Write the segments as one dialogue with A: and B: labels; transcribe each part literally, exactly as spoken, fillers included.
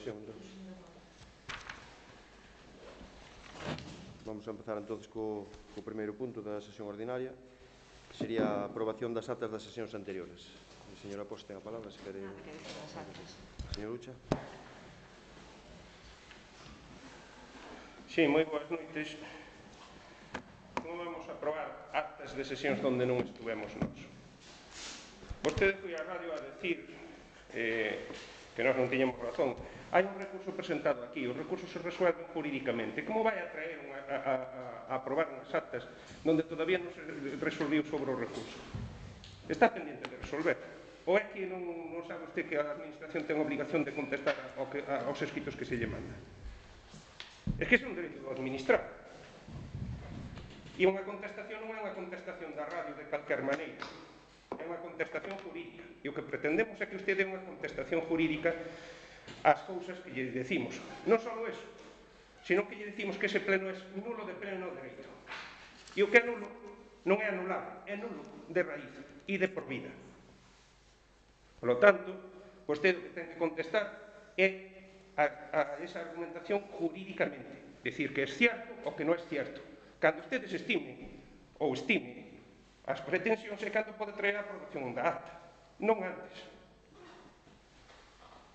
A: sesión, entonces. Vamos a empezar, entonces, co, co primeiro punto da sesión ordinaria, que sería a aprobación das actas das sesións anteriores. A señora Posta ten a palabra, se quere... Señor Ucha.
B: Sí, moi boas noites. Como vamos a aprobar actas de sesións onde non estuvemos nós? Vostede foi á radio a decir eh, que nós non tiñamos razón. Hai un recurso presentado aquí, os recursos se resuelven jurídicamente. Como vai a traer unha, a, a, a aprobar unhas actas onde todavía non se resolviu sobre o recurso? Está pendiente de resolver. Ou é que non, non sabe usted que a Administración ten obligación de contestar ao que, a, aos escritos que se lle manda? É que é un dereito do administrar. E unha contestación non é unha contestación da radio de calquer maneira. É unha contestación jurídica. E o que pretendemos é que usted dé unha contestación jurídica ás cousas que lle decimos. Non só eso, sino que lle decimos que ese pleno é nulo de pleno dereito. E o que é nulo non é anulado, é nulo de raíz e de por vida. Por lo tanto, vostede o que ten que contestar é a, a esa argumentación jurídicamente. Decir que é cierto ou que non é cierto. Cando ustedes estimen ou estimen as pretensións é cando pode traer a aprobación da acta, non antes.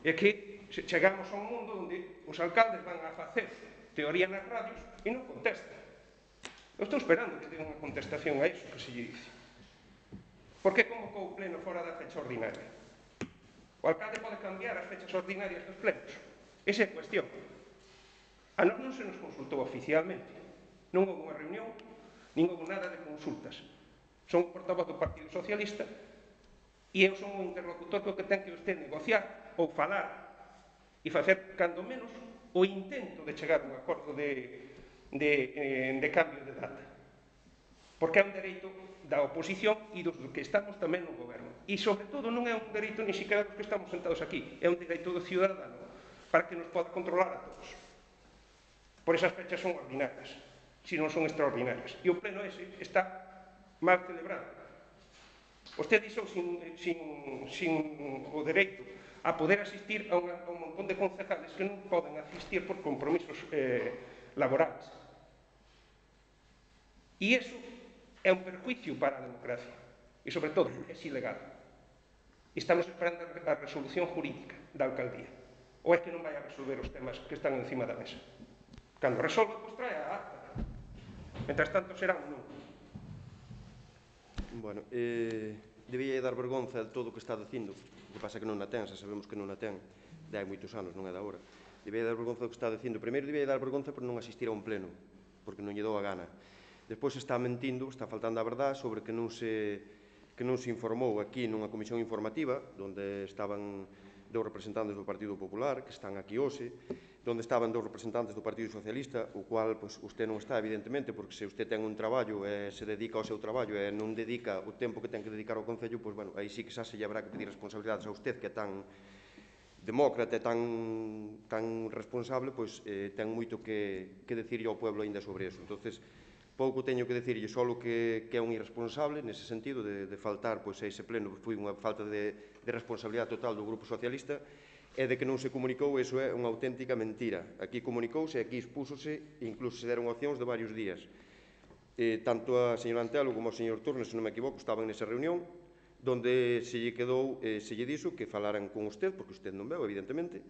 B: É que chegamos a un mundo onde os alcaldes van a facer teoría nas radios e non contestan. Eu estou esperando que den unha contestación a iso que se lle dice. Por que convocou o pleno fora da fecha ordinaria? O alcalde pode cambiar as fechas ordinarias dos plenos. Esa é a cuestión. A nós non se nos consultou oficialmente. Non houve unha reunión, nin houve nada de consultas. Son o portavoz do Partido Socialista e eu son o interlocutor que o que ten que usted negociar ou falar e facer, cando menos, o intento de chegar a un acordo de, de, eh, de cambio de data. Porque é un dereito da oposición e dos que estamos tamén no goberno. E, sobre todo, non é un dereito ni siquiera dos que estamos sentados aquí. É un dereito do ciudadano para que nos poda controlar a todos. Por esas fechas son ordinarias, se non son extraordinarias. E o pleno ese está mal celebrado. Vostede dixo sin, sin, sin o dereito a poder asistir a, unha, a un montón de concejales que non poden asistir por compromisos eh, laborales. E iso é un perjuicio para a democracia. E, sobre todo, é ilegal. Estamos esperando a resolución jurídica da alcaldía. Ou é que non vai a resolver os temas que están encima da mesa? Cando resolve, pois trae a acta. Mentras tanto, será un non.
A: Bueno, eh, debía dar vergonza de todo o que está dicindo. O que pasa que non a ten, xa sabemos que non a ten. De hai moitos anos, non é da hora. Debía dar vergonza do que está dicindo. Primeiro, debía dar vergonza por non asistir a un pleno, porque non lle dou a gana. Despois está mentindo, está faltando a verdade sobre que non se, que non se informou aquí nunha comisión informativa, onde estaban dous representantes do Partido Popular, que están aquí hoxe, onde estaban dous representantes do Partido Socialista, o cual, pois, usted non está, evidentemente, porque se usted ten un traballo e se dedica ao seu traballo e non dedica o tempo que ten que dedicar ao Concello, pois, bueno, aí sí que xa se lle habrá que pedir responsabilidades a usted, que é tan demócrata e tan, tan responsable, pois, eh, ten moito que, que decirlle ao pueblo ainda sobre eso. Entonces, pouco teño que decirlle, solo que, que é un irresponsable nese sentido de, de faltar pois, a ese pleno, foi unha falta de, de responsabilidade total do Grupo Socialista e de que non se comunicou, eso é unha auténtica mentira. Aquí comunicouse, aquí expúsose, incluso se deron opcións de varios días. Eh, tanto a señora Antelo como o señor Turnes, se non me equivoco, estaban nesa reunión, donde se lle quedou, eh, se lle dixo que falaran con usted, porque usted non veu, evidentemente,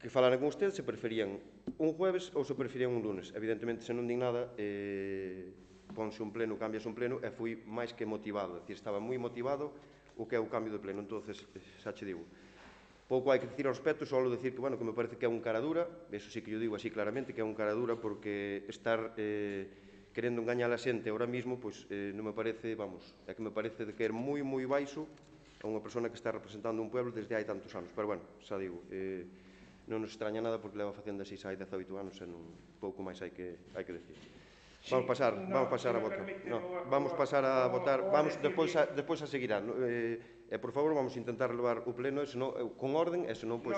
A: que falaran con usted se preferían un jueves ou se preferían un lunes. Evidentemente, se non din nada, eh, ponse un pleno, cambiase un pleno, e fui máis que motivado. É dicir, estaba moi motivado o que é o cambio de pleno. Entonces, xa che digo, pouco hai que dicir ao respecto, só decir que, bueno, que me parece que é un cara dura, eso sí que yo digo así claramente, que é un cara dura, porque estar eh, querendo engañar a xente ahora mismo, pois eh, non me parece, vamos, é que me parece de que é moi, moi baixo a unha persona que está representando un pueblo desde hai tantos anos. Pero, bueno, xa digo, eh, non nos extraña nada porque leva facendo así xa hai dezaoito anos e non pouco máis hai que, hai que decir. Vamos pasar, vamos pasar a votar. No, vamos pasar a votar, vamos despois a, despois a seguirá. Eh, e, por favor, vamos intentar levar o pleno, e senón, con orden, e senón, pois,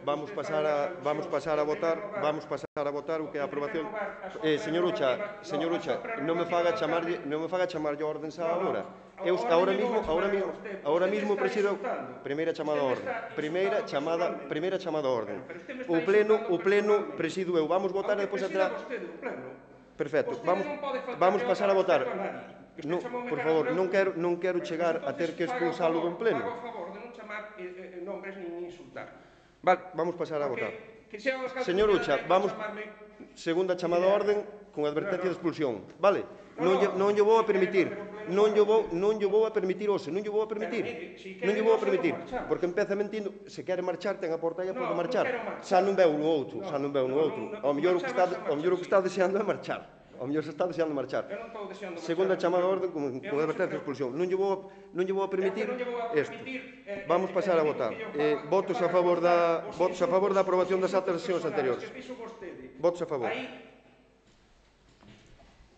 A: vamos pasar a, vamos pasar a votar, vamos pasar a votar o que é a aprobación. Eh, señor Ucha, señor Ucha, non me faga chamarlle, non me faga chamarlle a orden xa agora. Eu ahora mismo, ahora mismo, ahora mismo presido primeira chamada a orde. Primeira chamada, primeira chamada a orde. O pleno, o pleno presido eu. Vamos votar e depois atrás. Perfecto. Vamos vamos pasar a votar. Non, por favor, non quero non quero chegar a ter que expulsalo dun pleno.
B: Fago a favor de non chamar nombres nin insultar. Vale,
A: vamos pasar a votar.
B: Señor
A: Ucha, vamos segunda chamada a orden con advertencia de expulsión, vale? Non lle, non lle vou a permitir, non lle vou, non lle vou a permitir hoxe, non lle vou a permitir, non lle vou a permitir, porque empeza mentindo, se quere marchar, ten a porta aí a pode marchar, xa non veu no outro, xa non veu no outro, ao mellor o que está, ao mellor o que está deseando é marchar, ao mellor se está deseando marchar. Segunda chamada a orden con, con advertencia de expulsión, non lle vou, non lle vou a permitir isto. Vamos pasar a votar. Eh, votos a favor da, votos a favor da aprobación das actas das sesións anteriores. Votos a favor.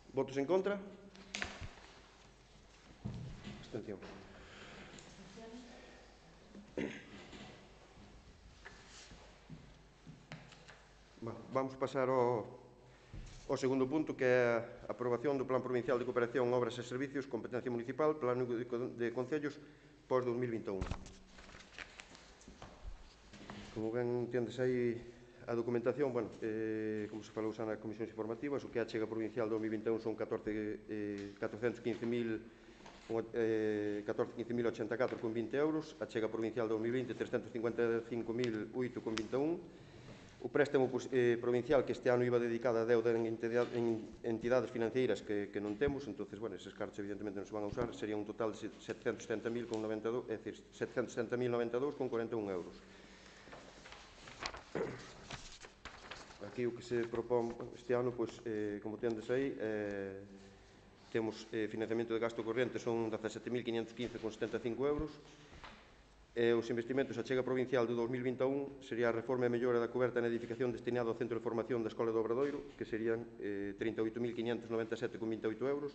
A: Votos en contra? Abstención. Vamos pasar ao, ao segundo punto, que é a aprobación do Plan Provincial de Cooperación, Obras e Servicios, competencia municipal, Plano de, de Concellos, pós dos mil vinte e un. Como ben entendes aí a documentación, bueno, eh, como se falou xa nas comisións informativas, o que a achega provincial do dos mil vinte e un son catorcentos quince mil ochenta e catro con vinte euros, a achega provincial do dos mil vinte trescentos cincuenta e cinco mil oito con vinte e un, o préstamo eh, provincial que este ano iba dedicado a deuda en, entidade, en entidades financeiras que, que non temos, entonces, bueno, eses cartos evidentemente non se van a usar, sería un total de setecentos setenta mil con noventa e dous, é dicir, setecentos setenta mil noventa e dous con cuarenta e un euros. Aquí o que se propón este ano, pois, eh, como tendes aí, eh, temos eh, financiamento de gasto corriente, son dezasete mil quinhentos quince con setenta e cinco euros. E os investimentos a chega provincial do dos mil vinte e un sería a reforma e mellora da coberta na edificación destinada ao Centro de Formación da Escola do Obradoiro, que serían eh, trinta e oito mil quinhentos noventa e sete con vinte e oito euros.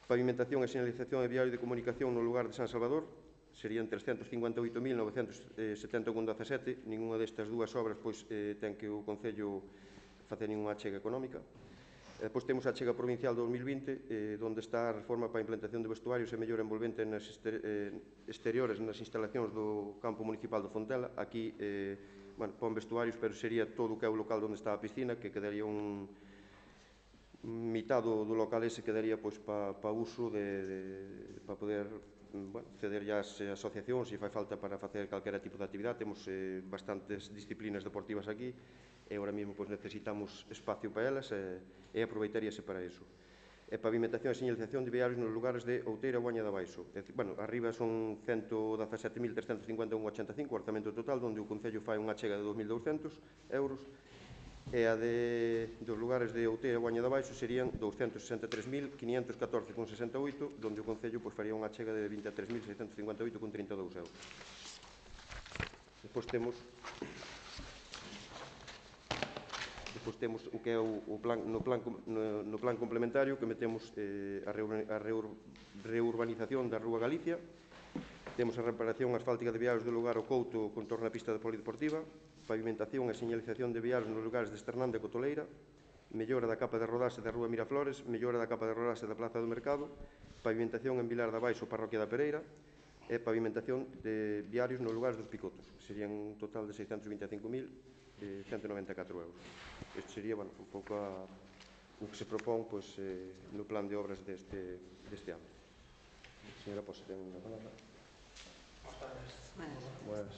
A: Pavimentación e señalización de viario de comunicación no lugar de San Salvador, serían trescentos cincuenta e oito mil novecentos setenta con dezasete. Ninguna destas dúas obras pois, eh, ten que o Concello facer ninguna achega económica. E depois temos a achega provincial do dos mil vinte, eh, onde está a reforma para a implantación de vestuarios e mellora envolvente nas exter eh, exteriores nas instalacións do campo municipal do Fontela. Aquí, eh, bueno, pon vestuarios, pero sería todo o que é o local onde está a piscina, que quedaría un mitad do, do local ese quedaría pois para pa uso de, de para poder bueno, ceder as asociacións se fai falta para facer calquera tipo de actividade. Temos eh, bastantes disciplinas deportivas aquí e agora mesmo pois, necesitamos espacio para elas e, e aproveitaríase para iso. E pavimentación e señalización de viarios nos lugares de Outeira e Guaña de Baixo. É dicir, bueno, arriba son ciento dezasete mil trescentos cincuenta e un con ochenta e cinco, o orzamento total, onde o Concello fai unha chega de dos mil douscentos euros, e a de, dos lugares de Outeira e Guaña de Baixo serían douscentos sesenta e tres mil quinhentos catorce con sesenta e oito, onde o Concello pois, faría unha chega de vinte e tres mil seiscentos cincuenta e oito con trinta e dous euros. Depois temos Depois temos o que é o, o plan, no, plan, no, no plan complementario, que metemos eh, a, reur, a reur, reurbanización da Rúa Galicia, temos a reparación asfáltica de viarios do lugar ao Couto con torno á pista de polideportiva, pavimentación e señalización de viarios nos lugares de Esternán de Cotoleira, mellora da capa de rodaxe da Rúa Miraflores, mellora da capa de rodaxe da Plaza do Mercado, pavimentación en Vilar da Baixo, Parroquia da Pereira, e pavimentación de viarios nos lugares dos Picotos, que serían un total de seiscentos vinte e cinco mil ciento noventa e catro euros. Este sería, bueno, un pouco a, o que se propón pois, eh, no plan de obras deste, deste ano. Señora Posa, ten unha palabra. Buenas.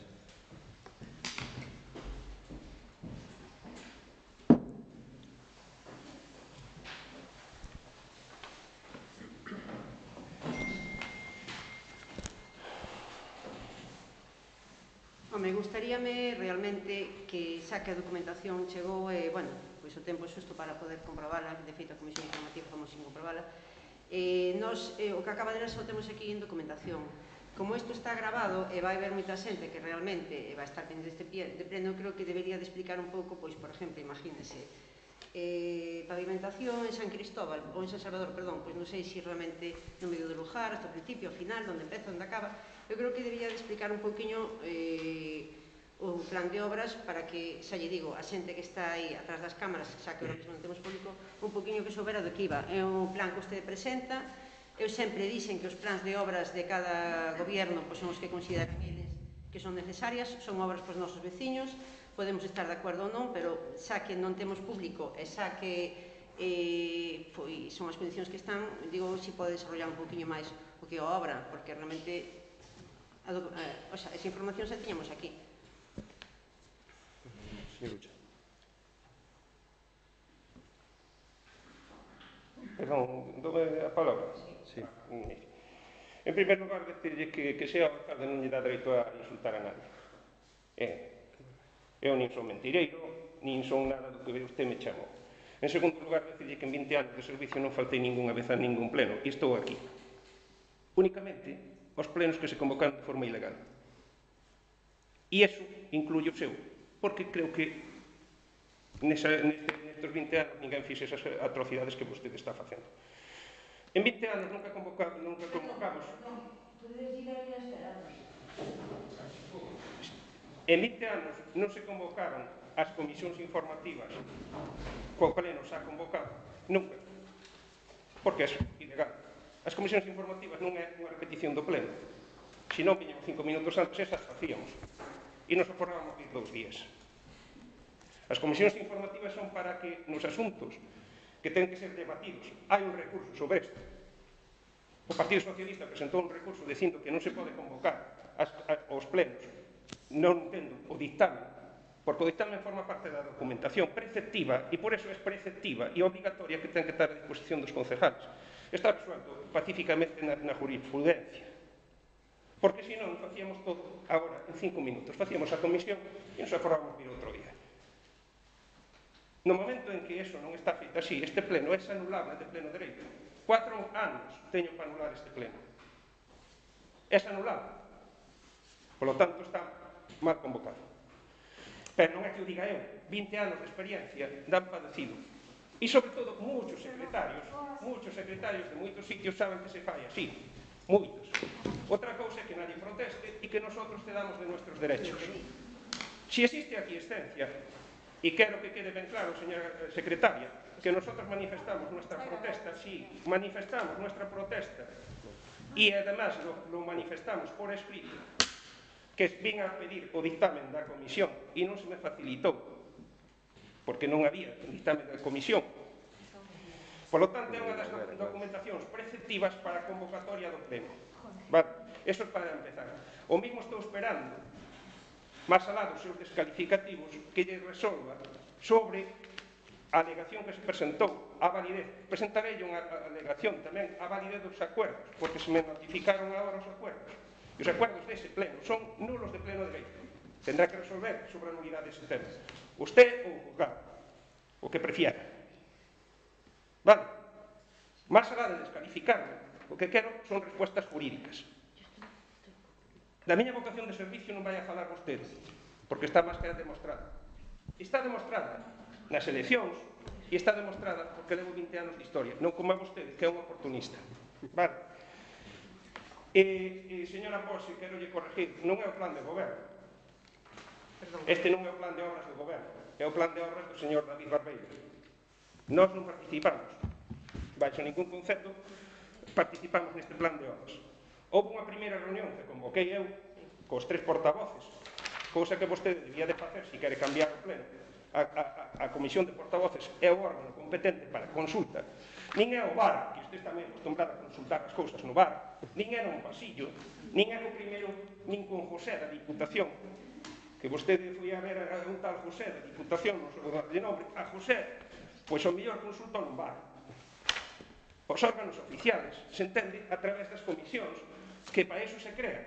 C: Me gustaríame realmente que xa que a documentación chegou e, bueno, pois o tempo xusto para poder comprobarla, de feito a Comisión Informativa fomos sin comprobarla, eh, nos, eh, o que acaba de ler só temos aquí en documentación. Como isto está grabado e vai haber moita xente que realmente vai estar pendente deste de pleno, creo que debería de explicar un pouco, pois, por exemplo, imagínese, eh, pavimentación en San Cristóbal, ou en San Salvador, perdón, pois non sei se realmente no medio do lugar, hasta o principio, ao final, onde empeza, onde acaba. Eu creo que debería de explicar un pouquiño eh, o plan de obras para que, xa lle digo, a xente que está aí atrás das cámaras, xa que ahora mesmo non temos público, un pouquiño que soubera do que iba. É un plan que vostede presenta, eu sempre dixen que os plans de obras de cada goberno pois, son os que consideran eles que son necesarias, son obras para os nosos veciños, podemos estar de acordo ou non, pero xa que non temos público e xa que eh, pois, son as condicións que están, digo, si pode desarrollar un poquinho máis o que a obra, porque realmente a, eh, o sea, esa información xa tiñamos aquí.
A: Señor Ucha.
B: Perdón, dome a palabra?
A: Sí.
B: En primer lugar, decirlle que, que sea o alcalde non lle dá dereito a insultar a nadie. Eh, eu nin son mentireiro, nin son nada do que usted me chamou. En segundo lugar, decirlle que en vinte anos de servicio non faltei ninguna vez a ningún pleno, e estou aquí. Únicamente os plenos que se convocaron de forma ilegal. E iso incluye o seu, porque creo que nesa, nestes vinte anos ninguén fixe esas atrocidades que vostede está facendo. En vinte anos nunca, convoca, nunca convocamos... En vinte anos non se convocaron as comisións informativas co pleno xa convocado, nunca, porque é ilegal. As comisións informativas non é unha repetición do pleno, se non viñamos cinco minutos antes, esas facíamos, e nos aforrábamos vir dous días. As comisións informativas son para que nos asuntos que ten que ser debatidos, hai un recurso sobre isto. O Partido Socialista presentou un recurso dicindo que non se pode convocar as, a, os plenos, non entendo o dictamen, porque o dictamen forma parte da documentación preceptiva e por eso é preceptiva e obligatoria que ten que estar a disposición dos concejales. Está resuelto pacíficamente na, na jurisprudencia. Porque senón facíamos todo agora en cinco minutos. Facíamos a comisión e nos aforrábamos vir outro día. No momento en que eso non está feito así, este pleno é anulable de pleno dereito. Cuatro anos teño para anular este pleno. É anulable. Por lo tanto, está mal convocado. Pero non é que o diga eu, vinte anos de experiencia dan padecido. E, sobre todo, muchos secretarios, muchos secretarios de moitos sitios saben que se fai así. Moitos. Outra cousa é que nadie proteste e que nosotros cedamos de nuestros derechos. Si existe a aquiescencia, e quero que quede ben claro, señora secretaria, que nosotros manifestamos nuestra protesta, sí, manifestamos nuestra protesta, e además lo, lo manifestamos por escrito, que vin a pedir o dictamen da comisión e non se me facilitou, porque non había dictamen da comisión. Por lo tanto, é unha das documentacións preceptivas para a convocatoria do pleno. Vale, eso é para empezar. O mismo estou esperando, máis alá dos seus descalificativos, que lle resolva sobre a alegación que se presentou, a validez. Presentarei unha alegación tamén a validez dos acuerdos, porque se me notificaron agora os acuerdos. E os acuerdos dese pleno son nulos de pleno dereito. Tendrá que resolver sobre a nulidade dese tema. Usted ou o juzgado, o que prefiera. Vale? Más alá de descalificarme, o que quero son respuestas jurídicas. Da miña vocación de servicio non vai a falar vostede, porque está máis que demostrada. Está demostrada nas eleccións e está demostrada porque levo vinte anos de historia, non como a vostede, que é un oportunista. Vale? E, e señora Pose, quero lle corregir, non é o plan de goberno. Este non é o plan de obras do goberno, é o plan de obras do señor David Barbeiro. Nós non participamos, baixo ningún concepto, participamos neste plan de obras. Houve unha primeira reunión que convoquei eu cos tres portavoces, cousa que vostede debía de facer se quere cambiar o pleno. A, a, a comisión de portavoces é o órgano competente para consulta. Nin é o bar, que usted está moi acostumbrado a consultar as cousas no bar, nin é no pasillo, nin é no primeiro, nin con José da Diputación, que vostede foi a ver a un tal José da Diputación, non sei de nombre, a José, pois o mellor consulta no bar. Os órganos oficiales se entende a través das comisións, que para iso se crean.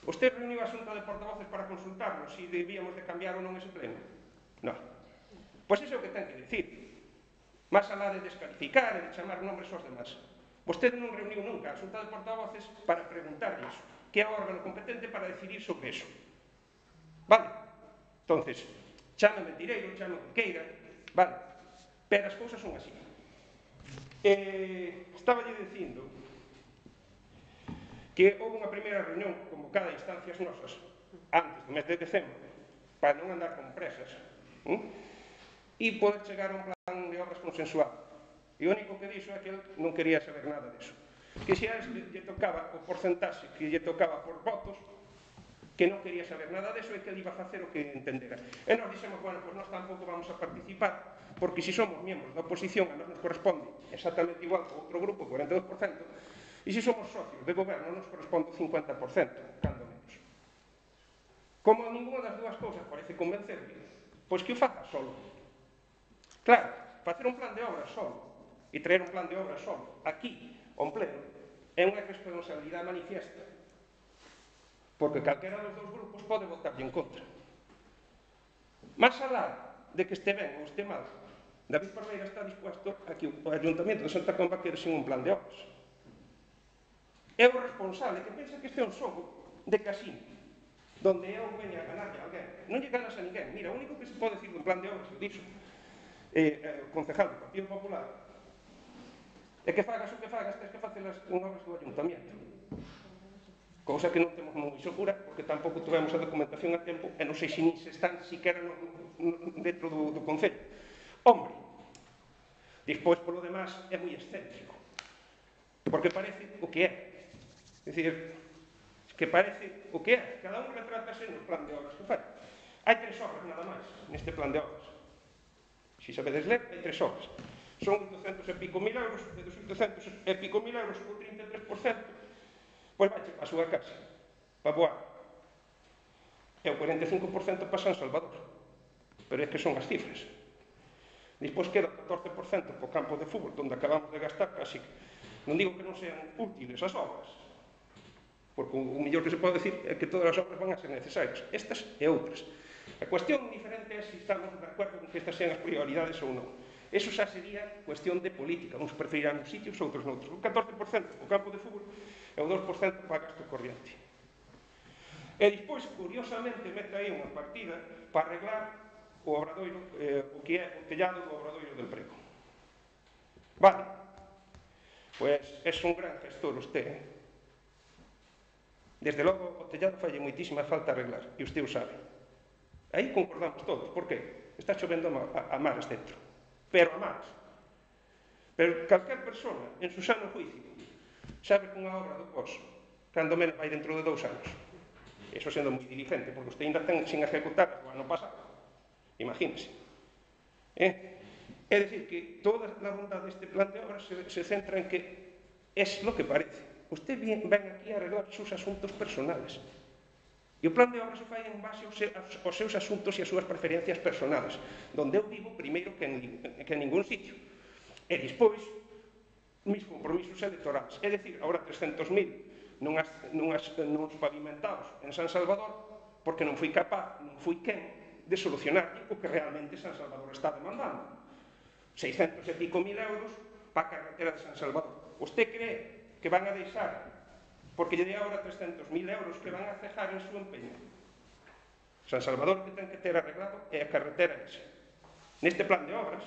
B: Vostede reuniu a xunta de portavoces para consultarnos se debíamos de cambiar ou non ese pleno? Non. Pois iso é o que ten que dicir. Más alá de descalificar e de chamar nombres aos demás. Vostede non reuniu nunca a xunta de portavoces para preguntarlle iso, que é o órgano competente para decidir sobre iso. Vale? Entonces, chame mentireiro, chame que queira, vale? Pero as cousas son así. Eh, estaba lle dicindo que houve unha primeira reunión convocada a instancias nosas antes do mes de decembro para non andar con presas ¿eh? E poder chegar a un plan de obras consensuado. E o único que dixo é que ele non quería saber nada disso. que xa lle tocaba o porcentaxe que lle tocaba por votos, que non quería saber nada deso e que ele iba a facer o que entendera. E nós dixemos, bueno, pois nós tampouco vamos a participar, porque se somos miembros da oposición, a nós nos corresponde exactamente igual que outro grupo, cuarenta e dos por cento, e se somos socios de goberno, nos corresponde o cincuenta por cento, cando menos. Como ninguna das dúas cousas parece convencerme, pois que o faga solo. Claro, facer un plan de obras solo, e traer un plan de obras solo, aquí, ao pleno, é unha responsabilidade manifiesta. Porque calquera dos dous grupos pode votarlle en contra. Más alá de que este ben ou este mal, David Parreira está dispuesto a que o Ayuntamiento de Santa Comba quede sin un plan de obras. É o responsable que pensa que este é un xogo de casino, donde eu veña a ganarle a alguén. Non lle ganas a ninguén. Mira, o único que se pode decir dun plan de obras, eu dixo, eh, o concejal do Partido Popular, é que fagas o que fagas, tens que facer as obras do Ayuntamiento. Cousa que non temos moi segura, porque tampouco tivemos a documentación a tempo, e non sei se nin se están siquera no, no, dentro do, do Concello. Hombre, despois, polo demás, é moi excéntrico, porque parece o que é. É dicir, que parece o que é. Cada un retrátase no plan de obras que fai. Hai tres obras nada máis neste plan de obras. Se sabedes ler, hai tres obras. Son oitocentos e pico mil euros, e dos oitocentos e pico mil euros, o trinta e tres por cento, pois vai a súa casa, para Boa. E o cuarenta e cinco por cento para San Salvador. Pero é que son as cifras. Despois queda o catorce por cento para o campo de fútbol, onde acabamos de gastar casi. Non digo que non sean útiles as obras, porque o mellor que se pode decir é que todas as obras van a ser necesarias, estas e outras. A cuestión diferente é se estamos de acordo con que estas sean as prioridades ou non. Eso xa sería cuestión de política, uns preferirán uns sitios, outros noutros. O catorce por cento para o campo de fútbol e o dos por cento para gasto corriente. E despois, curiosamente, mete aí unha partida para arreglar o obradoiro, eh, o que é o tellado do obradoiro del Prego. Vale, pois é un gran gestor usted, eh? Desde logo, o tellado falle moitísima falta arreglar, e usted o sabe. Aí concordamos todos, por que? Está chovendo a, a mares dentro, pero a mares. Pero calquer persona, en su sano juicio, sabe que unha obra do Pozo, cando menos vai dentro de dous anos. Eso sendo moi diligente, porque usted ainda ten sin ejecutar o ano pasado. Imagínese. Eh? É dicir, que toda a bondade deste plan de obras se, se centra en que es lo que parece. Usted ven aquí a arreglar os seus asuntos personales. E o plan de obras se fai en base aos seus asuntos e as súas preferencias personales, donde eu vivo primeiro que en, que en ningún sitio. E despois, mis compromisos electorales. É dicir, agora trescentos mil nunhas, nunhas, nuns pavimentados en San Salvador, porque non fui capaz, non fui quen, de solucionar o que realmente San Salvador está demandando. seiscentos e pico mil euros para a carretera de San Salvador. Usted cree que van a deixar, porque lle dei agora trescentos mil euros, que van a cejar en su empeño? San Salvador que ten que ter arreglado é a carretera esa. Neste plan de obras,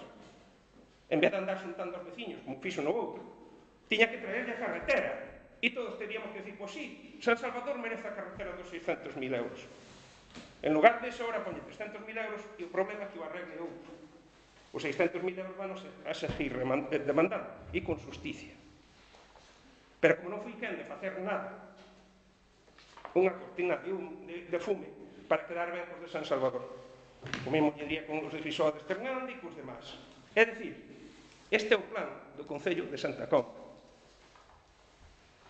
B: en vez de andar xuntando aos veciños, como fixo no outro, tiña que traerlle a carretera. E todos teríamos que decir, pois sí, San Salvador merece a carretera dos seiscentos mil euros. En lugar de eso, ahora ponlle trescentos mil euros e o problema é que o arregle outro. Os seiscentos mil euros van a seguir demandando e con justicia. Pero como non fui quen de facer nada, unha cortina de, un, de, de fume para quedar ben cos de San Salvador. O mesmo diría con os de Frisoa de Esternande e cos demás. É dicir, este é o plan do Concello de Santa Comba.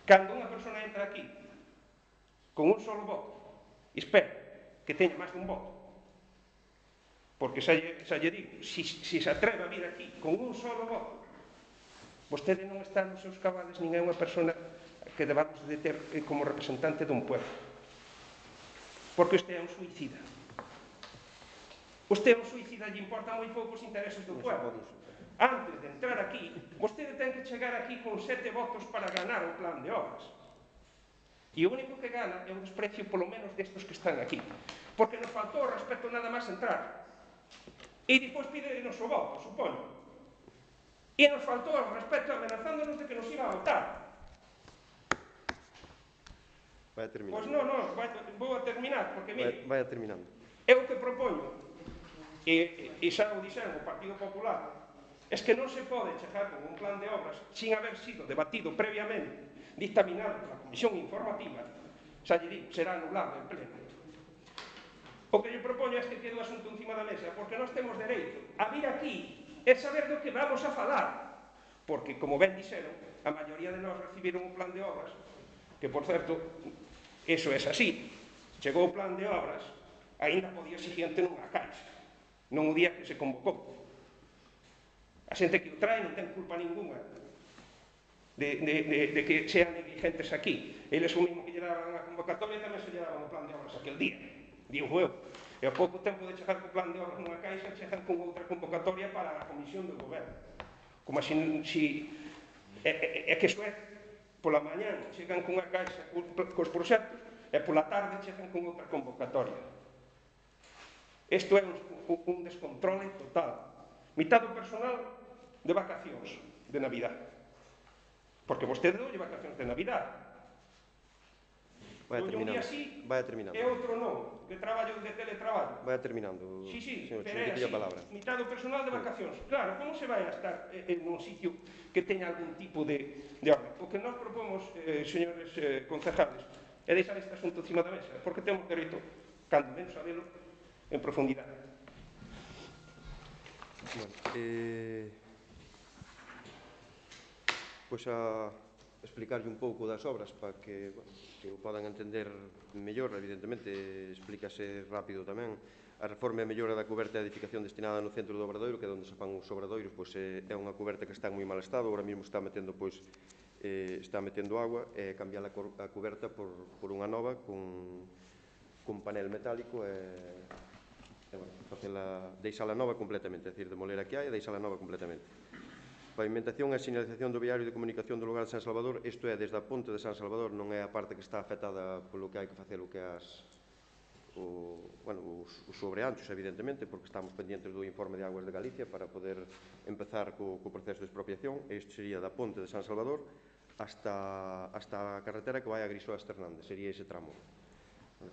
B: Cando unha persona entra aquí con un solo voto, espera que teña máis dun voto, porque xa lle, xa lle digo, se si, si se atreve a vir aquí con un solo voto, vostede non está nos seus cabales, nin é unha persona que debamos de ter como representante dun pueblo, porque usted é un suicida. Usted é un suicida, lle importa moi pouco os intereses do pueblo. Antes de entrar aquí, vostede ten que chegar aquí con sete votos para ganar o plan de obras. E o único que gana é o desprecio, polo menos, destos que están aquí. Porque nos faltou o respeto nada máis entrar. E depois pídenos o voto, supoño. E nos faltou o respeto amenazándonos de que nos iba a votar.
A: Vai a terminar.
B: Pois non, non, vai, vou a terminar, porque mire...
A: Vai, vai a terminando.
B: Eu que propoño, e, e xa o dixen o Partido Popular, es que non se pode chegar con un plan de obras sin haber sido debatido previamente dictaminado pola Comisión Informativa, xa lle digo, será anulado en pleno. O que lle propoño é que quede o asunto encima da mesa, porque nós temos dereito a vir aquí e saber do que vamos a falar. Porque, como ben dixeron, a maioría de nós recibiron un plan de obras, que, por certo, eso é así. Chegou o plan de obras, aínda po día siguiente nunha caixa, non o día que se convocou. A xente que o trae non ten culpa ninguna de, de, de, de que sean negligentes aquí. Eles o mismo que lle daban a convocatoria tamén se lle daban o plan de obras aquel día, digo eu. E ao pouco tempo de chegar co plan de obras nunha caixa, chegan con outra convocatoria para a Comisión do Goberno. Como se, si, é, é, é que iso é, pola mañán chegan cunha caixa cos proxectos e pola tarde chegan con outra convocatoria. Isto é un, un descontrole total. Mitad do personal de vacacións de Navidad. Porque vostede non lle vacacións de Navidad.
A: Vaya terminando.
B: Así,
A: Vaya terminando.
B: E outro non, que traballo de teletraballo.
A: Vaya terminando.
B: Sí, sí,
A: señor,
B: pero é así, mitad do personal de vacacións. Claro, como se vai a estar en un sitio que teña algún tipo de, de orden? O que nós propomos, eh, señores eh, concejales, é deixar este asunto encima da mesa, porque temos dereito, cando menos a velo, en profundidade.
A: Bueno, eh, pois a explicarlle un pouco das obras para que, bueno, que o podan entender mellor. Evidentemente, explícase rápido tamén. A reforma e mellora da coberta de edificación destinada no centro do Obradoiro, que é onde se fan os obradoiros, pois é unha coberta que está en moi mal estado. Agora mesmo está metendo, pois, eh, está metendo agua, e cambiar a, a coberta por, por unha nova con, con panel metálico e, e bueno, facela, deixala nova completamente, é dicir, demoler a que hai e deixala nova completamente. Pavimentación e sinalización do viario de comunicación do lugar de San Salvador, isto é, desde a ponte de San Salvador, non é a parte que está afectada polo que hai que facer o que as, o, bueno, os, os sobreanchos, evidentemente, porque estamos pendientes do informe de Aguas de Galicia para poder empezar co, co proceso de expropiación. Isto sería da ponte de San Salvador hasta, hasta a carretera que vai a Grisoa Fernández, sería ese tramo.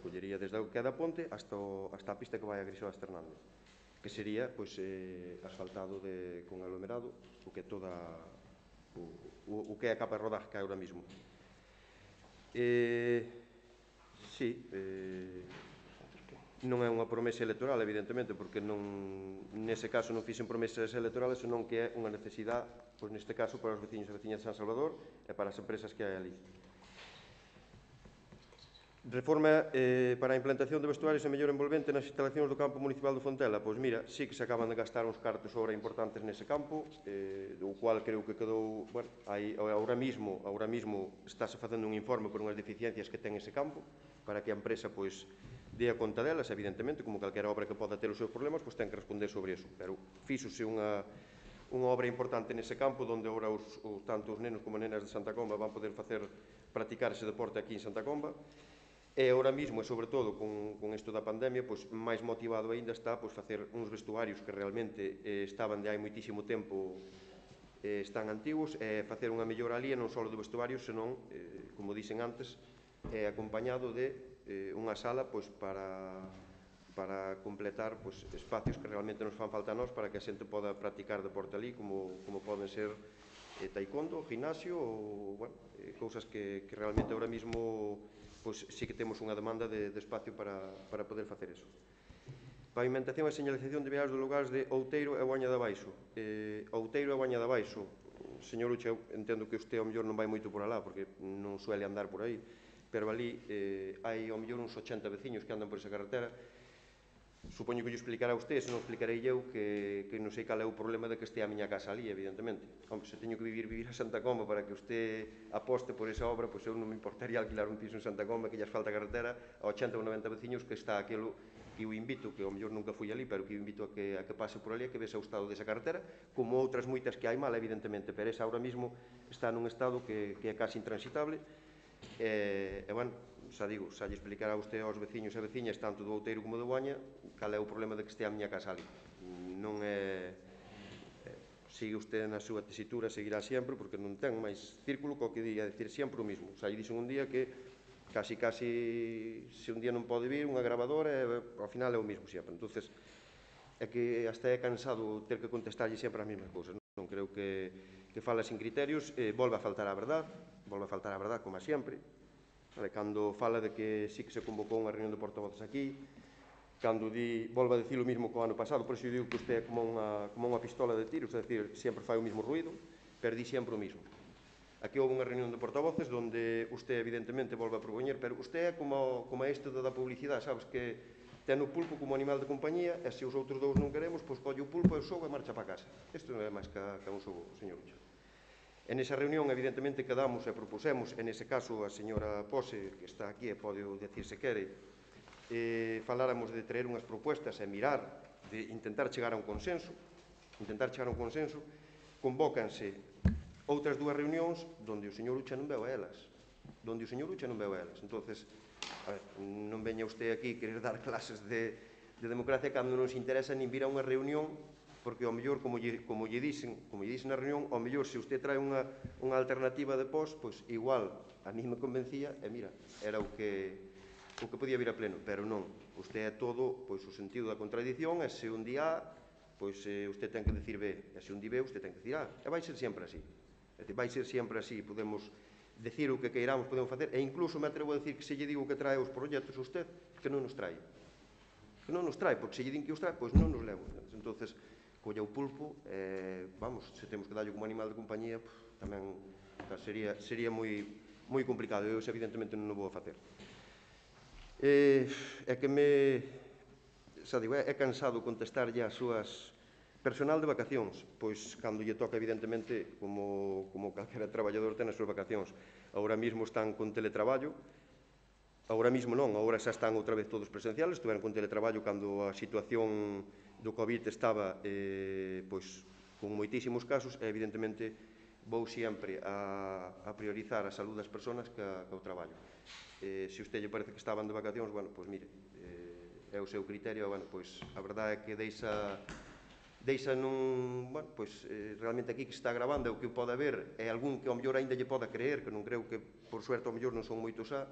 A: Collería desde o que é da ponte hasta, o, hasta a pista que vai a Grisoa Fernández, que sería, pois, eh, asfaltado de, con aglomerado, o que é toda o, o, o que é a capa de rodaje que hai ahora mismo. Eh, sí, eh, non é unha promesa electoral, evidentemente, porque non, nese caso non fixen promesas electorales, senón que é unha necesidade, pois neste caso, para os veciños e veciñas de San Salvador e para as empresas que hai ali. Reforma eh, para a implantación de vestuarios e mellor envolvente nas instalacións do campo municipal do Fontela. Pois mira, sí que se acaban de gastar uns cartos obra importantes nese campo, eh, do cual creo que quedou, bueno, aí, ahora mismo, ahora mismo estáse facendo un informe por unhas deficiencias que ten ese campo, para que a empresa, pois, dé a conta delas, evidentemente, como calquera obra que poda ter os seus problemas, pois ten que responder sobre eso. Pero fíxose unha, unha obra importante nese campo, onde agora os, os, tanto os nenos como nenas de Santa Comba van poder facer, practicar ese deporte aquí en Santa Comba. E agora mesmo, e sobre todo con, con isto da pandemia, pois, máis motivado aínda está, pois, facer uns vestuarios que realmente eh, estaban de hai moitísimo tempo, eh, están antigos, e facer unha mellora ali, non só do vestuario, senón, eh, como dixen antes, eh, acompañado de eh, unha sala, pois, para, para completar, pois, espacios que realmente nos fan falta a nós, para que a xente poda practicar deporte ali, como, como poden ser eh, taekwondo, gimnasio, ou, bueno, eh, cousas que, que realmente agora mesmo, pois sí que temos unha demanda de, de espacio para, para poder facer eso. Pavimentación e señalización de viarios dos lugares de Outeiro e Boaña de Baixo. Eh, Outeiro e Boaña de Baixo, señor Uche, eu entendo que usted ao mellor non vai moito por alá, porque non suele andar por aí, pero ali eh, hai ao mellor uns ochenta veciños que andan por esa carretera. Supoño que lle explicará a usted, se non explicarei eu, que, que non sei cal é o problema de que este a miña casa ali, evidentemente. Hombre, se teño que vivir, vivir a Santa Comba para que usted aposte por esa obra, pois eu non me importaría alquilar un piso en Santa Comba que lles falta carretera a ochenta ou noventa veciños que está aquilo, que o invito, que ao mellor nunca fui ali, pero que o invito a que, a que pase por ali, a que vese o estado desa carretera, como outras moitas que hai mal, evidentemente, pero esa ahora mismo está nun estado que, que é casi intransitable. E, e bueno, xa digo, xa lle explicará a usted aos veciños e veciñas, tanto do Outeiro como do Boaña, cal é o problema de que este a miña casa ali. Non é... Sigue usted na súa tesitura, seguirá sempre, porque non ten máis círculo co que di, a decir sempre o mismo. Xa lle dixen un día que casi, casi, se un día non pode vir, unha grabadora, e ao final é o mismo sempre. Entonces, é que hasta é cansado ter que contestarlle sempre as mesmas cousas. Non creo que, que fala sin criterios, eh, volve a faltar a verdade. volve a faltar a verdade, como a sempre, cando fala de que sí que se convocou unha reunión de portavoces aquí, cando di, volve a decir o mismo que o ano pasado, por iso digo que usted é como unha, como unha pistola de tiros, é dicir, sempre fai o mismo ruido, pero di sempre o mismo. Aquí houve unha reunión de portavoces onde usted evidentemente volve a propoñer, pero usted é como, como este da publicidade, sabes, que ten o pulpo como animal de compañía e se os outros dous non queremos, pois colle o pulpo e o xogo e marcha para casa. Isto non é máis que, que un xogo, señor Ucho. En esa reunión, evidentemente, quedamos e propusemos, en ese caso, a señora Pose, que está aquí e pode decir se quere, eh, faláramos de traer unhas propuestas e mirar, de intentar chegar a un consenso, intentar chegar a un consenso, convócanse outras dúas reunións onde o señor Ucha non veu a elas, onde o señor Ucha non veu a elas. Entonces, a ver, non veña usted aquí querer dar clases de, de democracia cando non se interesa nin vir a unha reunión, porque ao mellor, como lle, como lle dicen, como lle dicen na reunión, ao mellor se usted trae unha, unha alternativa de pos, pois igual a mí me convencía e mira, era o que o que podía vir a pleno, pero non. Usted é todo, pois, o sentido da contradición, e se un di A, pois eh, usted ten que decir B, e se un di B, usted ten que decir A, e vai ser sempre así. É dicir, vai ser sempre así, podemos decir o que queiramos, podemos facer, e incluso me atrevo a decir que se lle digo que trae os proxectos a usted, que non nos trae. Que non nos trae, porque se lle din que os trae, pois non nos levo. Entonces, colla o pulpo, eh, vamos, se temos que darlle como animal de compañía, pff, tamén sería, sería moi, moi complicado, eu evidentemente non o vou a facer. Eh, é que me, xa digo, é, é cansado contestarlle as súas personal de vacacións, pois cando lle toca, evidentemente, como, como calquera traballador ten as súas vacacións. Agora mesmo están con teletraballo, agora mesmo non, agora xa están outra vez todos presenciales, estuveron con teletraballo cando a situación do COVID estaba eh, pois, con moitísimos casos e evidentemente vou sempre a, a priorizar a saúde das persoas que, a, que o traballo. Eh, se usted lle parece que estaban de vacacións, bueno, pois mire, eh, é o seu criterio, bueno, pois a verdade é que deixa, deixa nun, bueno, pois eh, realmente aquí que está grabando o que pode haber é algún que ao mellor ainda lle poda creer, que non creo que por suerte ao mellor non son moitos xa,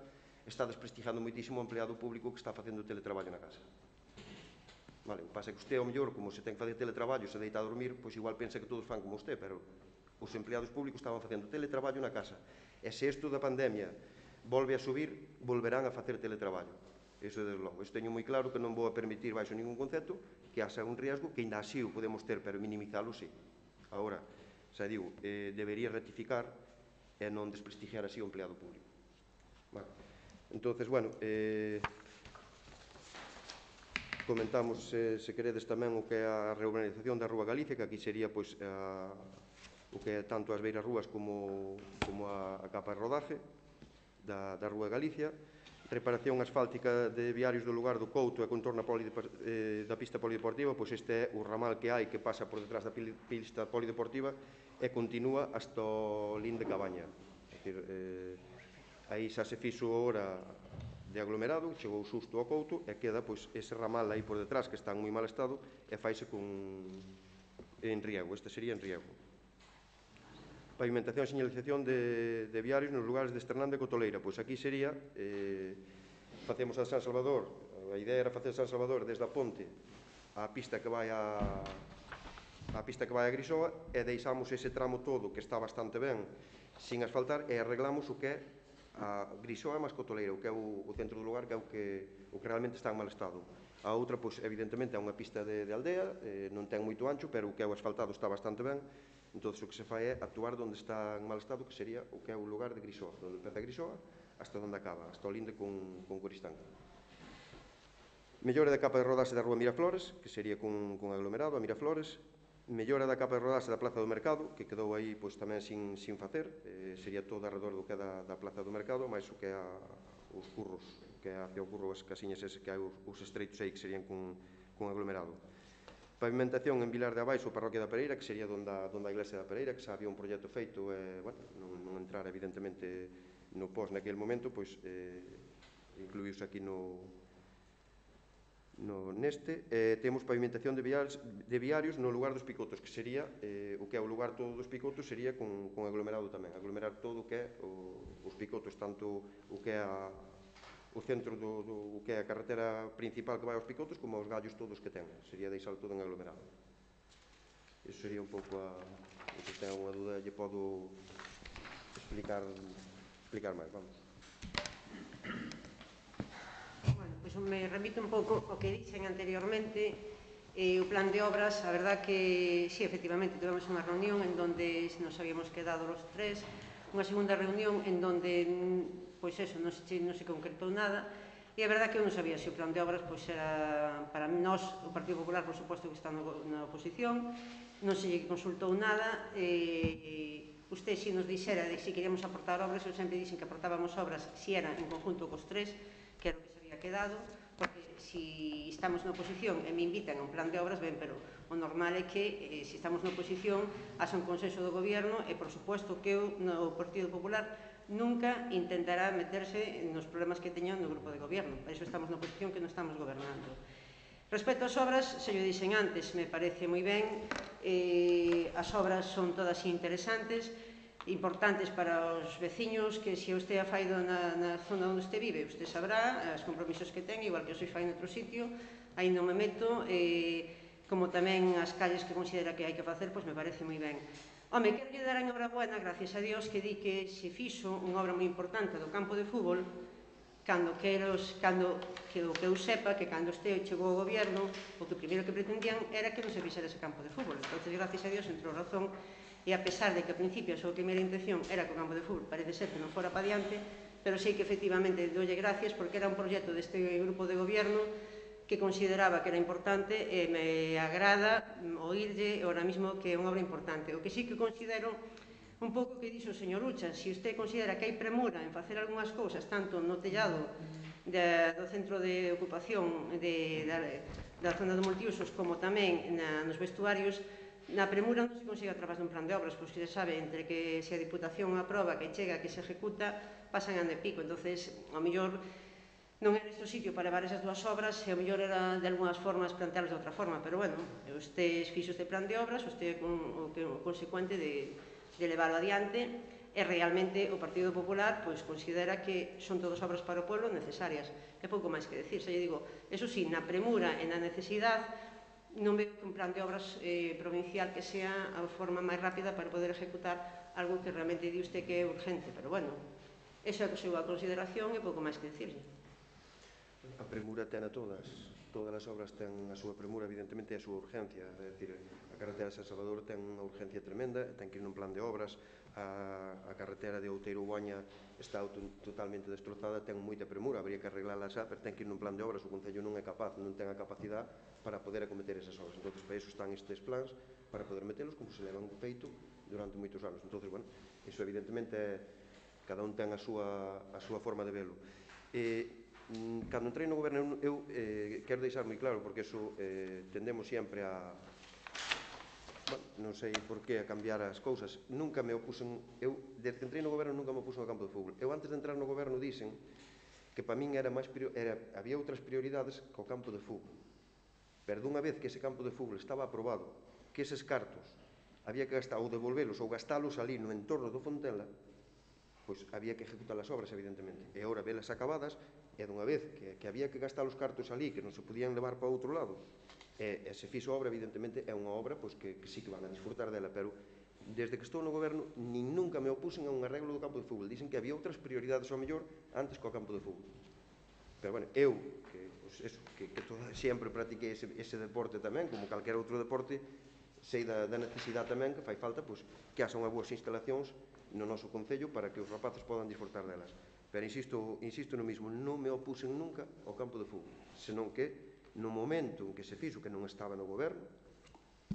A: está desprestigiando moitísimo o empleado público que está facendo teletraballo na casa. Vale, o que pasa é que usted, ao mellor, como se ten que fazer teletraballo, se deita a dormir, pois igual pensa que todos fan como usted, pero os empleados públicos estaban facendo teletraballo na casa. E se isto da pandemia volve a subir, volverán a facer teletraballo. Iso é desde logo. Isto teño moi claro que non vou a permitir baixo ningún concepto que haxa un riesgo, que ainda así o podemos ter, pero minimizalo, sí. Agora, xa digo, eh, debería rectificar e non desprestigiar así o empleado público. Vale. Entonces, bueno, eh, comentamos, eh, se queredes, tamén o que é a reurbanización da Rúa Galicia, que aquí sería, pois, a, o que é tanto as beiras rúas como, como a, a capa de rodaje da, da Rúa Galicia, reparación asfáltica de viarios do lugar do Couto e contorno eh, da pista polideportiva, pois este é o ramal que hai que pasa por detrás da pista polideportiva e continúa hasta o Lín de Cabaña. É dicir, eh, aí xa se fixo ora de aglomerado, chegou xusto ao Couto e queda pois ese ramal aí por detrás que está en moi mal estado e faise con en riego, este sería en riego. Pavimentación e señalización de, de viarios nos lugares de Esternande e Cotoleira, pois aquí sería, eh, facemos a San Salvador, a idea era facer San Salvador desde a ponte á pista que vai a a pista que vai a Grisoa e deixamos ese tramo todo que está bastante ben sin asfaltar e arreglamos o que é a Grisoa máis Cotoleira, o que é o, o centro do lugar, que é o que, o que realmente está en mal estado. A outra, pois, evidentemente, é unha pista de, de aldea, eh, non ten moito ancho, pero o que é o asfaltado está bastante ben. Entón, o que se fai é actuar onde está en mal estado, que sería o que é o lugar de Grisoa, onde empeza Grisoa hasta onde acaba, hasta o linde con, con Coristanca. Mellora da capa de rodaxe da Rúa Miraflores, que sería con, con aglomerado a Miraflores. Mellora da capa de rodaxe da Plaza do Mercado, que quedou aí pois, tamén sin, sin facer, eh, sería todo alrededor do que é da, da Plaza do Mercado, máis o que é a, os curros, que é hacia o curro, as casiñas ese que hai os, os estreitos aí que serían con, con aglomerado. Pavimentación en Vilar de Abaixo, Parroquia da Pereira, que sería donde a, donde a iglesia da Pereira, que xa había un proxecto feito, e, bueno, non, non entrar evidentemente no pos naquele momento, pois eh, incluíuse aquí no No, neste, eh, temos pavimentación de viarios, de viarios no lugar dos picotos, que sería, eh, o que é o lugar todo dos picotos, sería con, con aglomerado tamén, aglomerar todo o que é o, os picotos, tanto o que é a, o centro do, do o que é a carretera principal que vai aos picotos, como aos gallos todos que ten, sería deixar todo en aglomerado. Iso sería un pouco a, se ten alguna dúda, lle podo explicar, explicar máis, vamos.
C: Bueno, pois me remito un pouco ao que dixen anteriormente. Eh, o plan de obras, a verdad que sí, efectivamente, tivemos unha reunión en donde nos habíamos quedado los tres, unha segunda reunión en donde, pois eso, non se, non se concretou nada, e a verdad que eu non sabía se o plan de obras pois era para nós, o Partido Popular, por suposto que está na oposición, non se lle consultou nada, e usted si nos dixera de si queríamos aportar obras, eu sempre dixen que aportábamos obras si eran en conjunto cos tres, que era o que se había quedado, porque si estamos na oposición e me invitan a un plan de obras, ben, pero o normal é que, eh, se estamos na oposición, haxa un consenso do goberno e, por suposto, que o, no Partido Popular nunca intentará meterse nos problemas que teñan no grupo de goberno. Por iso estamos na oposición, que non estamos gobernando. Respecto ás obras, se yo dixen antes, me parece moi ben, eh, as obras son todas interesantes, importantes para os veciños, que se usted a fai na, na zona onde usted vive, usted sabrá os compromisos que ten, igual que eu soy fai noutro sitio, aí non me meto, eh, como tamén as calles que considera que hai que facer, pois me parece moi ben. Home, quero lle dar a enhorabuena, gracias a Dios, que di que se fixo unha obra moi importante do campo de fútbol, cando que, eros, cando, que o que eu sepa, que cando este chegou ao goberno, o que primeiro que pretendían era que non se fixera ese campo de fútbol. Entón, gracias a Dios, entrou razón, e a pesar de que ao principio a súa primeira intención era que o campo de fútbol parece ser que non fora para diante, pero sei que efectivamente doulle gracias porque era un proxecto deste grupo de goberno que consideraba que era importante e me agrada oírlle ahora mismo que é unha obra importante. O que sí que considero un pouco que dixo o señor Ucha, se usted considera que hai premura en facer algunhas cousas tanto no tellado de, do centro de ocupación de, da, da zona de multiusos como tamén na, nos vestuarios, na premura non se consigue a través dun plan de obras, pois que se sabe, entre que se a Diputación aproba, que chega, que se ejecuta, pasan ano e pico. Entonces, ao mellor, non era este o sitio para levar esas dúas obras, e ao mellor era de algunhas formas plantearlas de outra forma, pero bueno, usted fixo este plan de obras, usted é o, que, o consecuente de, de levarlo adiante, e realmente o Partido Popular pois considera que son todas obras para o pueblo necesarias. É pouco máis que decir, xa lle digo, eso sí, na premura e na necesidade, non veo que un plan de obras eh, provincial que sea a forma máis rápida para poder ejecutar algo que realmente di usted que é urgente, pero bueno, esa é a súa consideración e pouco máis que decirle.
A: A premura ten a todas, todas as obras ten a súa premura, evidentemente, e a súa urgencia, é dicir, a carretera de San Salvador ten unha urgencia tremenda, ten que ir nun plan de obras, a, a carretera de Outeiro-Boaña está totalmente destrozada, ten moita premura, habría que arreglala xa, pero ten que ir nun plan de obras, o Concello non é capaz, non ten a capacidade para poder acometer esas obras. Entón, para iso están estes plans, para poder metelos como se levan feito durante moitos anos. Entón, bueno, iso evidentemente é, cada un ten a súa, a súa forma de velo. E, cando entrei no goberno, eu eh, quero deixar moi claro, porque eso eh, tendemos sempre a, bueno, non sei por que a cambiar as cousas, nunca me opusen, eu, desde que entrei no goberno nunca me opusen ao campo de fútbol. Eu antes de entrar no goberno dixen que para min era máis, era, había outras prioridades que o campo de fútbol. Pero dunha vez que ese campo de fútbol estaba aprobado, que eses cartos había que gastar ou devolvelos ou gastalos ali no entorno do Fontela, pois había que ejecutar as obras, evidentemente. E agora velas acabadas, e dunha vez que, que había que gastar os cartos ali, que non se podían levar para outro lado, e, e se fixo a obra, evidentemente, é unha obra pois, que, que sí que van a disfrutar dela, pero desde que estou no goberno, nin nunca me opusen a un arreglo do campo de fútbol. Dicen que había outras prioridades ao mellor antes que o campo de fútbol. Pero, bueno, eu, que, pues, eso, que, que toda, sempre practiquei ese, ese deporte tamén, como calquera outro deporte, sei da, da necesidade tamén que fai falta pues, que haxa unhas boas instalacións no noso Concello para que os rapaces podan disfrutar delas. Pero insisto, insisto no mismo, non me opusen nunca ao campo de fútbol, senón que no momento en que se fixo, que non estaba no goberno,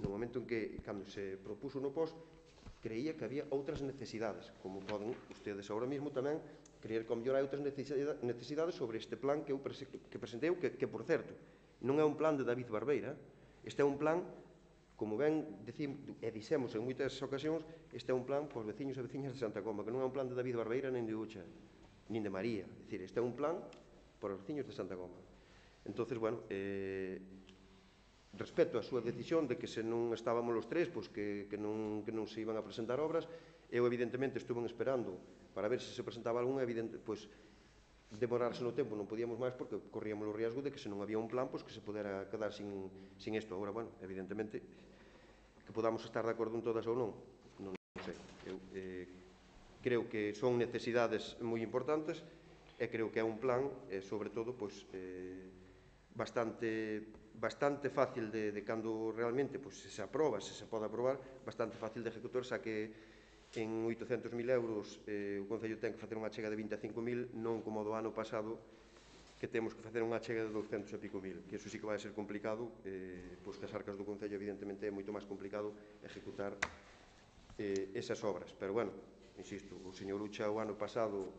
A: no momento en que, cando se propuso no pos, creía que había outras necesidades, como poden ustedes agora mesmo tamén creer que ao mellor hai outras necesidades sobre este plan que eu que presentei, que, que por certo, non é un plan de David Barbeira, este é un plan, como ben decimos, e dixemos en moitas ocasións, este é un plan para os veciños e veciñas de Santa Comba, que non é un plan de David Barbeira, nin de Ucha, nin de María, é dicir, este é un plan para os veciños de Santa Comba. Entonces, bueno, eh, respecto á súa decisión de que se non estábamos os tres, pois que, que, non, que non se iban a presentar obras, eu evidentemente estuve esperando para ver se se presentaba algún, evidente, pois demorarse no tempo non podíamos máis porque corríamos o riesgo de que se non había un plan, pois que se pudera quedar sin, sin isto. Agora, bueno, evidentemente que podamos estar de acordo en todas ou non, non sei. Eu, eh, creo que son necesidades moi importantes e creo que é un plan, e, sobre todo, pois, eh, bastante, bastante fácil de, de cando realmente pois, se aproba, se se pode aprobar, bastante fácil de ejecutar, xa que en oitocentos mil euros eh, o Concello ten que facer unha chega de vinte e cinco mil, non como do ano pasado, que temos que facer unha chega de douscentos e pico mil, que iso sí que vai ser complicado, eh, pois que as arcas do Concello evidentemente é moito máis complicado ejecutar eh, esas obras, pero bueno, insisto, o señor Ucha o ano pasado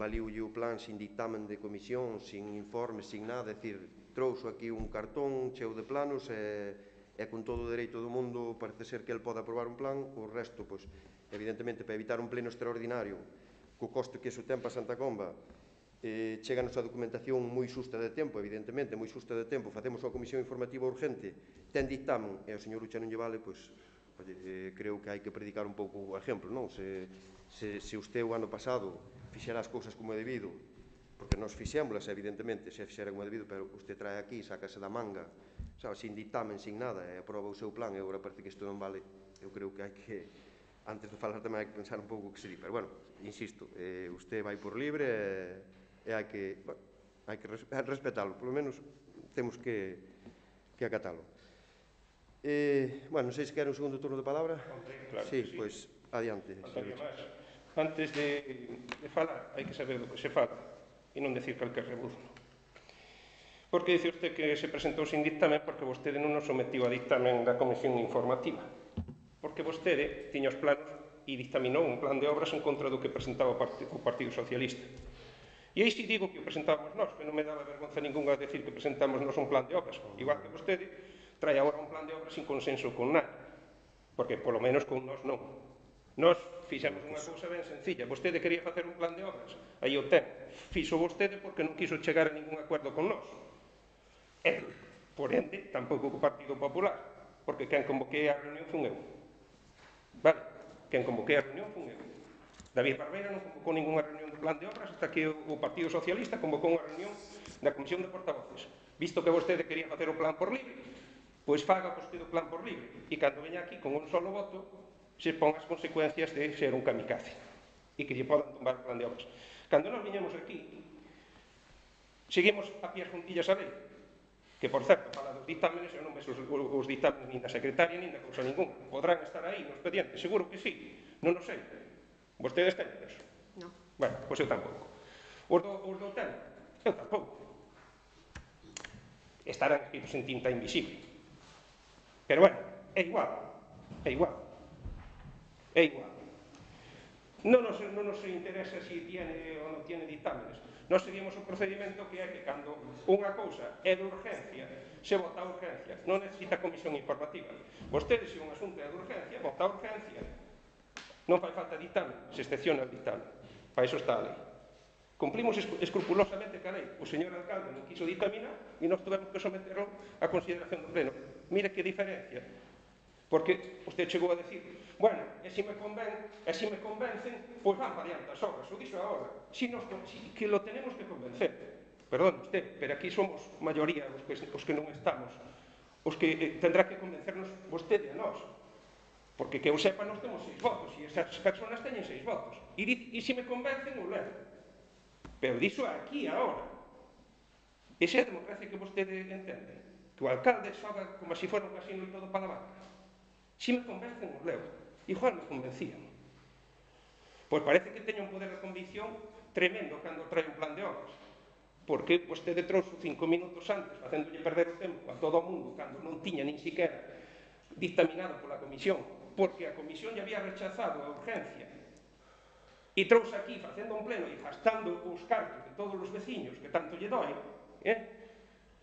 A: valiulle o plan sin dictamen de comisión, sin informe, sin nada, é dicir, trouxo aquí un cartón cheo de planos e, e con todo o dereito do mundo parece ser que el pode aprobar un plan, o resto, pois, evidentemente, para evitar un pleno extraordinario, co coste que iso ten para Santa Comba, eh, cheganos a documentación moi xusta de tempo, evidentemente, moi xusta de tempo, facemos unha comisión informativa urgente, ten dictamen, e o señor Ucha non lle vale, pois, oye, eh, creo que hai que predicar un pouco o exemplo, non? Se, se, se usted o ano pasado fixera as cousas como é debido, porque nos fixémoslas, evidentemente, se fixera como é debido, pero usted trae aquí, sácase da manga, sabe, sin dictamen, sin nada, e aproba o seu plan, e agora parece que isto non vale, eu creo que hai que, antes de falar tamén hai que pensar un pouco o que se di, pero bueno, insisto, eh, usted vai por libre e, e hai que, bueno, hai que respetalo, polo menos temos que, que acatalo. Eh, bueno, non sei se quer un segundo turno de palabra.
B: Claro
A: sí,
B: que sí.
A: Pois, adiante.
B: Antonio Mas, antes de, de falar, hai que saber do que se fala e non decir calquer rebuzo. Porque dice usted que se presentou sin dictamen porque vostede non nos sometiu a dictamen da Comisión Informativa. Porque vostede tiña os planos e dictaminou un plan de obras en contra do que presentaba o Partido Socialista. E aí si digo que o presentábamos nós, que non me daba vergonza ninguna decir que presentamos nós un plan de obras, igual que vostede trae agora un plan de obras sin consenso con nadie, porque polo menos con nós non. Nós fixemos unha cousa ben sencilla, vostede quería facer un plan de obras, aí o ten, fixo vostede porque non quiso chegar a ningún acordo con nós. E, por ende, tampouco co Partido Popular, porque quen convoquei a reunión fun eu. Vale? Quen convoquei a reunión fun eu. David Barbeira non convocou ninguna reunión do plan de obras hasta que o Partido Socialista convocou unha reunión da Comisión de Portavoces. Visto que vostede quería facer o plan por libre, pois faga vostede o plan por libre. E cando veña aquí con un solo voto, se pon as consecuencias de ser un kamikaze e que lle podan tumbar o plan de obras. Cando nos viñemos aquí, seguimos a pias juntillas a lei, que, por certo, fala dos dictámenes, eu non ves os, os dictámenes nin da secretaria, nin da cousa ninguna. Podrán estar aí no expediente, seguro que sí, non o sei. Vostedes teñen eso?
C: Non.
B: Bueno, pois eu tampouco. Os do, os do ten? Eu tampouco. Estarán escritos en tinta invisible. Pero bueno, é igual, é igual. É igual. Non nos, non nos interesa se tiene ou non tiene dictámenes. Nós seguimos o procedimento que é que cando unha cousa é de urgencia, se vota a urgencia, non necesita comisión informativa. Vostedes, se un asunto é de urgencia, vota a urgencia. Non fai falta dictamen, se excepciona o dictamen. Para iso está a lei. Cumplimos escrupulosamente ca lei. O señor alcalde non quiso dictaminar e nós tuvemos que someterlo a consideración do pleno. Mira que diferencia. Porque usted chegou a decir, bueno, e se me conven, e se me convencen, pois van variando as obras. O dixo agora. Si nos, si, que lo tenemos que convencer. Perdón usted, pero aquí somos maioría os que, os que non estamos. Os que eh, tendrá que convencernos vostede a nós. Porque que eu sepa, nós temos seis votos, e esas personas teñen seis votos. E, e se me convencen, o levo. Pero dixo aquí, agora. Esa é a democracia que vostede entende. Que o alcalde xoga como se fora un casino e todo para a banca. Se me convencen, o levo. Igual me convencían. Pois parece que teño un poder de convicción tremendo cando trae un plan de obras. Porque vostede trouxe cinco minutos antes, facéndolle perder o tempo a todo o mundo, cando non tiña nin siquiera dictaminado pola comisión, porque a comisión lle había rechazado a urgencia, e trouxe aquí facendo un pleno e gastando os cartos de todos os veciños que tanto lle doi, eh?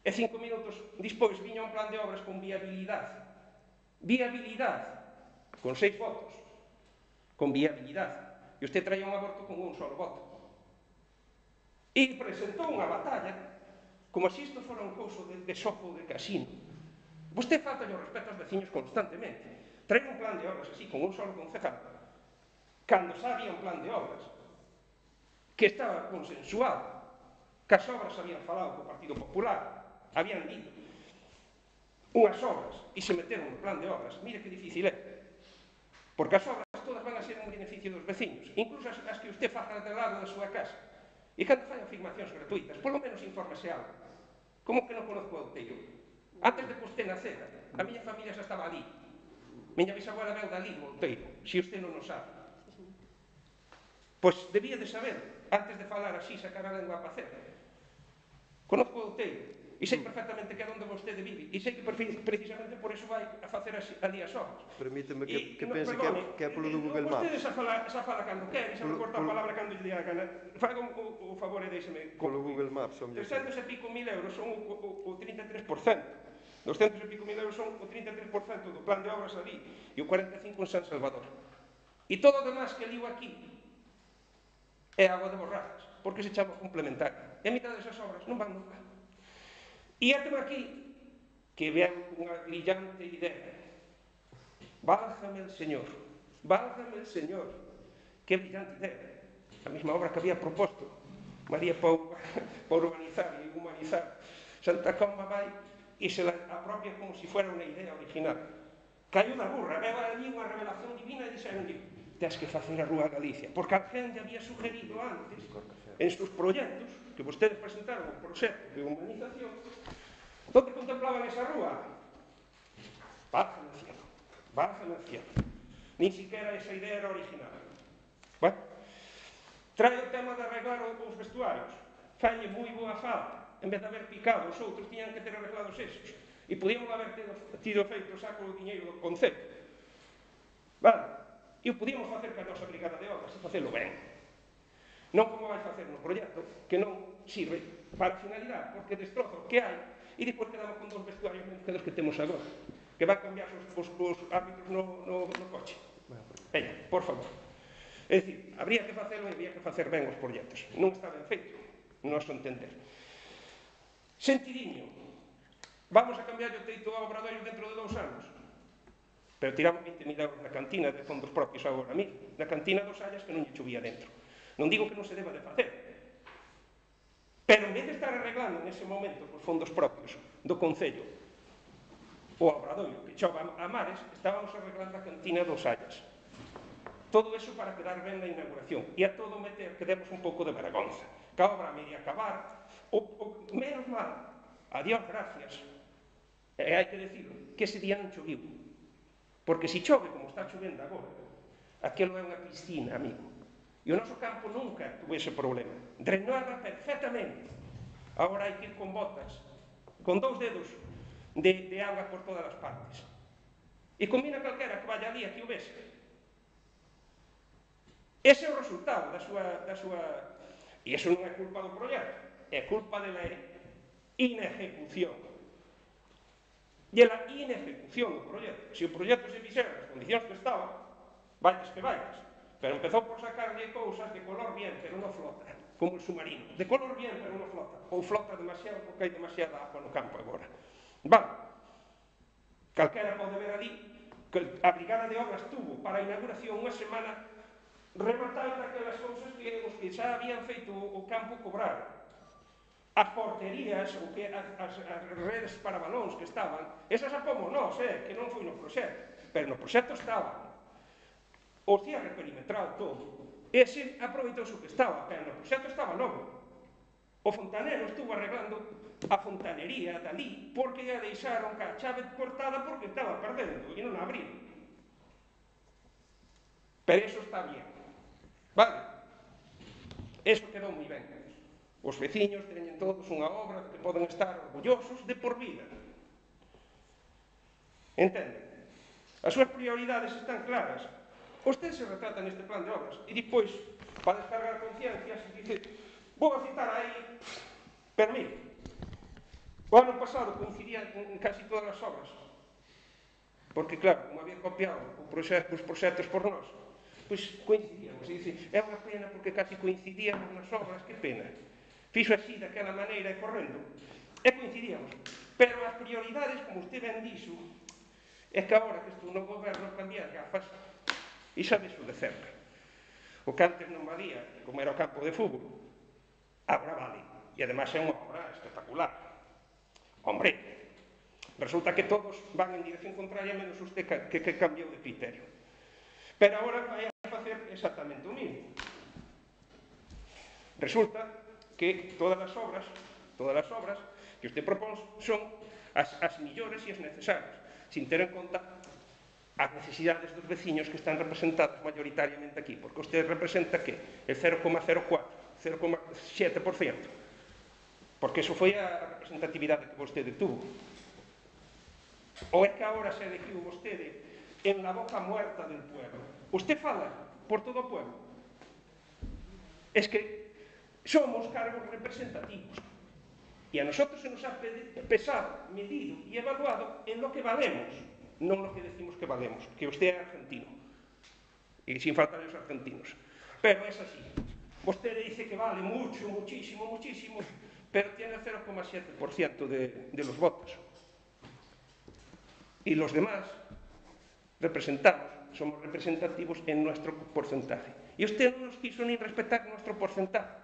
B: E cinco minutos despois viña un plan de obras con viabilidade, viabilidade, con seis votos, con viabilidade, e usted traía un aborto con un solo voto, e presentou unha batalla como se isto fora un couso de, de xogo de casino. Vostede falta o respeto aos veciños constantemente. Trae un plan de obras así, con un solo concejal, cando xa había un plan de obras que estaba consensuado, que as obras habían falado co Partido Popular, habían dito unhas obras e se meteron no plan de obras. Mire que difícil é, porque as obras obras todas van a ser en beneficio dos veciños, incluso as, as que usted faja de lado da súa casa. E cando fai afirmacións gratuitas, polo menos infórmese algo. Como que non conozco o Outeiro? Antes de que usted nacera, a miña familia xa estaba ali. Miña bisabuela veu dali, do Outeiro, se usted non o sabe. Pois debía de saber, antes de falar así, sacar a lengua a pacer. Conozco o Outeiro. E sei perfectamente que é onde vostede vive. E sei que precisamente por eso vai a facer ali as obras.
A: Permíteme que, que
B: no,
A: pense
B: perdone,
A: que, que é polo do Google Maps.
B: Vostede xa fala, xa fala cando quer, xa me corta a palabra cando lle dé a gana. Faga o, o favor e deixeme...
A: Polo Google Maps, son mellor.
B: trescentos e pico mil euros son o, o, o trinta e tres por cento. doscientos e pico mil euros son o trinta e tres por cento do plan de obras ali e o cuarenta e cinco por cento en San Salvador. E todo o demás que ligo aquí é agua de borrajas, porque se chama complementario. E a mitad desas obras non van nunca. E até aquí, que ven unha brillante idea. Válgame el Señor, válgame el Señor. Que brillante idea. A mesma obra que había proposto María Pou para urbanizar e humanizar Santa Comba vai e se la apropia como se fuera unha idea original. Caiu da burra, veu ali unha revelación divina e dixeronlle: tens que facer a Rúa Galicia, porque a gente había sugerido antes en sus proxectos que vostedes presentaron un proxecto de humanización donde contemplaban esa rúa. Válgame el cielo, válgame el cielo. Ni siquiera esa idea era original. Bueno, trae o tema de arreglar os vestuarios. Falle moi boa falta. En vez de haber picado, os outros tiñan que ter arreglados esos. E podíamos haber tido feito saco o diñeiro do Concello. Vale. E o podíamos facer ca nosa brigada de obras e facelo ben. Non como vai facer no proxecto, que non sirve para a finalidade, porque destroza o que hai e depois quedamos con dos vestuarios menos que dos que temos agora, que van cambiar os, os, os árbitros no, no, no coche. Veña, por favor. É dicir, habría que facelo e habría que facer ben os proxectos. Non está ben feito, non noso entender. Sentidiño. Vamos a cambiar o teito ao Obradoiro dentro de dous anos. Pero tiramos veinte mil euros na cantina de fondos propios agora mismo. Na cantina dos Allas que non lle chovía dentro. Non digo que non se deba de facer. Pero en vez de estar arreglando nese momento os fondos propios do Concello o Obradoiro, que chova a mares, estábamos arreglando a cantina dos Allas. Todo eso para quedar ben na inauguración. E a todo meter que demos un pouco de vergonza. Que a obra a media acabar. O, o, menos mal. Adiós, gracias. E hai que decir que ese día non choviu. Porque se chove como está chovendo agora, aquilo é unha piscina, amigo. E o noso campo nunca tuvo ese problema. Drenaba perfectamente. Agora hai que ir con botas, con dous dedos de, de auga por todas as partes. E combina calquera que vaya ali, aquí o ves. Ese é o resultado da súa, da súa... E iso non é culpa do proxecto, é culpa de la inejecución. E a inejecución do proxecto. Se o proxecto se fixera nas condicións que estaba, vaites que vaites. Pero empezou por sacarlle cousas de color bien, pero non flota, como o submarino. De color bien, pero non flota. Ou flota demasiado, porque hai demasiada agua no campo agora. Vale. Calquera pode ver ali que a Brigada de Obras tuvo para a inauguración unha semana rematando aquelas cousas que os que xa habían feito o campo cobrar. As porterías, ou que as, as, as redes para balóns que estaban, esas a pomos nós, eh, que non foi no proxecto, pero no proxecto estaban. O cierre perimetral todo. Ese aproveitou o que estaba, pero no proxecto estaba novo. O fontanero estuvo arreglando a fontanería dali, porque a deixaron ca chave cortada porque estaba perdendo, e non a abriron. Pero eso está bien. Vale? Eso quedou moi ben. Os veciños teñen todos unha obra que poden estar orgullosos de por vida. Entenden? As súas prioridades están claras. Usted se retrata neste plan de obras e depois, para descargar conciencias, dice, vou a citar aí, pero mire, o ano pasado coincidía en casi todas as obras, porque claro, como había copiado os proxectos por nós, pois coincidíamos, e dice, é unha pena porque casi coincidíamos nas obras, que pena. Fixo así, daquela maneira, e correndo, e coincidíamos. Pero as prioridades, como usted ben dixo, é que agora que estou no goberno cambiar gafas, e sabes o de cerca. O que antes non valía, como era o campo de fútbol, agora vale. E ademais é unha obra espectacular. Hombre, resulta que todos van en dirección contraria menos usted que, que cambiou de criterio. Pero agora vai a facer exactamente o mismo. Resulta que todas as obras, todas as obras que usted propón son as, as millores e as necesarias, sin ter en conta as necesidades dos veciños que están representados mayoritariamente aquí, porque usted representa que el cero coma cero catro, cero coma sete por cento, porque eso foi a representatividade que vostede tuvo. Ou é que agora se elegiu vostede en la boca muerta del pueblo? Usted fala por todo o pueblo. Es que somos cargos representativos e a nosotros se nos ha pesado, medido e evaluado en lo que valemos, non lo que decimos que valemos, que usted é argentino e sin faltar os argentinos, pero es así. Usted dice que vale mucho, muchísimo, muchísimo, pero tiene el cero coma siete por ciento de, de los votos y los demás representamos, somos representativos en nuestro porcentaje y usted no nos quiso ni respetar nuestro porcentaje,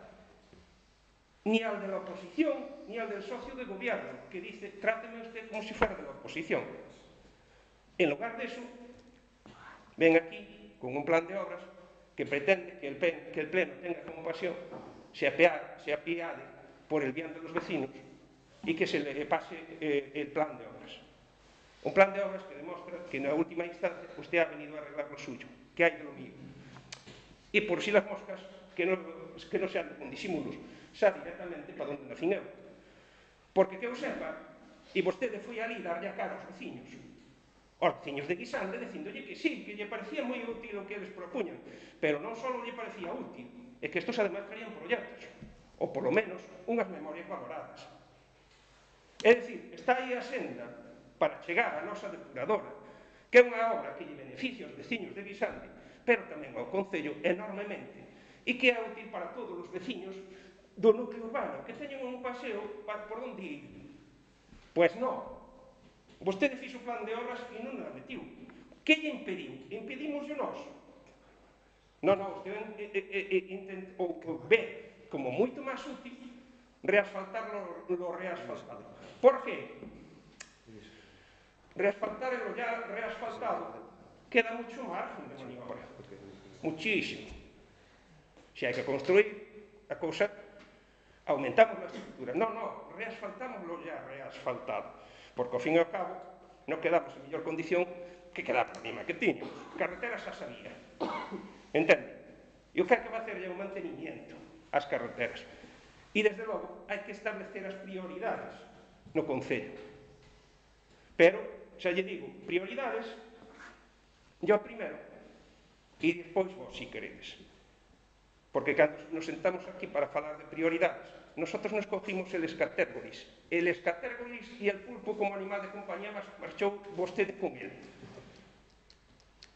B: ni al de la oposición, ni al del socio de gobierno, que dice, tráteme usted como si fuera de la oposición. En lugar de eso, ven aquí con un plan de obras que pretende que el, que el Pleno tenga compasión, se apiade, se apiade por el bien de los vecinos y que se le pase eh, el plan de obras. Un plan de obras que demostra que en la última instancia usted ha venido a arreglar lo suyo, que hay de lo mío. Y por si las moscas, que no, que no sean con disimulos, xa directamente para onde nacín eu. Porque que eu sepa, e vostede foi ali darlle a cara aos veciños, aos veciños de Guisande, dicindolle que sí, que lle parecía moi útil o que eles propuñan, pero non só lle parecía útil, é que estos además traían proxectos, ou polo menos unhas memorias valoradas. É dicir, está aí a senda para chegar á nosa depuradora, que é unha obra que lle beneficia aos veciños de Guisande, pero tamén ao Concello enormemente, e que é útil para todos os veciños do núcleo urbano, que teñen un paseo por onde ir. Pois non. Vostede fixo o plan de obras e non a metiu. Que lle impediu? Impedimoslo nós. Non, non, usted eh, eh, eh, intent, ou, ou ve como moito máis útil reasfaltar lo, lo reasfaltado. Por qué? Reasfaltar lo ya reasfaltado queda mucho margen de maniobra. Muchísimo. Se hai que construir a cousa, aumentamos a estructura. Non, non, reasfaltamos lo ya reasfaltado. Porque, ao fin e ao cabo, non quedamos en mellor condición que quedamos a mesma que tiñamos. Carreteras xa sabía. Entende? E o que hai que facer é un mantenimiento ás carreteras. E, desde logo, hai que establecer as prioridades no Concello. Pero, xa lle digo, prioridades, yo primeiro, e despois vos, si queredes. Porque cando nos sentamos aquí para falar de prioridades, nosotros nos cogimos el escatérgolis. El escatérgolis e el pulpo como animal de compañía marchou vostede con ele.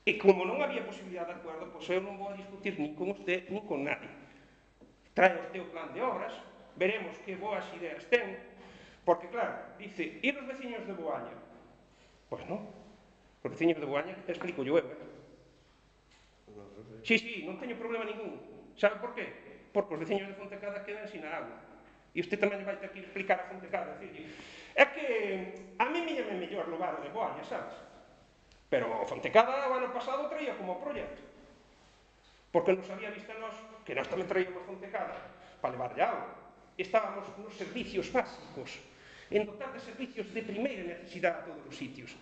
B: E como non había posibilidade de acuerdo, pois eu non vou a discutir nin con usted, nin con nadie. Trae usted o plan de obras, veremos que boas ideas ten, porque claro, dice, e os veciños de Boaña? Pois non, os veciños de Boaña, explico yo eu, eh? Sí, sí, non teño problema ningún. Sabe por qué? Porque os veciños de Fontecada quedan sin agua. E usted tamén vai ter que explicar a Fontecada. É que a mí me llame mellor lugar o de Boaña, sabes? Pero Fontecada o ano pasado traía como proxecto. Porque nos había visto nós, que nós tamén traíamos Fontecada, para levar agua. Estábamos nos servicios básicos, en dotar de servicios de primeira necesidade a todos os sitios.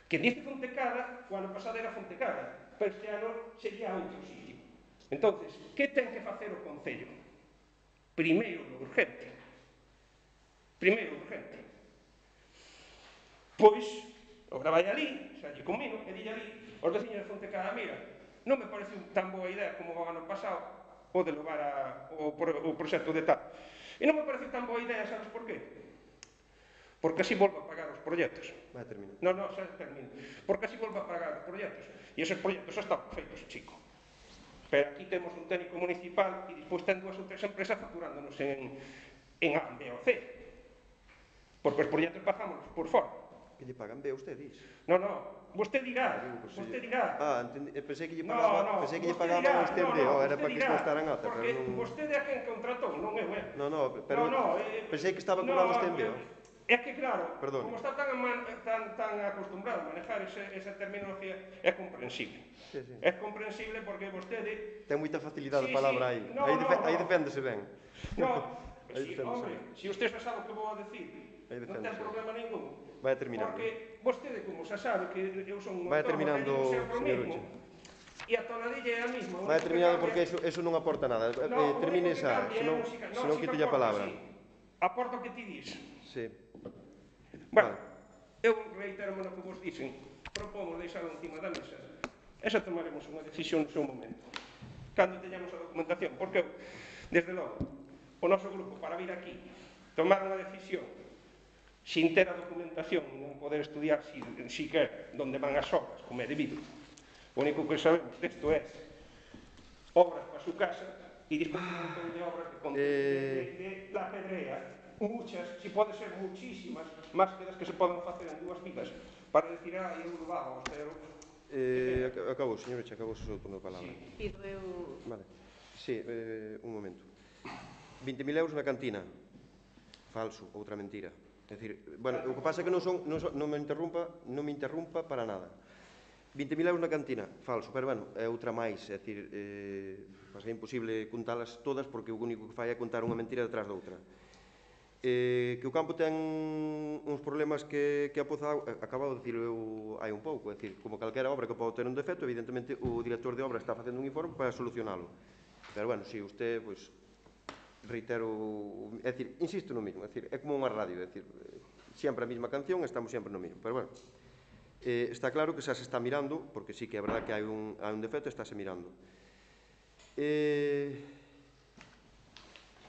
B: Que dice Fontecada, o ano pasado era Fontecada, pero este ano sería outro sitio. Entonces, que ten que facer o Concello? Primeiro, lo urgente. Primeiro, lo urgente. Pois, agora vai ali, xa lle comino, e dille ali, os veciños de Fontecada, mira, non me parece tan boa idea como o ano pasado, o de levar a, o, o proxecto de tal. E non me parece tan boa idea, sabes por qué? Porque así volvo a pagar os proxectos.
A: Vai, termina.
B: Non, non, xa termino. Porque así volvo a pagar os proxectos. E esos proxectos xa están feitos, chico. Pero aquí temos un técnico municipal e despois ten dúas ou tres empresas facturándonos en, en A, B ou C. Porque os proxectos pagámonos por fora.
A: Que lle pagan B a usted, dis?
B: Non, non, vostede dirá, vostede dirá.
A: Ah, entendi, pensei que lle
B: No,
A: pagaba,
B: no,
A: pensei que lle
B: vostede
A: pagaba
B: dirá,
A: a usted
B: no,
A: B,
B: no,
A: oh, era
B: vostede
A: para que
B: dirá,
A: isto estara en ata,
B: porque
A: pero non...
B: vostede é quen contratou, non eu, eh?
A: No, no, pero
B: No, no, eh,
A: pensei que estaba
B: no,
A: cobrando usted en B,
B: eh,
A: oh.
B: É que, claro,
A: Perdón.
B: como está tan, tan, tan acostumbrado a manejar ese, esa terminología, é comprensible.
A: Sí, sí.
B: É comprensible porque vostede...
A: Ten moita facilidade
B: Sí,
A: de palabra
B: sí.
A: aí.
B: No,
A: aí,
B: no,
A: defe-
B: no.
A: aí deféndese ben.
B: No,
A: Aí
B: si,
A: deféndese
B: hombre,
A: ben.
B: si usted xa sabe o que vou a decir,
A: Aí
B: non ten
A: deféndese.
B: problema ningún.
A: Vai terminando.
B: Porque vostede, como xa sabe, que eu son un
A: Vai
B: autónomo,
A: terminando,
B: teño sempre o
A: señor
B: mismo.
A: Uche.
B: E a tonadilla é a misma.
A: Vai terminando porque eso, eso non aporta nada.
B: No,
A: eh, termine
B: o único que
A: esa,
B: cambia é a
A: senón,
B: música. No,
A: senón
B: si
A: quito
B: me
A: a
B: aporta,
A: palabra.
B: sí. Aporta o que ti dis.
A: Sí.
B: Bueno,
A: Vale.
B: eu reitero no que vos dixen, propomos deixalo encima da mesa e xa tomaremos unha decisión no seu momento, cando teñamos a documentación, porque eu, desde logo, o noso grupo para vir aquí, tomar unha decisión sin ter a documentación, non poder estudiar si, si quer onde van as obras, como é debido. O único que sabemos desto é obras para a súa casa e despois un montón de obras de, de, de, de la pedrea, muchas, si pode ser muchísimas, máis que das que se poden facer en dúas vidas, para decir, ah, eu lo vamos, pero...
A: Eh, ac- acabou, señor Eche, acabou o seu turno de palabra.
B: Sí.
C: Pido eu...
A: Vale. Sí, eh, un momento. vinte mil euros na cantina. Falso, outra mentira. É dicir, bueno, o que pasa é que non son, non, son, non me interrumpa, non me interrumpa para nada. vinte mil euros na cantina, falso, pero bueno, é outra máis, é dicir, eh, é imposible contalas todas porque o único que fai é contar unha mentira detrás da outra. Eh, que o campo ten uns problemas que, que a Poza acabou de dicir eu hai un pouco, é dicir, como calquera obra que pode ter un defecto, evidentemente o director de obra está facendo un informe para solucionalo. Pero bueno, si usted, pois, reitero, é dicir, insisto no mismo, é dicir, é como unha radio, é dicir, sempre a mesma canción, estamos sempre no mismo, pero bueno, eh, está claro que xa se está mirando, porque sí que é verdad que hai un, hai un defecto, estáse mirando. Eh,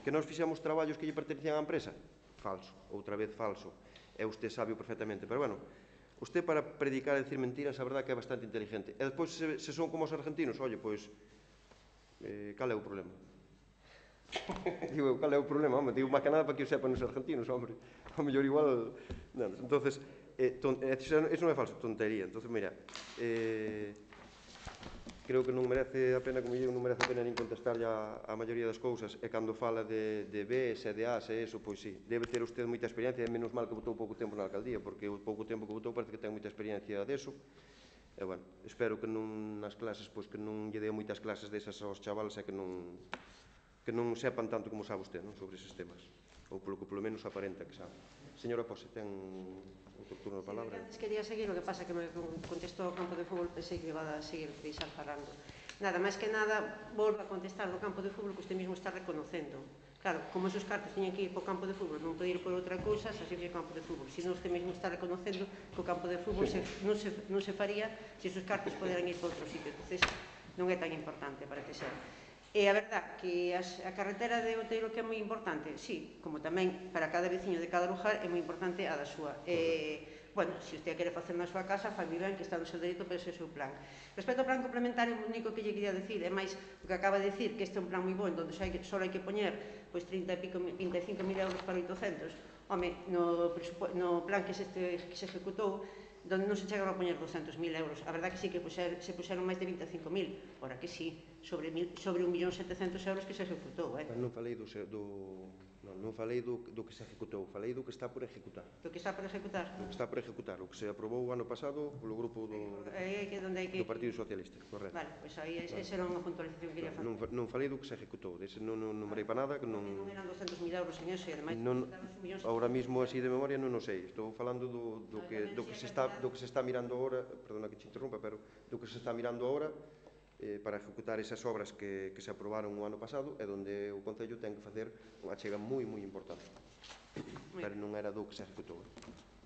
A: que nós fixemos traballos que lle pertencían á empresa? Falso, outra vez falso, e usted sabe perfectamente, pero bueno, usted para predicar e decir mentiras, a verdad que é bastante inteligente, e despois se, se son como os argentinos, oye, pois, eh, cal é o problema? Digo, cal é o problema? Home, digo, máis que nada para que o sepan os argentinos, hombre. O mellor igual... Non, entonces, eh, ton, eh, eso non é falso, tontería. Entonces, mira, eh, creo que non merece a pena, como digo, non merece a pena nin contestar a, a maioría das cousas. E cando fala de, de Bs e de As e eso, pois sí, debe ter usted moita experiencia, e menos mal que botou pouco tempo na alcaldía, porque o pouco tempo que botou parece que ten moita experiencia deso. E, bueno, espero que non nas clases, pois que non lle dea moitas clases desas aos chavales e que non... que non sepan tanto como sabe usted, non, sobre eses temas, ou polo que polo menos aparenta que sabe. Señora Pose, ten outro turno de palabra.
C: Sí, quería seguir, o que pasa que me contestou o campo de fútbol, pensei que iba a seguir deixar falando. Nada, máis que nada, volvo a contestar do campo de fútbol que usted mesmo está reconocendo. Claro, como esos cartos tiñen que ir para o campo de fútbol, non pode ir por outra cousa, xa se fixo campo de fútbol. Se non, usted mesmo está reconocendo que o campo de fútbol se, non, se, non se faría se esos cartos poderan ir para outro sitio. Entonces, non é tan importante para que ser. E a verdad que as, a carretera de Outeiro que é moi importante, sí, como tamén para cada veciño de cada lugar é moi importante a da súa. E, bueno, se usted quere facer na súa casa, fai ben que está no seu dereito, pero ese é o seu plan. Respecto ao plan complementario, o único que lle quería decir é máis o que acaba de decir, que este é un plan moi bon, onde só hai que, só hai que poñer pois, trinta e cinco mil euros para oitocentos. Home, no, no plan que se, este, que se ejecutou, donde non se chegaron a poñer douscentos mil euros. A verdad que sí que puxer, se puxeron máis de vinte e cinco mil, ora que sí, sobre, mil, sobre un millón setecentos euros que se ejecutou, eh?
A: Non falei do, do, non, non falei do, do que se ejecutou, falei do que está por ejecutar.
C: Do que está por ejecutar?
A: Do que está por ejecutar, o que se aprobou o ano pasado polo grupo do,
C: é que donde hai que...
A: do Partido Socialista, correcto.
C: Vale, pois aí esa era unha puntualización que quería facer.
A: Non, non falei do que se ejecutou, dese non, non numerei para nada, que non...
C: Non eran douscentos mil euros en eso, e ademais...
A: Non, ahora mismo así de memoria non o sei, estou falando do, do, que, do, que se está, do que se está mirando agora, perdona que te interrumpa, pero do que se está mirando agora eh, para ejecutar esas obras que, que se aprobaron o ano pasado e onde o Concello ten que facer unha chega moi, moi importante. Pero non era do que se executou.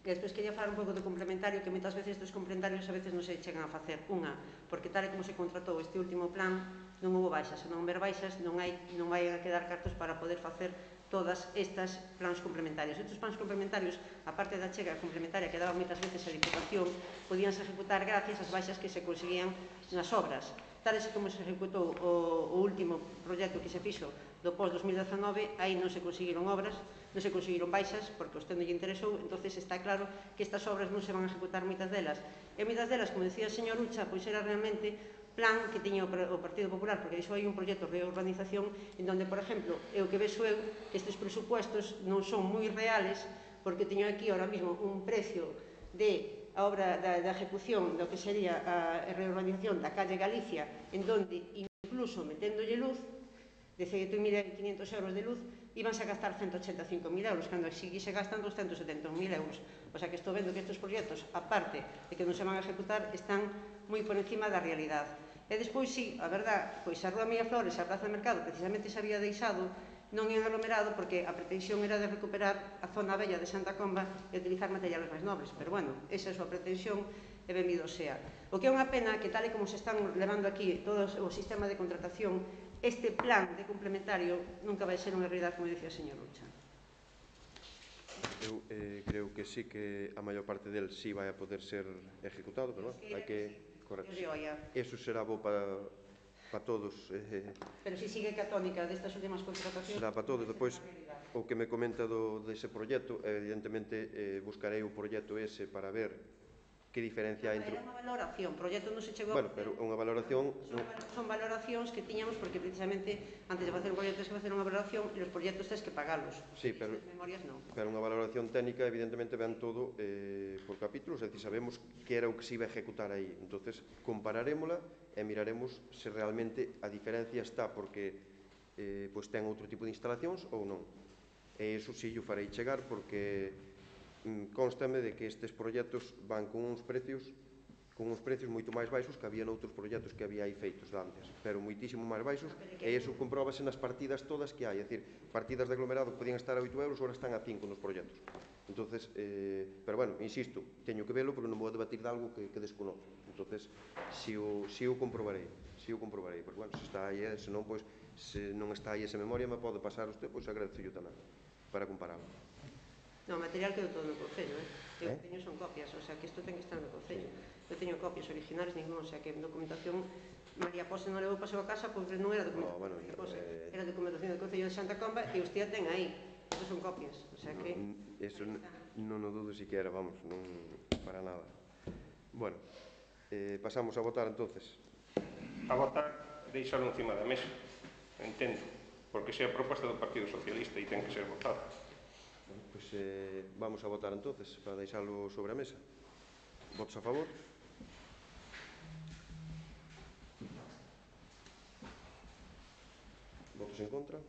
C: E despois quería falar un pouco do complementario, que moitas veces dos complementarios a veces non se chegan a facer. Unha, porque tal e como se contratou este último plan, non houve baixas, se non houver baixas non hai, non vai a quedar cartos para poder facer todas estas plans complementarios. Estes plans complementarios, a parte da chega complementaria que daba moitas veces a Diputación, podíanse ejecutar gracias ás baixas que se conseguían nas obras. Tal e como se ejecutou o, o último proxecto que se fixo do pós dos mil dezanove, aí non se conseguiron obras, non se conseguiron baixas, porque os non lle interesou, entonces está claro que estas obras non se van a ejecutar moitas delas. E moitas delas, como decía o señor Ucha, pois era realmente plan que tiña o Partido Popular, porque iso hai un proxecto de reorganización en donde, por exemplo, é o que vexo eu, que estes presupuestos non son moi reales, porque teño aquí ahora mismo un precio de a obra da, da ejecución do que sería a reurbanización da calle Galicia, en donde incluso meténdolle luz, de dezaoito mil quinhentos euros de luz, íbanse a gastar ciento ochenta e cinco mil euros, cando aquí se gastan doscientos setenta e un mil euros. O sea que estou vendo que estes proxectos, aparte de que non se van a ejecutar, están moi por encima da realidade. E despois, sí, a verdad, pois a Rúa Mía Flores e a Praza do Mercado precisamente se había deixado non en aglomerado porque a pretensión era de recuperar a zona bella de Santa Comba e utilizar materiales máis nobres. Pero, bueno, esa é a súa pretensión e benvido sea. O que é unha pena que, tal e como se están levando aquí todo o sistema de contratación, este plan de complementario nunca vai ser unha realidade, como dicía o señor Lucha.
A: Eu eh, creo que sí que a maior parte del sí vai a poder ser ejecutado, pero bueno, hai que... Correcto. Eso será bo para... para todos. Eh,
C: Pero si sigue que a tónica destas últimas contratacións...
A: Será para todos. Depois, o que me comenta do, dese proxecto, evidentemente, eh, buscarei o proxecto ese para ver que diferencia hai entre...
C: Era unha valoración, o proxecto non se chegou...
A: Bueno, pero unha valoración...
C: Son, son valoracións que tiñamos porque precisamente antes de facer un proxecto tens que facer unha valoración e os proxectos tens que pagalos.
A: Sí, pero,
C: memorias non.
A: Pero unha valoración técnica evidentemente ven todo eh, por capítulos, é dicir, sabemos que era o que se iba a ejecutar aí. Entonces, compararémola e miraremos se realmente a diferencia está porque eh, pois ten outro tipo de instalacións ou non. E iso sí, o farei chegar porque mm, constame de que estes proxectos van con uns precios con uns precios moito máis baixos que había noutros proxectos que había aí feitos antes, pero moitísimo máis baixos, e iso compróbase nas partidas todas que hai, é dicir, partidas de aglomerado que podían estar a oito euros, agora están a cinco nos proxectos. Entonces, eh, pero bueno, insisto, teño que velo porque non vou a debatir de algo que, que desconozo. Entonces, si o, si o comprobarei, si o comprobarei, porque bueno, se está aí, eh, se non, pois, se non está aí esa memoria, me pode pasar usted, pois agradezo yo tamén, para compararlo.
C: No, o material quedou todo no Concello, eh? Eu
A: eh?
C: teño son copias, o sea, que isto ten que estar no Concello. Eu teño copias originales, ningún, o sea, que documentación María Pose non levou paseo a casa, pois non era documentación
A: oh, bueno,
C: de María Pose,
A: eh...
C: era documentación do Concello de Santa Comba e usted ten aí. Isto son copias, o sea que...
A: No, eso non o dudo siquiera, vamos, non para nada. Bueno, eh, pasamos a votar entonces.
B: A votar, deixalo encima da mesa, entendo, porque sea a proposta do Partido Socialista e ten que ser votada.
A: Bueno, pois eh, vamos a votar entonces, para deixalo sobre a mesa. Votos a favor? Votos en contra?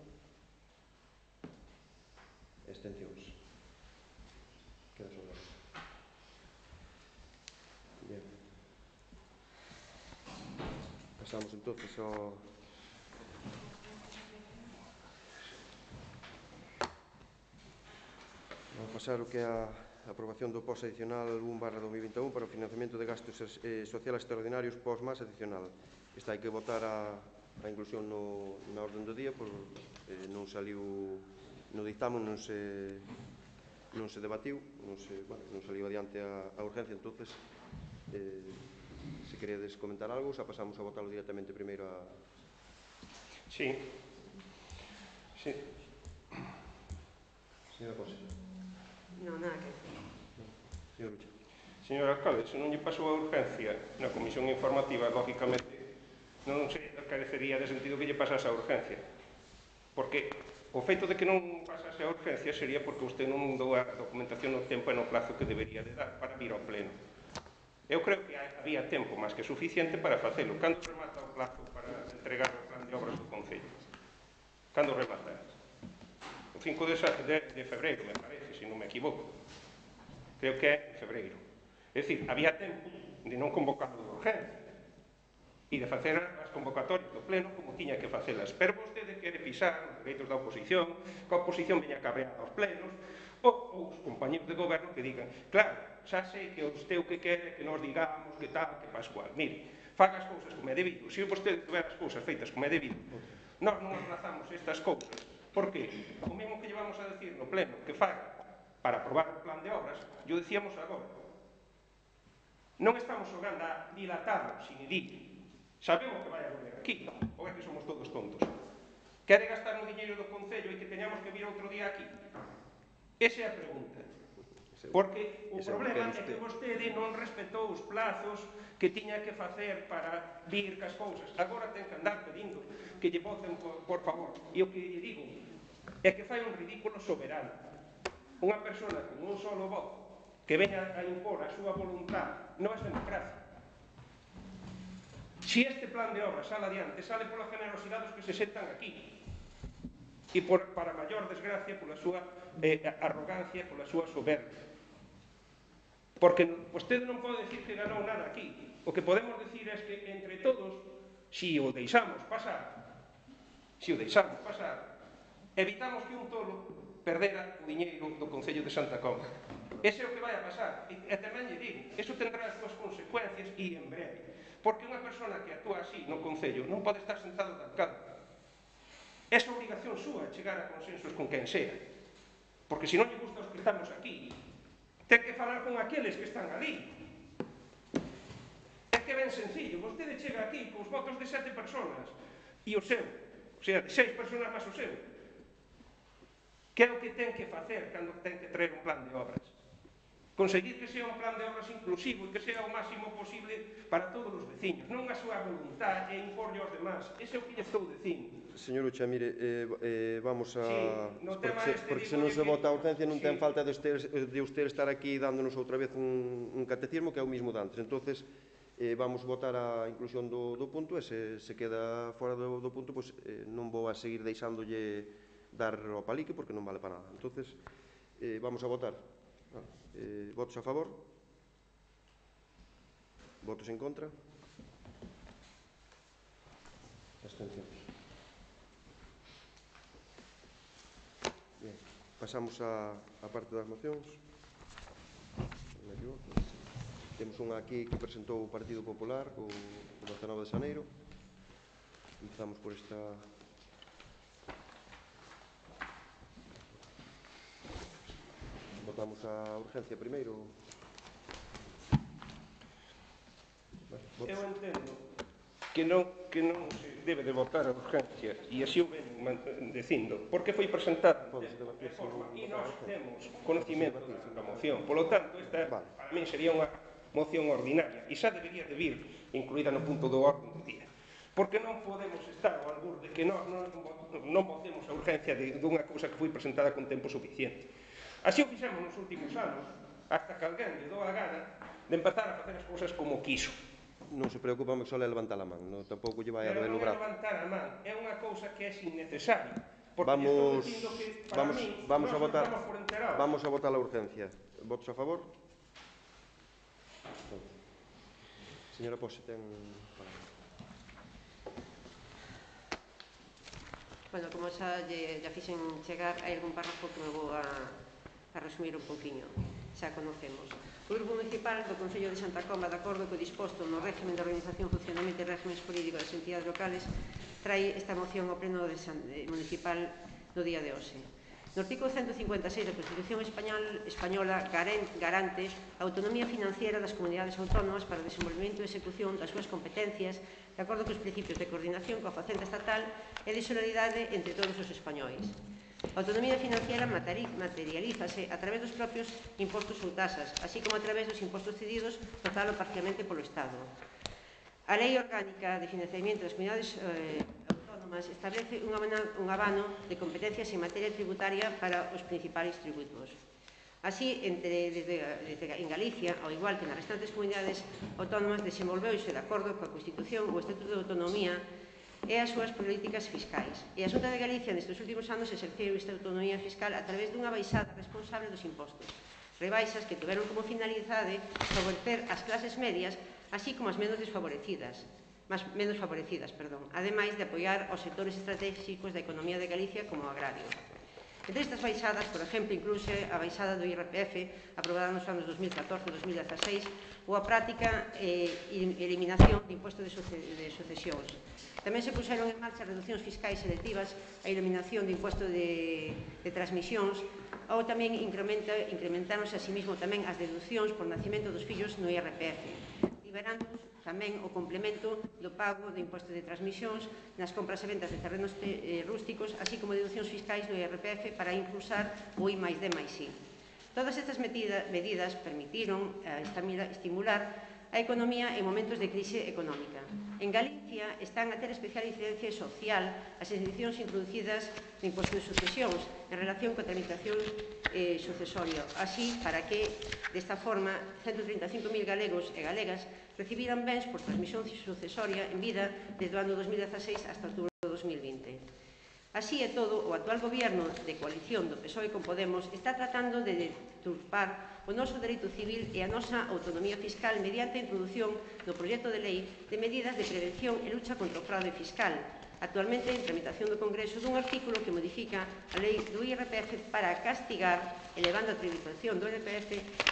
A: Abstencións? Queda sobre a mesa. Bien. Pasamos entonces ao... Vamos a pasar o que é a aprobación do P O S adicional un barra dos mil vinte e un para o financiamento de gastos eh, sociales extraordinarios P O S máis adicional. Esta hai que votar a, a inclusión no, na orden do día, por eh, non saliu no dictamen, non se non se debatiu, non, se, bueno, non saliu adiante a, a urgencia, entonces eh, se queredes comentar algo, xa pasamos a votarlo directamente primeiro a...
B: Sí. Sí.
A: Señora Cosa.
C: Non, nada que...
A: Señor Lucha.
B: Señor alcalde, se non lle pasou a urgencia na comisión informativa, lógicamente, non se carecería de sentido que lle pasase a urgencia. Porque o feito de que non pasase a urgencia sería porque usted non dou a documentación no tempo e no plazo que debería de dar para vir ao pleno. Eu creo que había tempo máis que suficiente para facelo. Cando remata o plazo para entregar o plan de obras do Concello? Cando remata? O cinco de febreiro, me parece, se non me equivoco. Creo que é en febreiro. É dicir, había tempo de non convocarlo de urgencia e de facer as convocatorias do pleno como tiña que facelas. Pero vostede quere pisar os dereitos da oposición, que a oposición veña cabreada aos plenos, ou os compañeros de goberno que digan, claro, xa sei que usted o que quere que nos digamos que tal, que pascual. Mire, faga as cousas como é debido. Se vostede tuver as cousas feitas como é debido, nós non aplazamos estas cousas. Por que? O mesmo que llevamos a decir no pleno que faga para aprobar o plan de obras, yo decíamos agora. Non estamos xogando a dilatarlo, sin idir. Sabemos que vai a volver aquí, ou é que somos todos tontos. Quere gastar o diñeiro do Concello e que teñamos que vir outro día aquí? Esa é a pregunta. Porque o problema é que vostede non respetou os plazos que tiña que facer para vir cas cousas. Agora ten que andar pedindo que lle voten por, por favor. E o que lle digo é que fai un ridículo soberano. unha persona con un solo voto que veña a impor a súa voluntad non é democracia. Si este plan de obra sale adiante, sale pola generosidade dos que se sentan aquí e por, para maior desgracia pola súa eh, arrogancia, pola súa soberbia. Porque vostede non pode decir que ganou nada aquí. O que podemos decir é que entre todos, si o deixamos pasar, si o deixamos pasar, evitamos que un tolo perdera o diñeiro do Concello de Santa Comba. Ese é o que vai a pasar. E, e tamén lle digo, eso tendrá as súas consecuencias e en breve. Porque unha persona que actúa así no Concello non pode estar sentado de alcalde. É a obrigación súa chegar a consensos con quen sea. Porque se non lle gusta os que estamos aquí, ten que falar con aqueles que están ali. É que ben sencillo, vostede chega aquí cos votos de sete personas e o seu, o sea, de seis personas máis o seu. Que é o que ten que facer cando ten que traer un plan de obras? Conseguir que sea un plan de obras inclusivo e que sea o máximo posible para todos os veciños, non a súa voluntad e imporle aos demás. Ese é o que lle estou dicindo.
A: Señor Ucha, mire, eh, eh, vamos a...
B: Sí, no
A: porque
B: tema
A: se,
B: este
A: porque se
B: digo
A: non se
B: que-
A: vota a urgencia non
B: sí.
A: ten falta de usted, de usted estar aquí dándonos outra vez un, un catecismo que é o mismo de antes. Entonces, eh, vamos votar a inclusión do, do punto e se, se queda fora do, do punto, pues, eh, non vou a seguir deixándolle dar o palique porque non vale para nada. Entonces, eh, vamos a votar. Eh, votos a favor? Votos en contra? Abstencións. Bien, pasamos a, a parte das mocións. Non me equivoco. Temos unha aquí que presentou o Partido Popular co, co dezenove de xaneiro. Empezamos por esta... Votamos a urgencia primeiro.
B: Eu entendo que non, que non se debe de votar a urgencia e así o ven dicindo, porque foi presentada de forma e nós temos conocimento da moción. Polo tanto, esta para mí sería unha moción ordinaria e xa debería de vir incluída no punto do orden do día. Porque non podemos estar ao albur de que nós non, non votemos a urgencia de, dunha cousa que foi presentada con tempo suficiente. Así o fixemos nos últimos anos, hasta que alguén lle dou a gana de empezar a facer as cousas como quiso.
A: Non se preocupa, me só le levantar a man, non, tampouco lle vai a
B: Pero
A: doer o
B: non é
A: brazo.
B: levantar a man, é unha cousa que é innecesaria. Porque
A: Vamos,
B: estou dicindo que, para
A: vamos,
B: mí,
A: vamos
B: nós
A: a votar,
B: estamos por enterados.
A: vamos a votar a urgencia. Votos a favor? Señora Pose, ten...
C: Bueno, como xa lle, lle fixen chegar, hai algún párrafo que me vou a, a resumir un poquinho, xa conocemos. O Grupo Municipal do Concello de Santa Comba, de acordo co disposto no régimen de organización, funcionamento e régimes políticos das entidades locales, trae esta moción ao pleno de San, de, municipal no día de hoxe. No artículo ciento cincuenta e seis da Constitución Español, Española garante a autonomía financiera das comunidades autónomas para o desenvolvemento e execución das súas competencias de acordo cos principios de coordinación coa facenda estatal e de solidaridade entre todos os españois. A autonomía financiera materialízase a través dos propios impostos ou tasas, así como a través dos impostos cedidos total ou parcialmente polo Estado. A Lei Orgánica de Financiamento das Comunidades eh, Autónomas establece un abano, un abano de competencias en materia tributaria para os principais tributos. Así, entre, desde, desde en Galicia, ao igual que nas restantes comunidades autónomas, desenvolveuse de acordo coa Constitución o Estatuto de Autonomía e as súas políticas fiscais. E a Xunta de Galicia nestes últimos anos exerceu esta autonomía fiscal a través dunha baixada responsable dos impostos. Rebaixas que tiveron como finalidade favorecer as clases medias, así como as menos desfavorecidas, más, menos favorecidas, perdón, ademais de apoiar os sectores estratégicos da economía de Galicia como o agrario. Entre estas baixadas, por exemplo, inclúse a baixada do I R P F aprobada nos anos dos mil catorce e dos mil dieciséis ou a práctica e eh, eliminación de imposto de, suce de sucesións. Tamén se puxeron en marcha reduccións fiscais selectivas, a eliminación do imposto de, de transmisións ou tamén incrementáronse a sí mesmo tamén as deduccións por nacimento dos fillos no I R P F, liberando tamén o complemento do pago do imposto de transmisións nas compras e ventas de terrenos eh, rústicos, así como deduccións fiscais do I R P F para impulsar o I máis D máis I. Todas estas medida, medidas permitiron eh, estimular a economía en momentos de crise económica. En Galicia están a ter especial incidencia social as exencións introducidas no imposto de sucesións en relación coa tramitación eh, sucesoria. Así, para que, desta forma, ciento trinta e cinco mil galegos e galegas recibiran bens por transmisión sucesoria en vida desde o ano dos mil dezaseis hasta outubro de dos mil vinte. Así e todo, o actual goberno de coalición do P S O E con Podemos está tratando de deturpar o noso dereito civil e a nosa autonomía fiscal mediante a introdución do proxecto de lei de medidas de prevención e lucha contra o fraude fiscal, actualmente en tramitación do Congreso dun artículo que modifica a lei do I R P F para castigar, elevando a tributación do I R P F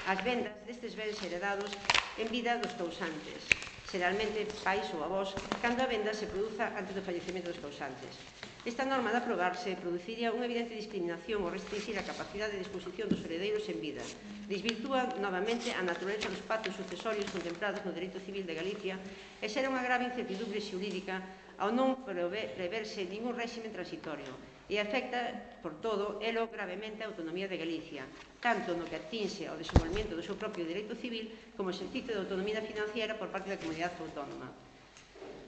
C: ás vendas destes bens heredados en vida dos causantes, xeralmente pais ou avós, cando a venda se produza antes do fallecemento dos causantes. Esta norma, de aprobarse, produciría unha evidente discriminación ou restringir a capacidade de disposición dos heredeiros en vida. Desvirtúa novamente a natureza dos pactos sucesorios contemplados no dereito civil de Galicia e xera unha grave incertidumbre xurídica ao non preverse ningún réxime transitorio e afecta, por todo, elo gravemente a autonomía de Galicia, tanto no que atinxe ao desenvolvemento do seu propio dereito civil como o exercicio de autonomía financiera por parte da comunidade autónoma.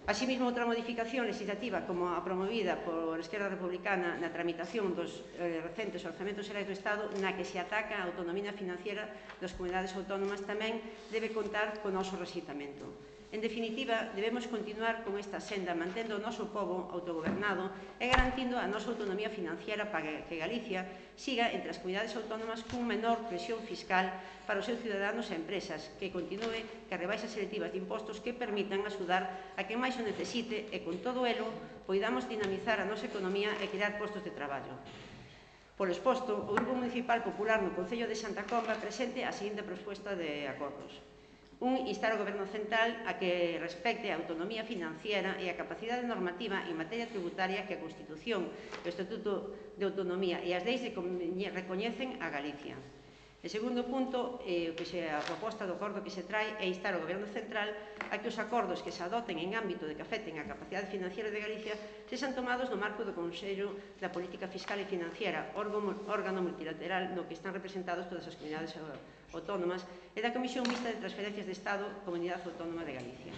C: Asimismo, outra modificación legislativa como a promovida por Esquerda Republicana na tramitación dos eh, recentes orzamentos xerais do Estado na que se ataca a autonomía financiera das comunidades autónomas tamén debe contar co noso rexeitamento. En definitiva, debemos continuar con esta senda mantendo o noso pobo autogobernado e garantindo a nosa autonomía financiera para que Galicia siga entre as comunidades autónomas cun menor presión fiscal para os seus ciudadanos e empresas, que continue que rebaixas selectivas de impostos que permitan axudar a quen máis o necesite e, con todo elo, poidamos dinamizar a nosa economía e crear postos de traballo. Por exposto, o Grupo Municipal Popular no Concello de Santa Comba presente a seguinte proposta de acordos. Un, instar ao Goberno Central a que respecte a autonomía financiera e a capacidade normativa en materia tributaria que a Constitución, o Estatuto de Autonomía e as leis recoñecen a Galicia. En segundo punto, eh, o que se, a proposta do acordo que se trae é instar ao Goberno Central a que os acordos que se adoten en ámbito de que afecten a capacidade financiera de Galicia sexan tomados no marco do Consello da Política Fiscal e Financiera, órgano multilateral no que están representados todas as comunidades autónomas e da Comisión Mixta de Transferencias de Estado, Comunidade Autónoma de Galicia.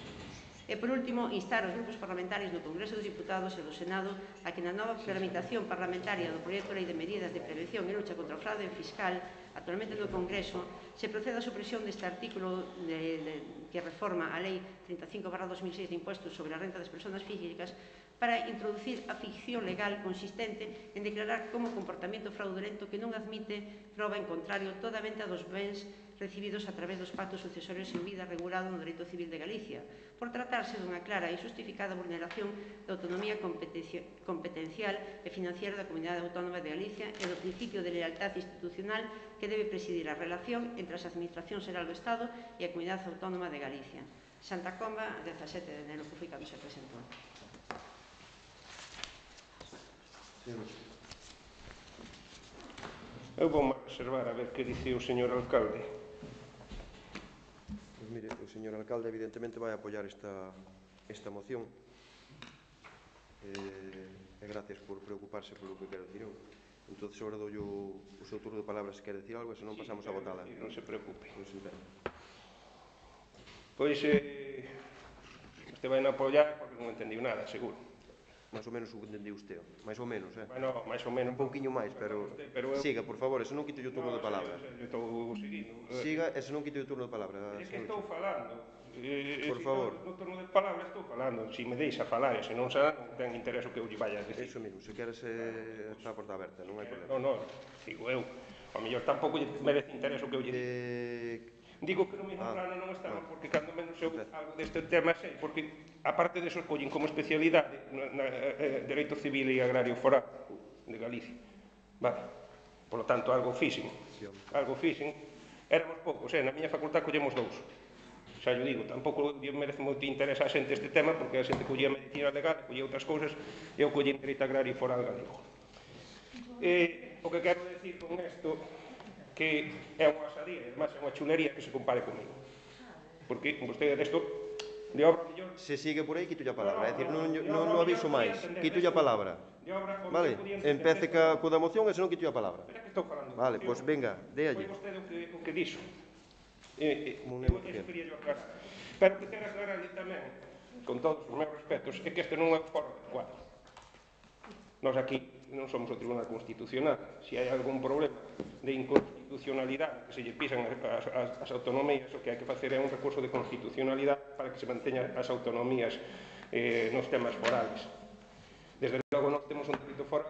C: E, por último, instar aos grupos parlamentarios no Congreso dos Diputados e do Senado a que na nova tramitación parlamentaria do proxecto de lei de medidas de prevención e lucha contra o fraude fiscal actualmente no Congreso se proceda a supresión deste artículo de, de, que reforma a Lei trinta e cinco barra dos mil seis de impuestos sobre a renta das persoas físicas para introducir a ficción legal consistente en declarar como comportamento fraudulento que non admite prova en contrario toda a venta dos bens recibidos a través dos pactos sucesorios en vida regulado no dereito civil de Galicia, por tratarse dunha clara e justificada vulneración da autonomía competencial e financiera da Comunidade Autónoma de Galicia e do principio de lealtad institucional que debe presidir a relación entre as administracións xeral do Estado e a Comunidade Autónoma de Galicia. Santa Comba, dezasete de enero, que foi cando se presentou.
B: Eu vou reservar a ver que dice o señor alcalde.
A: Pois mire, o señor alcalde evidentemente vai apoiar esta, esta moción. Eh, e gracias por preocuparse polo que quero dicir eu. Entón, agora dou o, o seu turno de palabra se quer decir algo, e se non pasamos a votala.
B: Non se preocupe.
A: Pois,
B: pois eh, este vai non apoiar porque non entendiu nada, seguro.
A: máis ou menos o que entendiu usted, máis ou menos, eh?
B: Bueno, máis ou menos.
A: Un pouquiño máis, pero... pero eu... Siga, por favor, e se non quito o turno
B: no,
A: de palabra.
B: Eu estou seguindo.
A: Siga, e se non quito o turno de palabra.
B: É que estou falando. Eh,
A: por favor.
B: No turno de palabra estou falando. Se me deixa falar, e se non será, non ten interés o que eu lle vaya a decir.
A: Eso mesmo, se queres eh, está a porta aberta, non hai problema.
B: Non, non, digo eu. A mellor tampouco lle merece interés o que eu lle digo.
A: Eh...
B: Digo que no mesmo ah, plano non estamos, porque cando menos eu algo deste tema sei, porque aparte de eso collen como especialidade na, na, eh, Dereito Civil e Agrario Foral de Galicia. Vale. Por lo tanto, algo fixen. Algo fixen. Éramos poucos, eh? Na miña facultad collemos dous. Xa yo digo, tampouco merece moito interés a xente este tema, porque a xente collía medicina legal, collía outras cousas, e eu collía Dereito Agrario Foral galego. Eh, o que quero decir con isto que é unha asadía, e además é unha chulería que se compare comigo. Porque vostede desto de obra mellor...
A: Se sigue por aí, quito a palabra. É dicir, non, non, non aviso máis. Quito a palabra. Vale? Empece ca, co da moción e se non quito a palabra.
B: Espera que estou falando.
A: Vale, pois venga, déalle.
B: Foi vostede o que, o que dixo. Eh, eh,
A: Como un
B: eu
A: neno
B: eso
A: pequeno.
B: quería yo aclarar. Pero o que quero aclararlle tamén, con todos os meus respetos, é que este non é o foro adecuado. Nós aquí non somos o Tribunal Constitucional. Se hai algún problema de inconstitucionalidade que se lle pisan as, as, as autonomías, o que hai que facer é un recurso de constitucionalidade para que se manteñan as autonomías eh, nos temas forales. Desde logo nós temos un dereito foral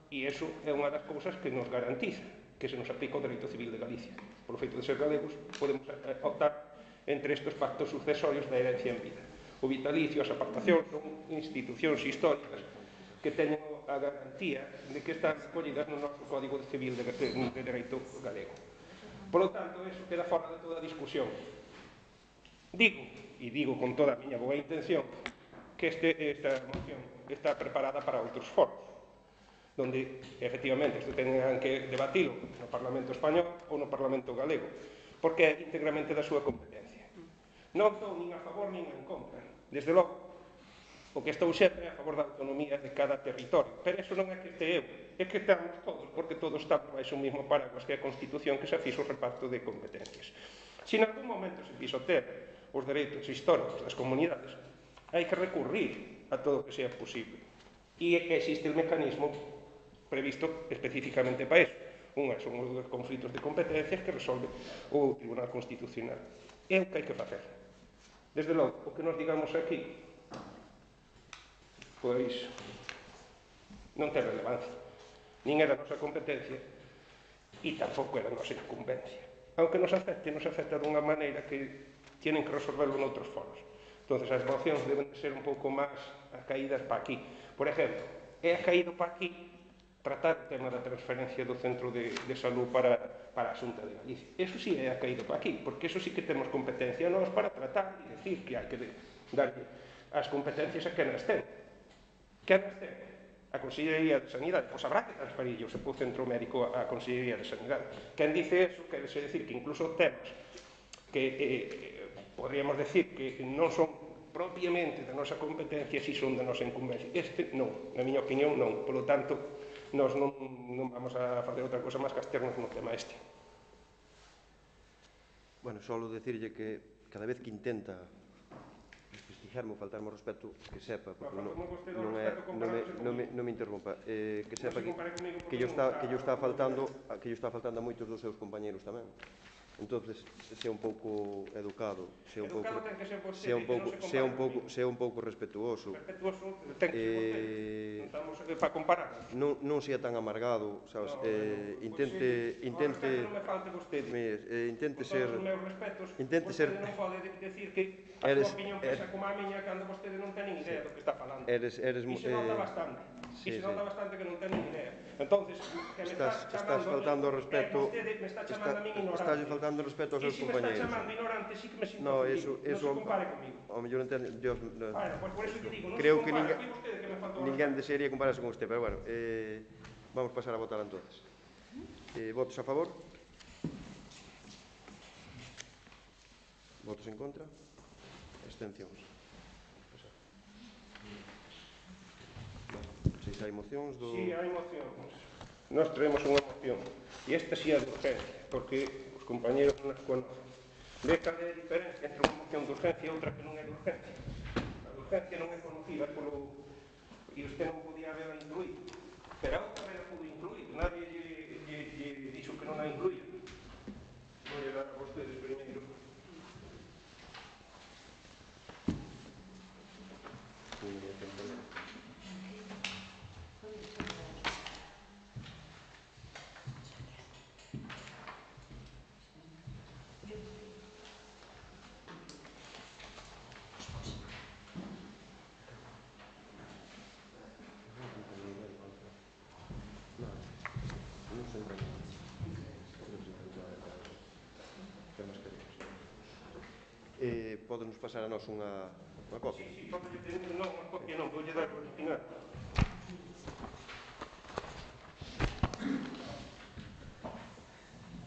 B: e iso é unha das cousas que nos garantiza que se nos aplica o dereito civil de Galicia. Por feito de ser galegos, podemos optar entre estes pactos sucesorios da herencia en vida. O vitalicio, as apartacións son institucións históricas que teñen a garantía de que están recollidas no noso Código Civil de, de, de Dereito Galego. Por lo tanto, eso queda fora de toda discusión. Digo, e digo con toda a miña boa intención, que este, esta moción está preparada para outros foros, donde, efectivamente, isto tengan que debatilo no Parlamento Español ou no Parlamento Galego, porque é íntegramente da súa competencia. Non estou nin a favor nin en contra. Desde logo, o que estou sempre é a favor da autonomía de cada territorio. Pero iso non é que este eu, é que estamos todos, porque todos estamos baixo o mismo paraguas que é a Constitución que se fixo o reparto de competencias. Se en algún momento se fixo ter os dereitos históricos das comunidades, hai que recurrir a todo o que sea posible. E existe o mecanismo previsto especificamente para iso. Unha son os conflitos de competencias que resolve o Tribunal Constitucional. É o que hai que facer. Desde logo, o que nos digamos aquí, pois non ten relevancia. Nin era a nosa competencia e tampouco era a nosa incumbencia. Aunque nos afecte, nos afecta dunha maneira que tienen que resolverlo noutros foros. Entón, as mocións deben de ser un pouco máis acaídas para aquí. Por exemplo, é acaído para aquí tratar o tema da transferencia do Centro de, de Salud para, para a Xunta de Galicia. Eso sí é acaído para aquí, porque eso sí que temos competencia nós para tratar e decir que hai que darlle as competencias a quen as ten. Quen as ten? A Consellería de Sanidade. Pois habrá que transferir o seu centro médico á Consellería de Sanidade. Quen dice eso, quer decir que incluso temas que eh, podríamos decir que non son propiamente da nosa competencia, si son da nosa incumbencia. Este non, na miña opinión non. Por lo tanto, nós non, non vamos a facer outra cosa máis que absternos no tema este.
A: Bueno, solo decirlle que cada vez que intenta desprestigiarme ou faltarme o respeto, que sepa, porque non, non, é, non, me, non, me, non me interrompa, eh, que sepa que, que, yo está, que yo está faltando que yo está faltando a moitos dos seus compañeros tamén. Entonces, sea un pouco educado, sea un pouco, sea un pouco, sea un pouco, sea un pouco respetuoso.
B: Respetuoso, ten que ser vostede. Non estamos para comparar.
A: Non, non sea tan amargado, sabes? Eh, intente, intente,
B: non me falte vostede.
A: Eh, intente ser,
B: con todos os meus respetos,
A: intente ser.
B: Vostede non pode decir que a
A: Eres,
B: súa opinión pesa como a miña cando vostede non ten nin idea do que está falando.
A: Eres, eres,
B: e se nota
A: eh,
B: bastante.
A: sí,
B: e se nota
A: sí.
B: bastante que non ten nin idea. Entonces, que me
A: estás,
B: está
A: estás faltando ao respeto,
B: vostede me está chamando
A: está,
B: a min ignorante.
A: estás faltando ao respeto aos seus compañeros.
B: E se me está chamando ignorante, sí que me sinto
A: No,
B: ofendido.
A: eso, eso,
B: non se compare comigo.
A: Ao mellor entende, Dios, no,
B: Bueno, pues por eso que digo, non
A: creo
B: se
A: que
B: compara.
A: ninguén,
B: Foi vostede que me faltou
A: ninguén desearía compararse con usted, pero bueno, eh, vamos pasar a votar entonces. Eh, votos a favor? Votos en contra? Abstencións? Se hai mocións do...
B: Si, sí, hai mocións. Nós traemos unha moción. E esta sí é de urgencia, porque os compañeros non as conocen. Ve cal é a diferencia entre unha moción de urgencia e outra que non é de urgencia. A de urgencia non é conocida polo... e usted non podía haberla incluído. Pero a outra era pudo incluir. Nadie lle, lle, lle dixo que non a incluía. Vou lle dar a vostedes primeiro.
A: Eh, Podenos pasar a nós unha, unha copia?
B: Si, si, pode ter non, unha copia non, vou lle dar o original.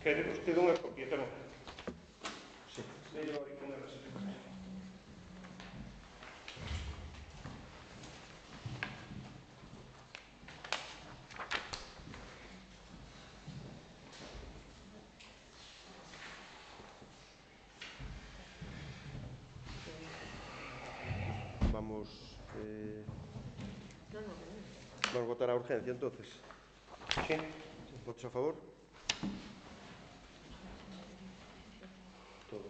B: Quere vostede unha copia tamén?
A: Si.
B: Delle o original así.
A: Vamos... Eh... Vamos votar a urgencia, entonces.
B: Sí.
A: Votos a favor? Todo.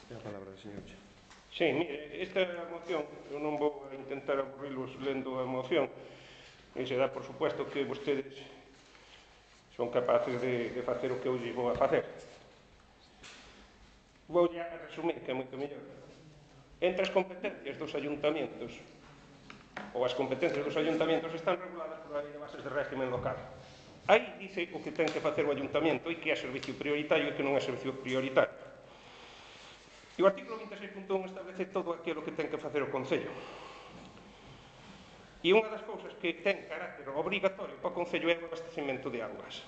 A: Ten a palabra, señor Che.
B: Sí, mire, esta moción, eu non vou a intentar aburrilos lendo a moción, e se dá por supuesto que vostedes son capaces de, de facer o que eu lle vou a facer. Vou a resumir, que é moito mellor. Entre as competencias dos ayuntamientos, ou as competencias dos ayuntamientos están reguladas por a Lei de Bases de Régimen Local. Aí dice o que ten que facer o ayuntamento e que é servicio prioritario e que non é servicio prioritario. E o artículo vinte e seis punto un establece todo aquilo que ten que facer o Concello. E unha das cousas que ten carácter obrigatorio para o Concello é o abastecemento de augas.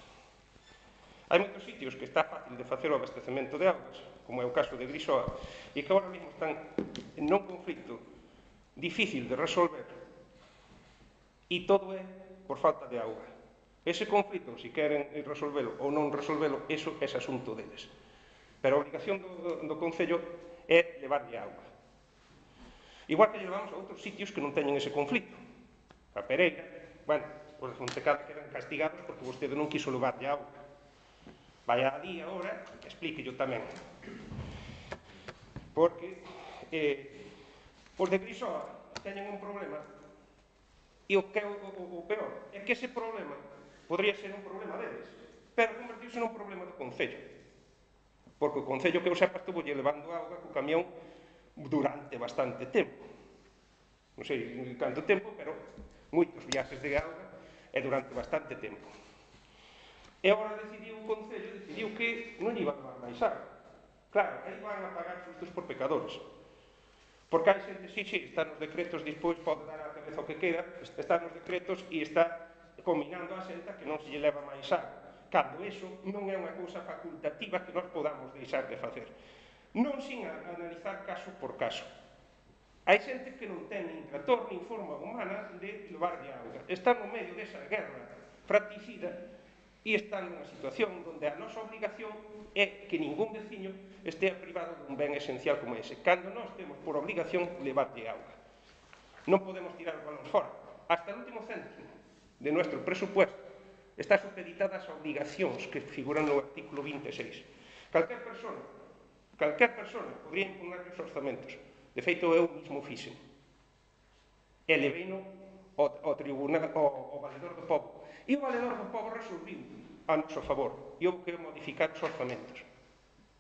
B: Hai moitos sitios que está fácil de facer o abastecemento de augas, como é o caso de Grisoa, e que agora mesmo están en un conflito difícil de resolver, e todo é por falta de auga. Ese conflito, se queren resolvelo ou non resolvelo, eso é asunto deles. Pero a obligación do, do Concello é levarlle auga. Igual que levamos a outros sitios que non teñen ese conflito. A Pereira, bueno, os de Fontecada quedan castigados porque vostede non quiso levarlle auga. Vai a día agora, explíquello tamén. Porque eh, os de Grisoa teñen un problema, e o que é o, o, o peor é que ese problema podría ser un problema deles, pero convertirse nun problema do Concello. Porque o Concello, que eu sepa, estuvo lle levando auga co camión durante bastante tempo. Non sei canto tempo, pero moitos viaxes de auga e durante bastante tempo. E agora decidiu o Concello, decidiu que non iba a levar máis auga. Claro, aí van a pagar justos por pecadores. Porque hai xente, sí, sí, está nos decretos, despois pode dar a cabeza o que queda, está nos decretos e está combinando a xenta que non se lle leva máis auga. Cando iso non é unha cousa facultativa que nós podamos deixar de facer. Non sin analizar caso por caso. Hai xente que non ten nin trator nin forma humana de levarlle auga. Está no medio desa guerra fratricida e está nunha situación onde a nosa obligación é que ningún veciño estea privado dun ben esencial como ese. Cando nós temos por obligación levarlle auga. Non podemos tirar os balóns fora. Hasta o último céntimo de nuestro presupuesto está supeditada ás obligacións que figuran no artículo vinte e seis. Calquer persona, calquer persona podría impugnar os orzamentos. De feito, eu mismo fixen. E leveino ao, ao tribunal, ao, ao valedor do povo. E o valedor do povo resolviu a noso favor. E houve que modificar os orzamentos.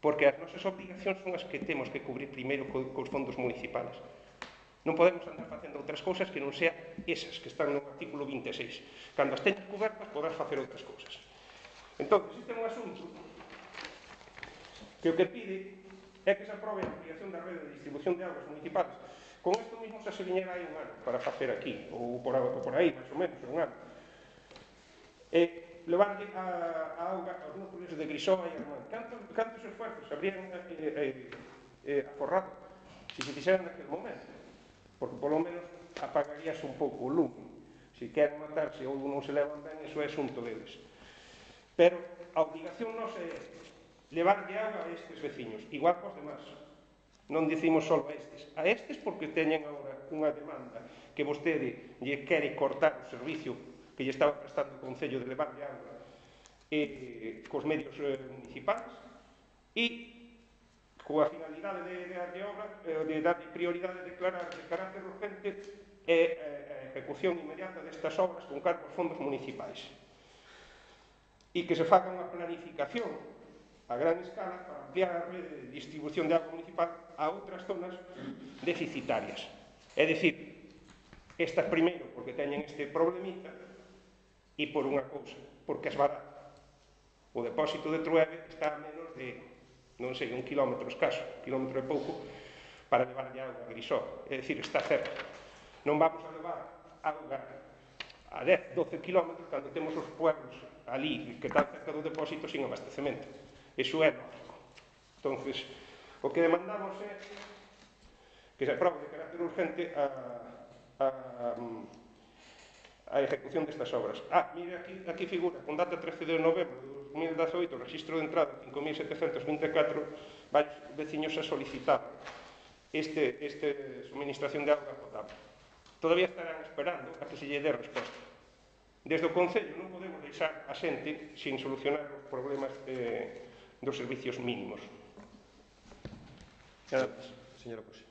B: Porque as nosas obligacións son as que temos que cubrir primeiro co, cos fondos municipales. Non podemos andar facendo outras cousas que non sean esas que están no artículo vinte e seis. Cando as teñas cobertas, podrás facer outras cousas. Entón, existe un asunto que o que pide é que se aprobe a ampliación da rede de distribución de augas municipales. Con isto mismo xa se viñera aí un ano para facer aquí, ou por, ou por aí, máis ou menos, un ano. E levarlle a, a auga aos núcleos de Grisoa e Armán. Cantos, cantos esfuerzos se habrían eh, eh, eh, aforrado se se fixeran naquele momento? Porque polo menos apagaríase un pouco o lume. Se queren matarse ou non se levan ben, iso é asunto deles. Pero a obligación non é levarlle auga a estes veciños, igual que os demás. Non dicimos só a estes. A estes porque teñen agora unha demanda que vostede lle quere cortar o servicio que lle estaba prestando o Concello de levarlle auga eh, cos medios eh, municipais e coa finalidade de, de darlle obra, de darlle prioridade de declarar de carácter urgente e a ejecución inmediata destas obras con cargo aos fondos municipais. E que se faga unha planificación a gran escala para ampliar a rede de distribución de auga municipal a outras zonas deficitarias. É dicir, estas primeiro porque teñen este problemita e por unha cousa, porque es barato. O depósito de Truebe está a menos de non sei, un kilómetro escaso, un kilómetro e pouco, para levarlle auga a Grisoa. É dicir, está cerca. Non vamos a levar auga a dez, doce kilómetros cando temos os pueblos ali que están cerca do depósito sin abastecemento. Iso é lógico. Entonces, o que demandamos é que se aprobe de carácter urgente a, a, a ejecución destas obras. Ah, mire, aquí, aquí figura, con data trece de novembro de dos mil dezaoito, o registro de entrada cinco mil setecentos vinte e catro, varios veciños se solicitaban este, este suministración de auga potable. Todavía estarán esperando a que se lle dé resposta. Desde o Concello non podemos deixar a xente sin solucionar os problemas eh, dos servicios mínimos. Nada máis.
A: Señora Pose.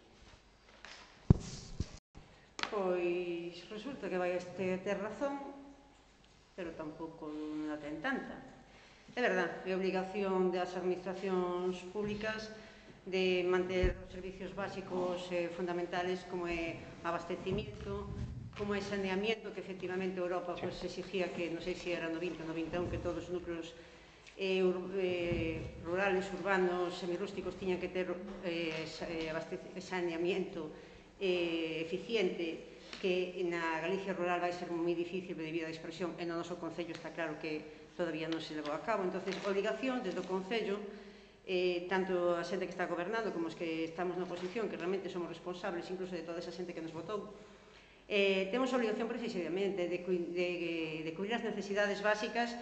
C: Pois resulta que vai este ter razón, pero tampouco non a ten tanta. É verdad, é obligación das administracións públicas de manter os servicios básicos eh, fundamentales como é abastecimiento, como é saneamiento, que efectivamente Europa pues, exigía que, non sei se era no vinte ou no vinte e un, que todos os núcleos eh, ur, eh, rurales, urbanos, semirústicos tiñan que ter eh, saneamiento eh, eficiente, que na Galicia rural vai ser moi difícil debido á dispersión, e no noso Concello está claro que todavía non se levou a cabo. Entonces, obligación desde o Concello, eh, tanto a xente que está gobernando como os que estamos na oposición, que realmente somos responsables incluso de toda esa xente que nos votou, eh, temos a obligación precisamente de, de, de cubrir as necesidades básicas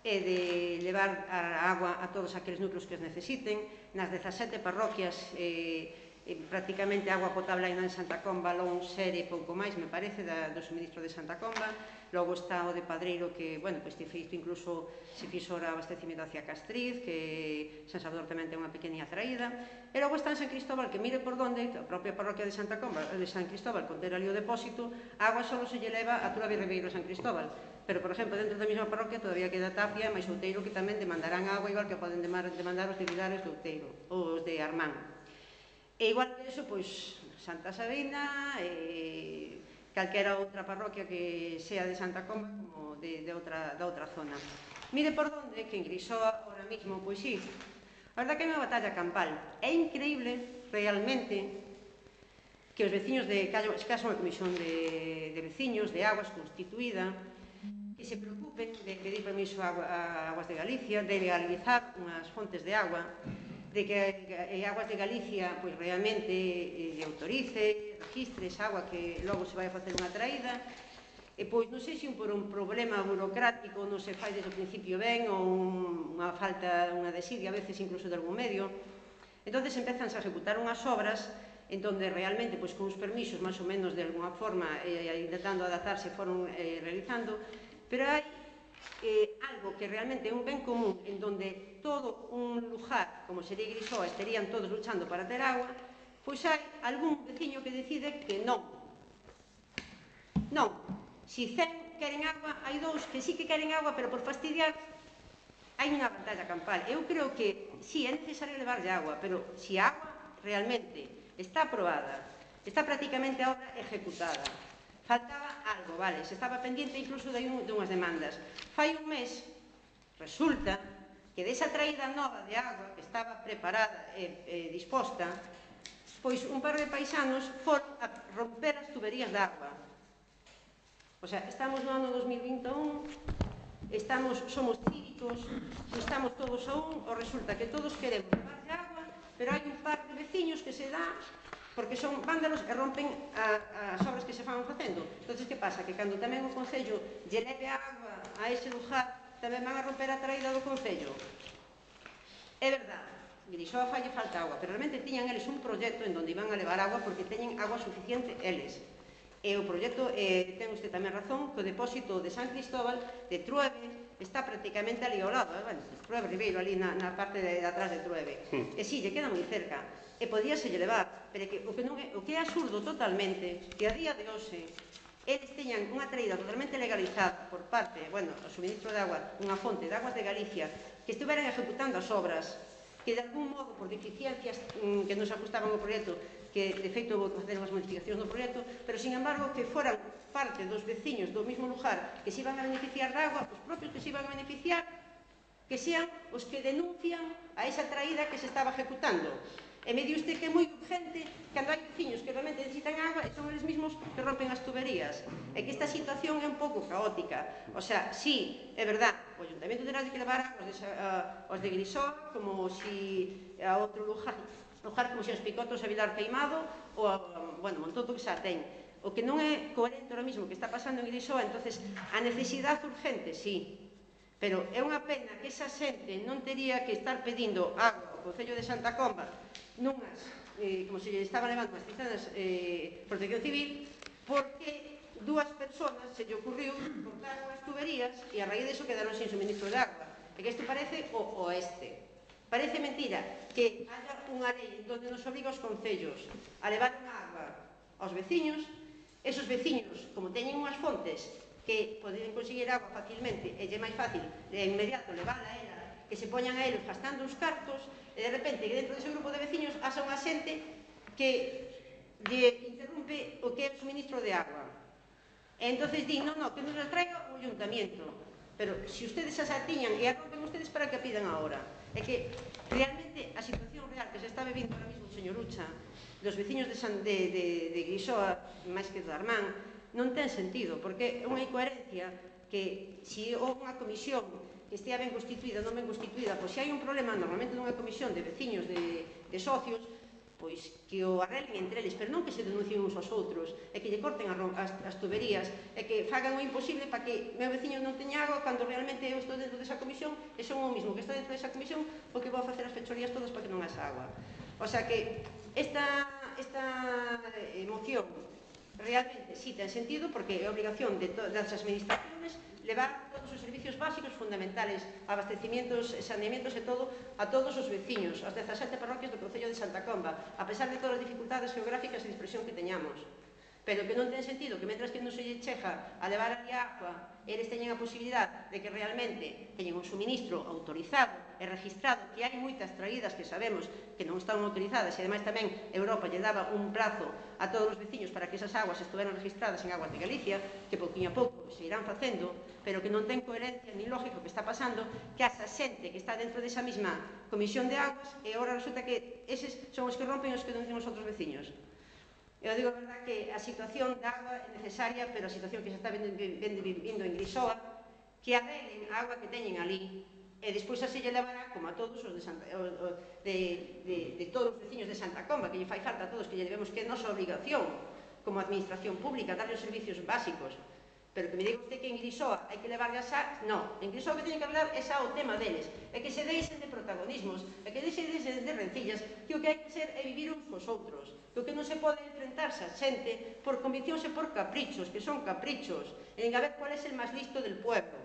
C: e de levar a agua a todos aqueles núcleos que os necesiten. Nas dezasete parroquias, eh, eh, prácticamente agua potable hai en Santa Comba, Lón, Sere, pouco máis, me parece, da, do suministro de Santa Comba. Logo está o de Padreiro, que, bueno, pois te feito incluso se fixo o abastecimento hacia Castriz, que San Salvador tamén ten unha pequeniña traída. E logo está en San Cristóbal, que mire por donde, a propia parroquia de Santa Comba, de San Cristóbal, con ter ali o depósito, a agua só se lle leva a Turabia e Ribeiro San Cristóbal. Pero, por exemplo, dentro da mesma parroquia todavía queda Tapia e máis Outeiro, que tamén demandarán agua, igual que poden demandar os de Vilares de Outeiro, os de Armán. E igual que eso, pois, Santa Sabina, e calquera outra parroquia que sea de Santa Comba como de, de outra, da outra zona. Mire por donde, que en Grisoa, ahora mismo, pois sí, a verdad que é unha batalla campal. É increíble, realmente, que os veciños de Callo, escaso unha comisión de, de veciños, de aguas constituída, que se preocupen de pedir permiso a, a Aguas de Galicia, de legalizar unhas fontes de agua, de que a Aguas de Galicia pois, realmente eh, autorice, registre esa agua que logo se vai a facer unha traída, e pois non sei se un por un problema burocrático non se fai desde o principio ben, ou un, unha falta, unha desidia, a veces incluso de algún medio. Entón, empezan a ejecutar unhas obras en donde realmente, pois, con os permisos, máis ou menos, de alguna forma, eh, intentando adaptarse, foron eh, realizando, pero hai eh, algo que realmente é un ben común, en donde todo un lugar, como sería Grisoa, estarían todos luchando para ter agua, pois hai algún veciño que decide que non. Non. Si cen queren agua, hai dous que sí que queren agua, pero por fastidiar, hai unha batalla campal. Eu creo que sí, é necesario levarlle agua, pero si a agua realmente está aprobada, está prácticamente a obra ejecutada, faltaba algo, vale, se estaba pendiente incluso de, un, de unhas demandas. Fai un mes, resulta que desa traída nova de agua que estaba preparada e, e disposta, pois un par de paisanos foron a romper as tuberías de agua. O sea, estamos no ano dos mil vinte e un, estamos, somos cívicos, estamos todos a un, ou resulta que todos queremos levarlle agua, pero hai un par de veciños que se dá porque son vándalos e rompen a, as obras que se fan facendo. Entón, que pasa? Que cando tamén o Concello lle leve agua a ese lugar, tamén van a romper a traída do Concello. É verdade, Grisoa falle falta agua, pero realmente tiñan eles un proxecto en donde iban a levar agua porque teñen agua suficiente eles. E o proxecto, eh, ten usted tamén razón, que o depósito de San Cristóbal, de Truebe, está prácticamente ali ao lado, eh? Bueno, Truebe Ribeiro, ali na, na parte de, de atrás de Truebe. Mm. E sí, lle queda moi cerca. E podíaselle levar, pero que, o, que non é, o que é absurdo totalmente, que a día de hoxe eles teñan unha traída totalmente legalizada por parte, bueno, o suministro de agua, unha fonte de Aguas de Galicia, que estiveran ejecutando as obras, que de algún modo, por deficiencias mmm, que non se ajustaban ao proxecto, que de feito vou facer unhas modificacións no proxecto, pero sin embargo que foran parte dos veciños do mesmo lugar que se iban a beneficiar da agua, os propios que se iban a beneficiar, que sean os que denuncian a esa traída que se estaba ejecutando. E me di usted que é moi urgente cando hai veciños que realmente necesitan agua e son eles mesmos que rompen as tuberías. E que esta situación é un pouco caótica. O sea, sí, é verdad, o Ayuntamento terá que levar agua aos de Grisoa, como si a outro lugar, lugar como se os Picotos a Vilar Queimado, ou a, bueno, montón que xa ten. O que non é coherente ahora mismo que está pasando en Grisoa, entonces a necesidade urgente, sí, pero é unha pena que esa xente non tería que estar pedindo agua ao Concello de Santa Comba nunhas, eh, como se lle estaban levando as cisternas eh, protección civil, porque dúas persoas se lle ocurriu cortar unhas tuberías e a raíz disso quedaron sin suministro de agua. E que isto parece o oeste. Parece mentira que haya unha lei onde nos obriga aos concellos a levar unha agua aos veciños. Esos veciños, como teñen unhas fontes que poden conseguir agua facilmente e é máis fácil de inmediato levarla a ela, que se poñan a eles gastando os cartos, e de repente que dentro dese grupo de veciños haxa unha xente que lle interrumpe o que é o suministro de agua. E entonces di, non, non, que nos las traiga o ayuntamiento. Pero se ustedes as atiñan e a rompen ustedes, para que pidan agora? É que realmente a situación real que se está bebindo ahora mismo, señor Ucha, dos veciños de, San, de, de, de Grisoa, máis que do Armán, non ten sentido, porque é unha incoherencia que se houve unha comisión que estea ben constituída ou non ben constituída, pois se hai un problema normalmente nunha comisión de veciños de, de socios, pois que o arreglen entre eles, pero non que se denuncien uns aos outros, e que lle corten as, as tuberías, e que fagan o imposible para que meu veciño non teña agua cando realmente eu estou dentro desa comisión e son o mismo que está dentro desa comisión o que vou a facer as fechorías todas para que non haxa agua. O sea que esta, esta moción realmente sí ten sentido, porque é obligación de das administraciones levar todos os servicios básicos fundamentales, abastecimientos, saneamientos e todo, a todos os veciños, as dezasete parroquias do Concello de Santa Comba, a pesar de todas as dificultades geográficas e de expresión que teñamos. Pero que non ten sentido que, mentras que non se lle cheja a levar ali a agua, eles teñen a posibilidad de que realmente teñen un suministro autorizado e registrado, que hai moitas traídas que sabemos que non están autorizadas, e ademais tamén Europa lle daba un prazo a todos os veciños para que esas aguas estuveran registradas en Aguas de Galicia, que pouquinho a pouco se irán facendo, pero que non ten coherencia ni lógico que está pasando, que asa xente que está dentro desa mesma comisión de aguas e agora resulta que eses son os que rompen os que denuncian os outros veciños. Eu digo a verdad que a situación da agua é necesaria, pero a situación que se está vindo en Grisoa, que arreglen a agua que teñen ali, e despois así lle levará, como a todos os de, Santa, de, de, de todos os veciños de Santa Comba, que lle fai falta a todos, que lle debemos, que é nosa obligación como administración pública, darle os servicios básicos. Pero que me diga usted que en Grisoa hai que levarle xa... No, en Grisoa o que teñen que hablar é xa o tema deles, é que se deixen de protagonismos, é que deixen de rencillas, que o que hai que ser é vivir uns cos outros, que o que non se pode enfrentarse a xente por conviccións e por caprichos, que son caprichos, en a ver cuál é el máis listo del pueblo,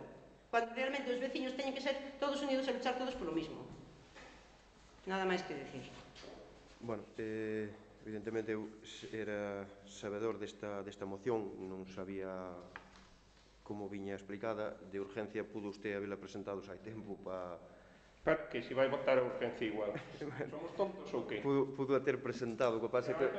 C: cuando realmente os veciños teñen que ser todos unidos e luchar todos polo mismo. Nada máis que decir.
A: Bueno, eh, evidentemente eu era sabedor desta, desta moción, non sabía como viña explicada. De urgencia pudo usted habela presentado xa hai tempo para...
B: Para que se vai votar a urgencia igual. Somos tontos ou que?
A: Pudo, pudo a ter presentado, o que pasa que...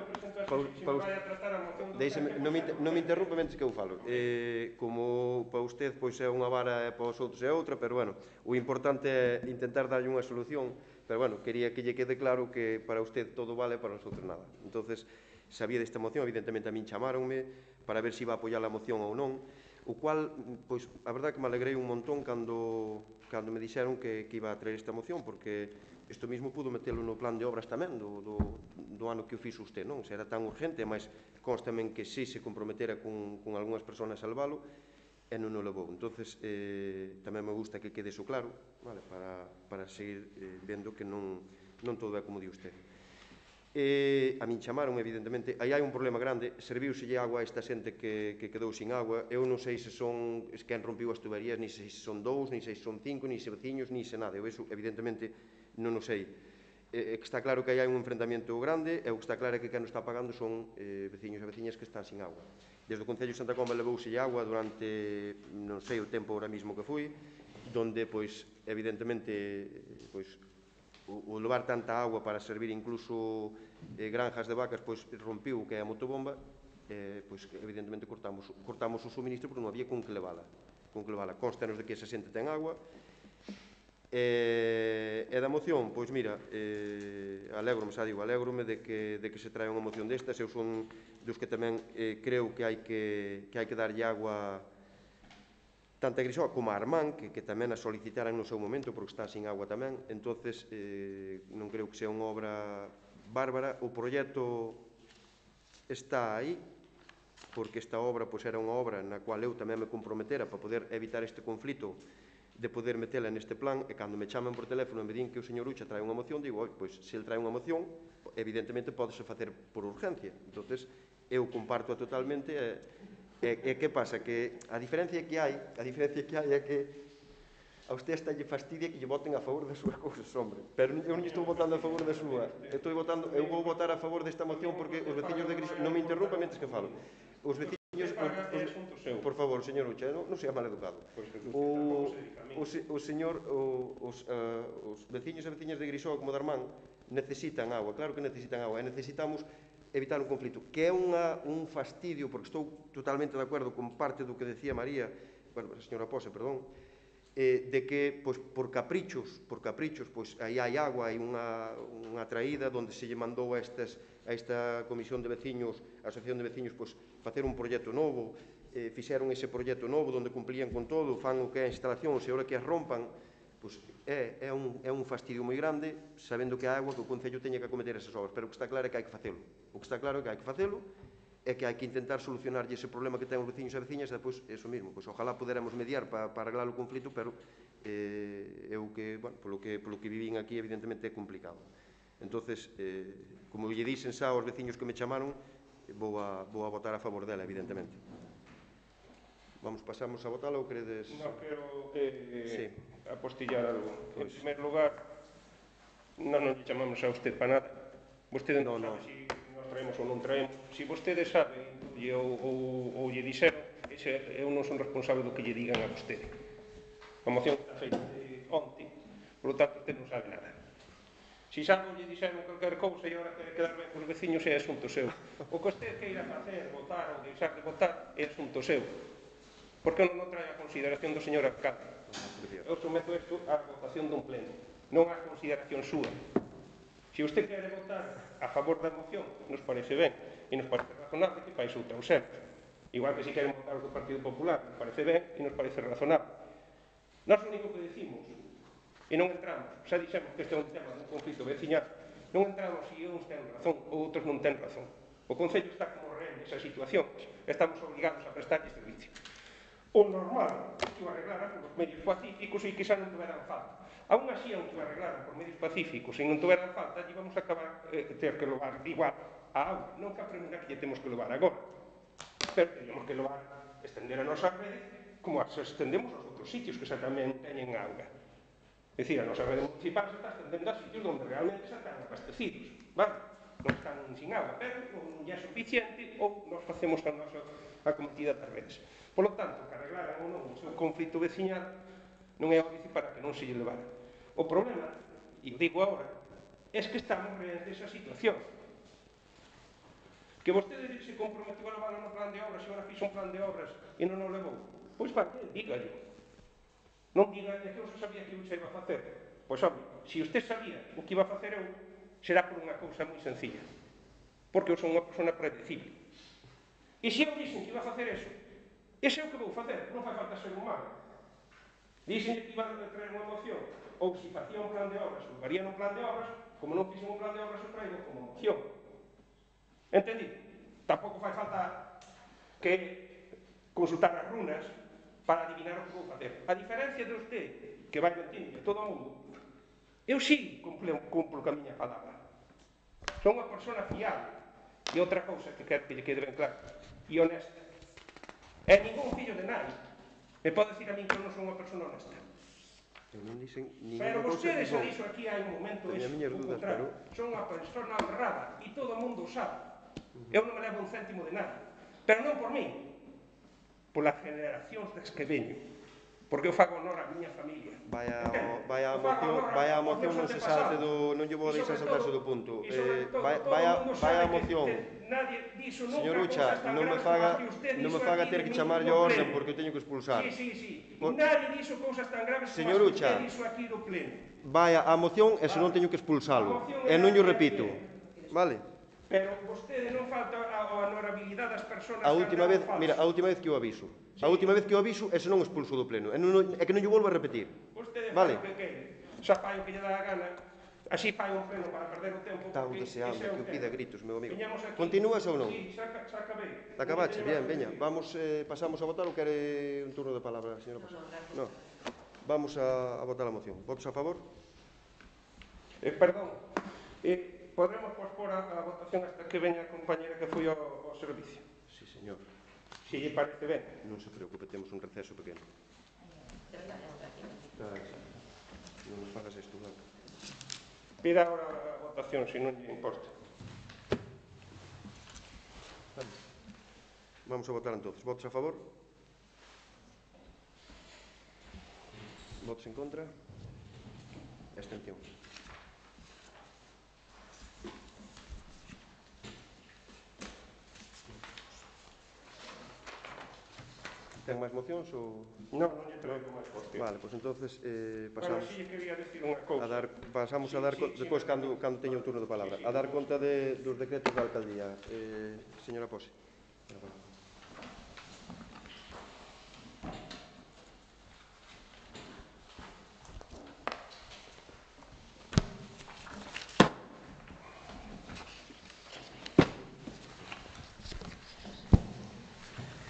B: Deixeme,
A: non me, non me interrompe mentre que eu falo. Eh, como para usted pois é unha vara e para os outros é outra, pero bueno, o importante é intentar darlle unha solución, pero bueno, quería que lle quede claro que para usted todo vale e para nosotros nada. Entonces, sabía desta moción, evidentemente a min chamáronme para ver se iba a apoiar a moción ou non, o cual, pois, a verdade que me alegrei un montón cando, cando me dixeron que, que iba a traer esta moción, porque isto mismo pudo metelo no plan de obras tamén do, do, do ano que o fixo usted, non? Se era tan urgente, mas constame que sí se comprometera con, con algunhas persoas a salvalo, e non o levou. Entonces, eh, tamén me gusta que quede iso claro, vale, para, para seguir eh, vendo que non, non todo é como di usted. E a min chamaron, evidentemente, aí hai un problema grande, serviuselle agua a esta xente que, que quedou sin agua, eu non sei se son quen rompiu as tuberías, ni se son dous, ni se son cinco, ni se veciños, ni se nada, eu eso, evidentemente, non o sei. É que está claro que aí hai un enfrentamento grande, e o que está claro é que quen o está pagando son eh, veciños e veciñas que están sin agua. Desde o Concello de Santa Comba levouselle agua durante, non sei o tempo ahora mismo que fui, donde, pois, evidentemente, pois, o levar tanta agua para servir incluso eh, granjas de vacas, pois rompiu o que é a motobomba, eh, pois evidentemente cortamos, cortamos o suministro porque non había con que levala. Con que levala. Constanos de que esa xente ten agua. E, e da moción, pois mira, eh, alégrome, xa digo, alégrome de que, de que se trae unha moción destas. Eu son dos que tamén eh, creo que hai que, que hai que darlle agua tanto a Grisoa como a Armán, que, que tamén a solicitaran no seu momento, porque está sin agua tamén. Entonces, eh, non creo que sea unha obra bárbara. O proxecto está aí, porque esta obra pois, era unha obra na cual eu tamén me comprometera para poder evitar este conflito de poder metela neste plan, e cando me chaman por teléfono e me din que o señor Ucha trae unha moción, digo, pois, se ele trae unha moción, evidentemente podese facer por urgencia. Entonces, eu comparto totalmente, e, e, e que pasa? Que a diferencia que hai, a diferencia que hai é que a usted está lle fastidia que lle voten a favor das súas cousas, hombre. Pero eu non estou votando a favor da súa. Eu, estou votando, eu vou votar a favor desta moción porque os veciños de Gris... Non me interrumpa mentres que falo. Os veciños... Os, os, por favor, señor Ucha, non, non sea mal educado. O, o, o señor, o, os, uh, os veciños e veciñas de Grisó como de Armán necesitan agua, claro que necesitan agua, e necesitamos evitar un conflito, que é unha, un fastidio, porque estou totalmente de acordo con parte do que decía María, bueno, a señora Pose, perdón, eh, de que, pois, por caprichos, por caprichos, pois, aí hai agua, hai unha, unha traída onde se lle mandou a, estas, a esta comisión de veciños, a asociación de veciños, pois, facer un proxecto novo, eh, fixeron ese proxecto novo onde cumplían con todo, fan o que é a instalación, e ahora que as rompan, pois, é, é, un, é un fastidio moi grande, sabendo que a agua que o Concello teña que acometer esas obras, pero o que está claro é que hai que facelo. O que está claro é que hai que facelo, é que hai que intentar solucionar ese problema que ten os veciños e veciñas, e depois, eso mesmo, pois, ojalá poderamos mediar para, para arreglar o conflito, pero eh, eu que, bueno, polo que, polo que vivín aquí, evidentemente é complicado. Entonces, eh, como lle dixen xa aos veciños que me chamaron, vou a, vou a votar a favor dela, evidentemente. Vamos, pasamos a votala ou credes...
B: Non quero eh,
A: sí.
B: apostillar algo.
A: Pues...
B: En primer lugar, non nos chamamos a usted para nada. Vostede non
A: no,
B: sabe
A: no.
B: se si nos traemos ou non traemos. Se si vostede sabe ou, ou, ou lle dixeron, ese, eu non son responsable do que lle digan a vostede. A moción está feita de onte, por lo tanto, usted non sabe nada. Se si sabe ou lle dixeron calquer cousa e agora quere quedar ben cos veciños, é asunto seu. O que usted queira facer, votar ou deixar de votar, é asunto seu. Porque non trae a consideración do señor alcalde. Eu someto isto á votación dun pleno, non á consideración súa. Se usted quere votar a favor da moción, nos parece ben, e nos parece razonable que fais outra ausente. Igual que se queren votar o do Partido Popular, nos parece ben e nos parece razonable. Nós o único que decimos, e non entramos, xa dixemos que este é un tema dun conflito veciñal, non entramos se uns ten razón ou outros non ten razón. O Concello está como rehén nesa situación, estamos obligados a prestarlle servicio. O normal que o arreglaran por medios pacíficos e que xa non tuveran falta. Aún así, aunque o arreglaran por medios pacíficos e non tuveran falta, lle vamos a acabar eh, ter que levar igual a auga. Non que a pregunta que lle temos que levar agora. Pero teríamos que levar, estender a nosa rede como as estendemos aos outros sitios que xa tamén teñen auga. É dicir, a nosa rede municipal se está estendendo a sitios onde realmente xa están abastecidos. Vale? Non están sin agua, pero non é suficiente ou nos facemos a nosa acometida das redes. Por lo tanto, que arreglaran ou non o seu conflito veciñal non é óbice para que non se lle levara. O problema, e o digo agora, é que estamos reante esa situación. Que vostede se comprometiu a levar no plan de obras e agora fixo un plan de obras e non o levou. Pois para que, dígallo. Non diga que eu xa sabía que eu xa iba a facer. Pois, hombre, se usted sabía o que iba a facer eu, será por unha cousa moi sencilla. Porque eu son unha persona predecible. E se eu dixen que iba a facer eso, ese é o que vou facer, non fai falta ser humano. Dixen que iba a traer unha moción, ou se facía un plan de obras, ou varía un plan de obras, como non fixen un plan de obras, o traigo como moción. Entendido? Tampouco fai falta que consultar as runas para adivinar o que vou facer. A diferencia de usted, que vai mentindo de todo o mundo, eu sí cumplo, cumplo a miña palabra. Son unha persona fiable. E outra cousa que quero que lle quede ben claro, e honesta. E ningún fillo de nadie me pode decir a mí que eu non son unha persona honesta. Pero vostede xa dixo aquí hai un momento eso, o contrario. Son unha persona honrada e todo o mundo sabe. Eu non me levo un céntimo de nada. Pero non por mí, polas generacións das que veño. Porque eu fago honor á miña familia.
A: Vaya a moción, vaya a moción non se salte do, non lle vou deixar saltarse do punto. Eh, vaya vaya a moción. Señor Ucha, non me faga non me faga ter que chamarlle a orden porque eu teño que expulsar.
B: Sí, sí, sí. Nadie dixo cousas tan graves como as que usted dixo aquí no pleno.
A: Vaya a moción e senón teño que expulsalo. E non lle repito. Vale?
B: Pero vostede non falta a honorabilidade das persoas.
A: A última vez, mira, a última vez que o aviso. A última vez que o aviso, ese non expulso do pleno. É que non lle volvo a repetir.
B: Vostede
A: vale?
B: fai o que quere. Xa fai o que lle dá a gana. así fai un pleno para perder o tempo.
A: Estamos
B: porque
A: deseando
B: ese é o
A: que o pida
B: tema.
A: gritos, meu amigo.
B: Viñamos aquí-
A: Continúas ou non?
B: Sí, xa, xa acabei.
A: Acabache,
B: Non teño
A: bien,
B: máis
A: veña.
B: que
A: Vamos, eh, pasamos a votar ou quere un turno de palabra, señora Posa? No. Vamos a, a votar a moción. Votos a favor?
B: Eh, perdón, eh, podremos pospor a, a votación hasta que veña a compañera que foi ao, ao servicio.
A: Sí, señor.
B: Si lle parece ben.
A: Non se preocupe, temos un receso pequeno. Ah, non nos fagas isto, Blanca.
B: Pida agora a votación, se non lle importa.
A: Vamos a votar entonces. Votos a favor? Votos en contra? Abstención. Ten máis mocións ou...?
B: Non, non lle traigo máis cuestión.
A: Vale, pois entonces eh,
B: Bueno,
A: pasamos
B: si lle quería decir unha cousa.
A: a dar, pasamos a
B: Sí,
A: dar,
B: sí,
A: co-
B: sí,
A: despois
B: sí,
A: cando, cando teña o turno de palabra,
B: sí, sí,
A: a dar
B: sí.
A: conta de, dos decretos da alcaldía. Eh, señora Pose.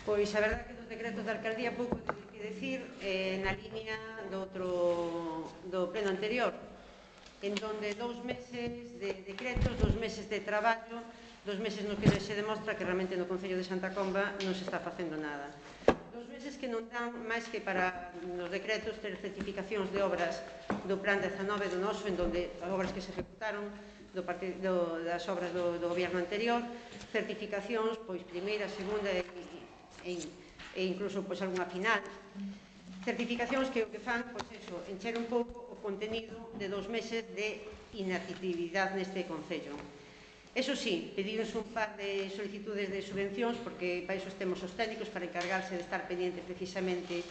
C: Pois a verdade que dos decretos da alcaldía pouco teño que decir eh, na línea do outro do pleno anterior, en donde dous meses de decretos, dous meses de traballo, dous meses no que se demostra que realmente no Concello de Santa Comba non se está facendo nada. Dous meses que non dan máis que para nos decretos ter certificacións de obras do plan dezanove do noso, en donde as obras que se ejecutaron do partido, das obras do, do goberno anterior, certificacións, pois primeira, segunda e, e, e incluso pois algunha final, certificacións que o que fan, pois eso, encher un pouco o contenido de dous meses de inactividade neste Concello. Eso sí, pedimos un par de solicitudes de subvencións, porque para iso temos os técnicos para encargarse de estar pendiente precisamente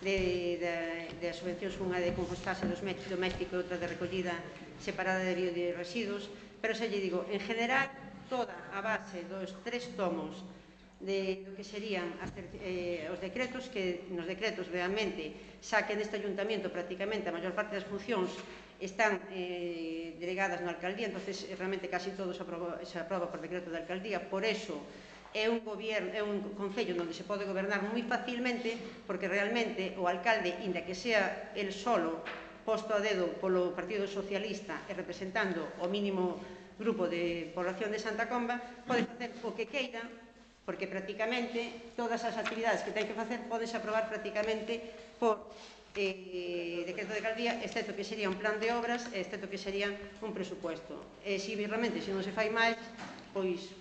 C: de, de, de as subvencións, unha de compostaxe doméstico e outra de recollida separada de bioresiduos, pero xa lle digo, en general, toda a base dos tres tomos de do que serían as, eh, os decretos, que nos decretos realmente xa que neste ayuntamiento prácticamente a maior parte das funcións están eh, delegadas na alcaldía, entonces realmente casi todo se aproba, se aproba por decreto da alcaldía, por eso é un goberno, é un concello onde se pode gobernar moi facilmente, porque realmente o alcalde, inda que sea el solo posto a dedo polo Partido Socialista e representando o mínimo grupo de población de Santa Comba, pode facer o que queira, porque prácticamente todas as actividades que ten que facer podense aprobar prácticamente por eh, decreto de alcaldía, excepto que sería un plan de obras, excepto que sería un presupuesto. E se realmente se non se fai máis, pois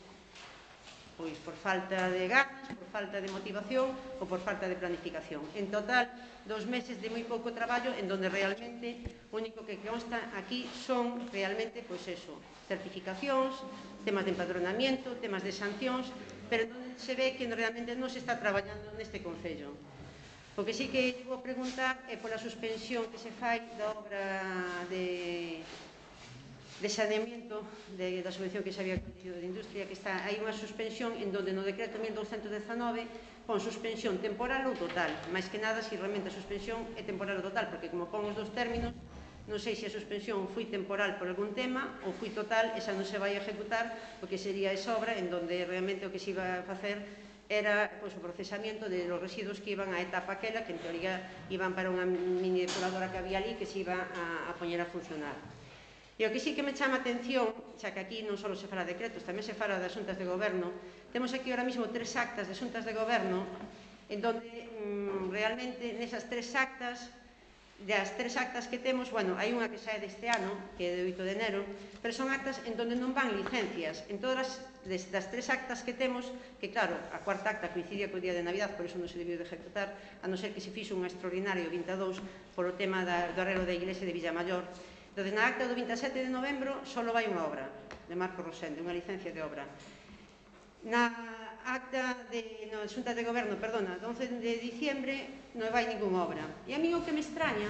C: pois por falta de ganas, por falta de motivación ou por falta de planificación. En total, dos meses de moi pouco traballo en donde realmente o único que consta aquí son realmente, pois eso, certificacións, temas de empadronamiento, temas de sancións, pero non se ve que realmente non se está traballando neste Concello. O que sí que vou preguntar é pola suspensión que se fai da obra de de saneamiento de, da subvención que se había concedido de industria, que está, hai unha suspensión en donde no decreto mil douscentos dezanove pon suspensión temporal ou total, máis que nada se realmente a suspensión é temporal ou total, porque como pon os dos términos, non sei se a suspensión foi temporal por algún tema ou foi total, esa non se vai a ejecutar, porque sería esa obra en donde realmente o que se iba a facer era pois, o procesamiento de los residuos que iban á etapa aquela, que en teoría iban para unha mini depuradora que había ali que se iba a, a poñer a funcionar. E o que sí que me chama a atención, xa que aquí non só se fala de decretos, tamén se fala de asuntas de goberno, temos aquí ahora mismo tres actas de asuntas de goberno en donde mmm, realmente nesas tres actas, das tres actas que temos, bueno, hai unha que xa é deste ano, que é de oito de enero, pero son actas en donde non van licencias. En todas as, das tres actas que temos, que claro, a cuarta acta coincidía co día de Navidad, por iso non se debiu de ejecutar, a non ser que se fixo un extraordinario vinte e dous polo tema da, do arrelo da iglesia de Villamayor. Entón, na acta do vinte e sete de novembro só vai unha obra de Marco Rosende, unha licencia de obra. Na acta de, no, Xunta de Goberno, perdona, do once de diciembre non vai ninguna obra. E a mí o que me extraña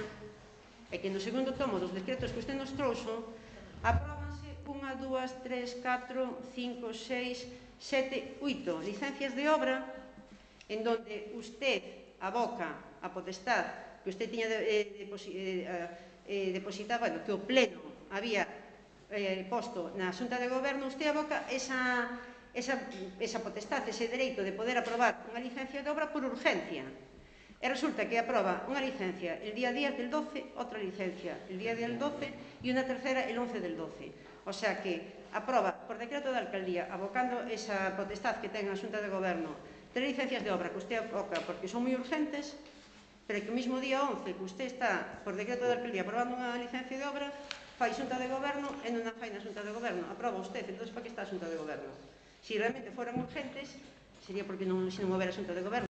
C: é que no segundo tomo dos decretos que usted nos trouxo apróbanse unha, dúas, tres, catro, cinco, seis, sete, oito licencias de obra en donde usted aboca a potestad que usted tiña de, eh, de, eh, eh, depositar, bueno, que o pleno había eh, posto na Xunta de Goberno, usted aboca esa, esa, esa potestad, ese dereito de poder aprobar unha licencia de obra por urgencia. E resulta que aproba unha licencia el día diez del doce, outra licencia el día del doce e unha tercera el once del doce. O sea que aproba por decreto da alcaldía, abocando esa potestad que ten a Xunta de Goberno, tres licencias de obra que usted aboca porque son moi urgentes, pero que o mismo día once que usted está por decreto da alcaldía aprobando unha licencia de obra, fai Xunta de Goberno e non a fai na Xunta de Goberno. Aproba usted, entón para que está a Xunta de Goberno? Se realmente foran urgentes, sería porque non, se non houbera Xunta de Goberno.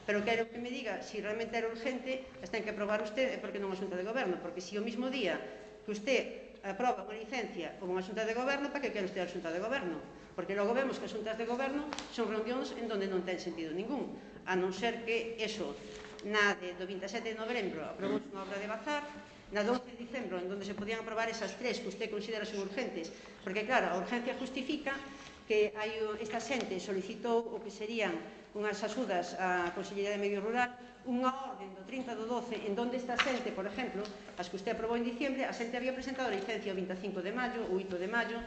C: Pero quero que me diga, se realmente era urgente, as ten que aprobar usted, e porque non a Xunta de Goberno. Porque se o mismo día que usted aproba unha licencia como unha Xunta de Goberno, para que quere usted a Xunta de Goberno? Porque logo vemos que as Xuntas de Goberno son reunións en donde non ten sentido ningún, a non ser que eso, na de, do veintisiete de novembro aprobou unha obra de Bazar, na do once de diciembre, en donde se podían aprobar esas tres que usted considera son urgentes, porque claro, a urgencia justifica que hai esta xente solicitou o que serían unhas axudas á Consellería de Medio Rural, unha orden do trinta do doce, en donde esta xente, por exemplo, as que usted aprobou en diciembre, a xente había presentado a licencia o veinticinco de maio, o oito de maio,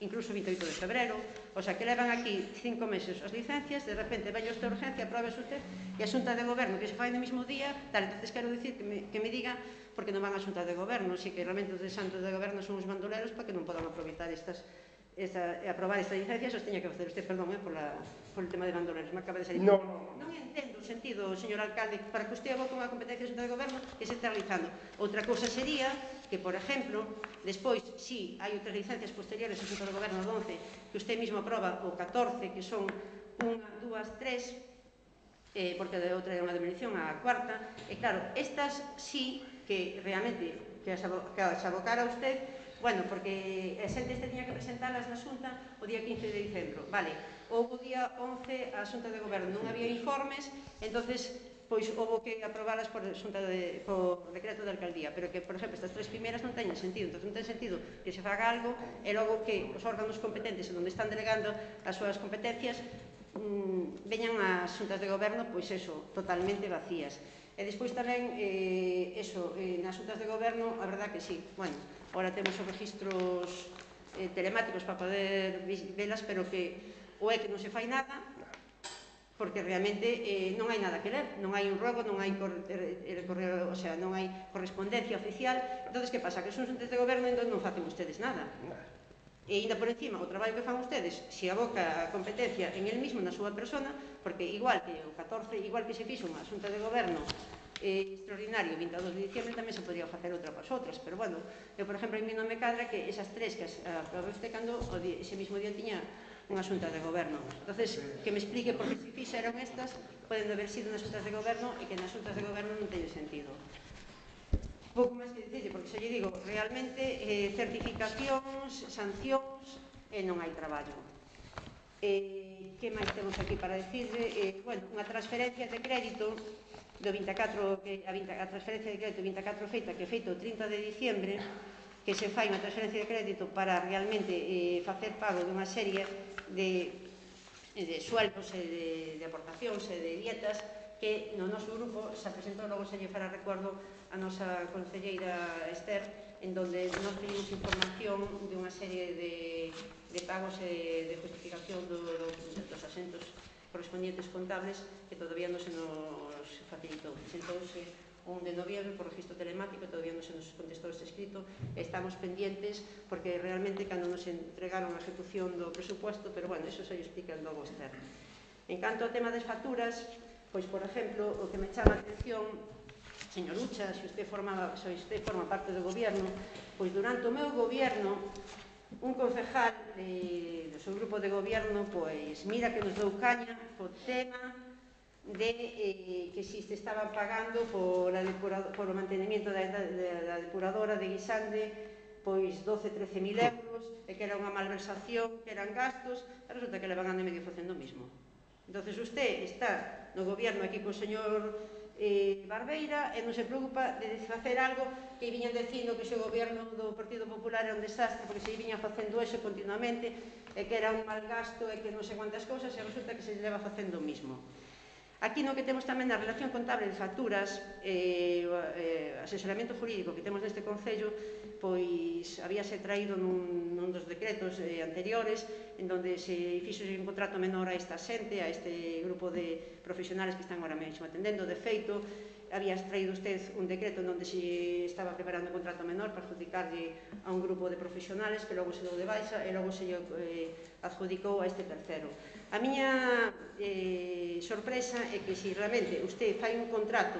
C: incluso o veintioito de febrero, o sea, que levan aquí cinco meses as licencias, de repente veño esta urgencia, apróbese usted, e a Xunta de Goberno, que se fai no mesmo día, tal, entonces quero dicir que me, que me diga porque non van a Xunta de Goberno, si que realmente os de Xunta de Goberno son os bandoleros para que non podan aproveitar estas esta, aprobar esta licencia, os teña que facer usted, perdón, eh, por, la, por el tema de bandoleros, me acaba de salir.
B: No, no,
C: non entendo o sentido, señor alcalde, para que usted aboque unha competencia de Xunta de Goberno que se está realizando. Outra cousa sería que, por exemplo, despois, si hai outras licencias posteriores a Xunta de Goberno do once, que usted mismo aproba o catorce, que son unha, dúas, tres, eh, porque de outra é unha demolición a cuarta, e claro, estas sí que realmente que as, abo, que as abocara usted, bueno, porque a xente este tiña que presentalas na Xunta o día quince de diciembre, vale, houve o día once a Xunta de Goberno, non había informes, entonces pois houve que aprobalas por, xunta de, por decreto de alcaldía, pero que, por exemplo, estas tres primeiras non teñen sentido, entón non ten sentido que se faga algo e logo que os órganos competentes onde están delegando as súas competencias mmm, veñan as xuntas de goberno, pois eso, totalmente vacías. E despois tamén, eh, eso, eh, nas xuntas de goberno, a verdad que sí, bueno, agora temos os registros eh, telemáticos para poder velas, pero que ou é que non se fai nada, porque realmente eh, non hai nada que ler, non hai un rogo, non hai correo, o sea, non hai correspondencia oficial. Entonces, que pasa? Que son xuntas de goberno e non facen ustedes nada. E ainda por encima, o traballo que fan ustedes, se aboca a competencia en el mismo, na súa persona, porque igual que o catorce, igual que se fixo unha xunta de goberno eh, extraordinario, o veintidós de diciembre, tamén se podría facer outra para as outras, pero bueno, eu, por exemplo, a mí non me cadra que esas tres que as aprobou usted cando ese mismo día tiña unha xunta de goberno. Entonces, que me explique por que se fixeron estas, poden haber sido nas xuntas de goberno e que nas xuntas de goberno non teñen sentido. Pouco máis que dicirle, porque se lle digo, realmente eh, certificacións, sancións e non hai traballo. Eh, que máis temos aquí para decirle? Eh, bueno, unha transferencia de crédito do veinticuatro, que, a, a transferencia de crédito veinticuatro feita, que feito o trinta de diciembre, que se fai unha transferencia de crédito para realmente eh, facer pago dunha serie de, de sueldos e de, de aportacións e de dietas que no noso grupo se presentou, logo se lle fará recuerdo a nosa concelleira Esther, en donde nos pedimos información de unha serie de, de pagos e de justificación do, do, dos asentos correspondientes contables que todavía non se nos facilitou. Presentouse un de noviembre por registro telemático, todavía non se nos contestou este escrito, estamos pendientes porque realmente cando nos entregaron a ejecución do presupuesto, pero bueno, eso se lle explica logo Esther. En canto ao tema das facturas, pois, por exemplo, o que me chama a atención, señor Ucha, se usted forma, se usted forma parte do gobierno, pois durante o meu gobierno, un concejal de, do seu grupo de gobierno, pois, mira que nos dou caña co tema de eh, que si se estaban pagando por, a por o mantenimiento da, da, da depuradora de Guisande, pois doce, trece mil euros, e que era unha malversación, que eran gastos, e resulta que levan ano e medio facendo o mismo. Entonces, usted está no gobierno aquí co señor eh, Barbeira e non se preocupa de facer algo que viñan dicindo que o gobierno do Partido Popular era un desastre porque se viña facendo eso continuamente e que era un mal gasto e que non sei quantas cousas e resulta que se leva facendo o mismo. Aquí no que temos tamén na relación contable de facturas e eh, asesoramento jurídico que temos neste Concello, pois habíase traído nun, nun dos decretos eh, anteriores en donde se fixo un contrato menor a esta xente, a este grupo de profesionales que están ahora mesmo atendendo. De feito, habías traído usted un decreto en donde se estaba preparando un contrato menor para adjudicarlle a un grupo de profesionales que logo se deu de baixa e logo se eh, adjudicou a este tercero. A miña eh, sorpresa é que se realmente usted fai un contrato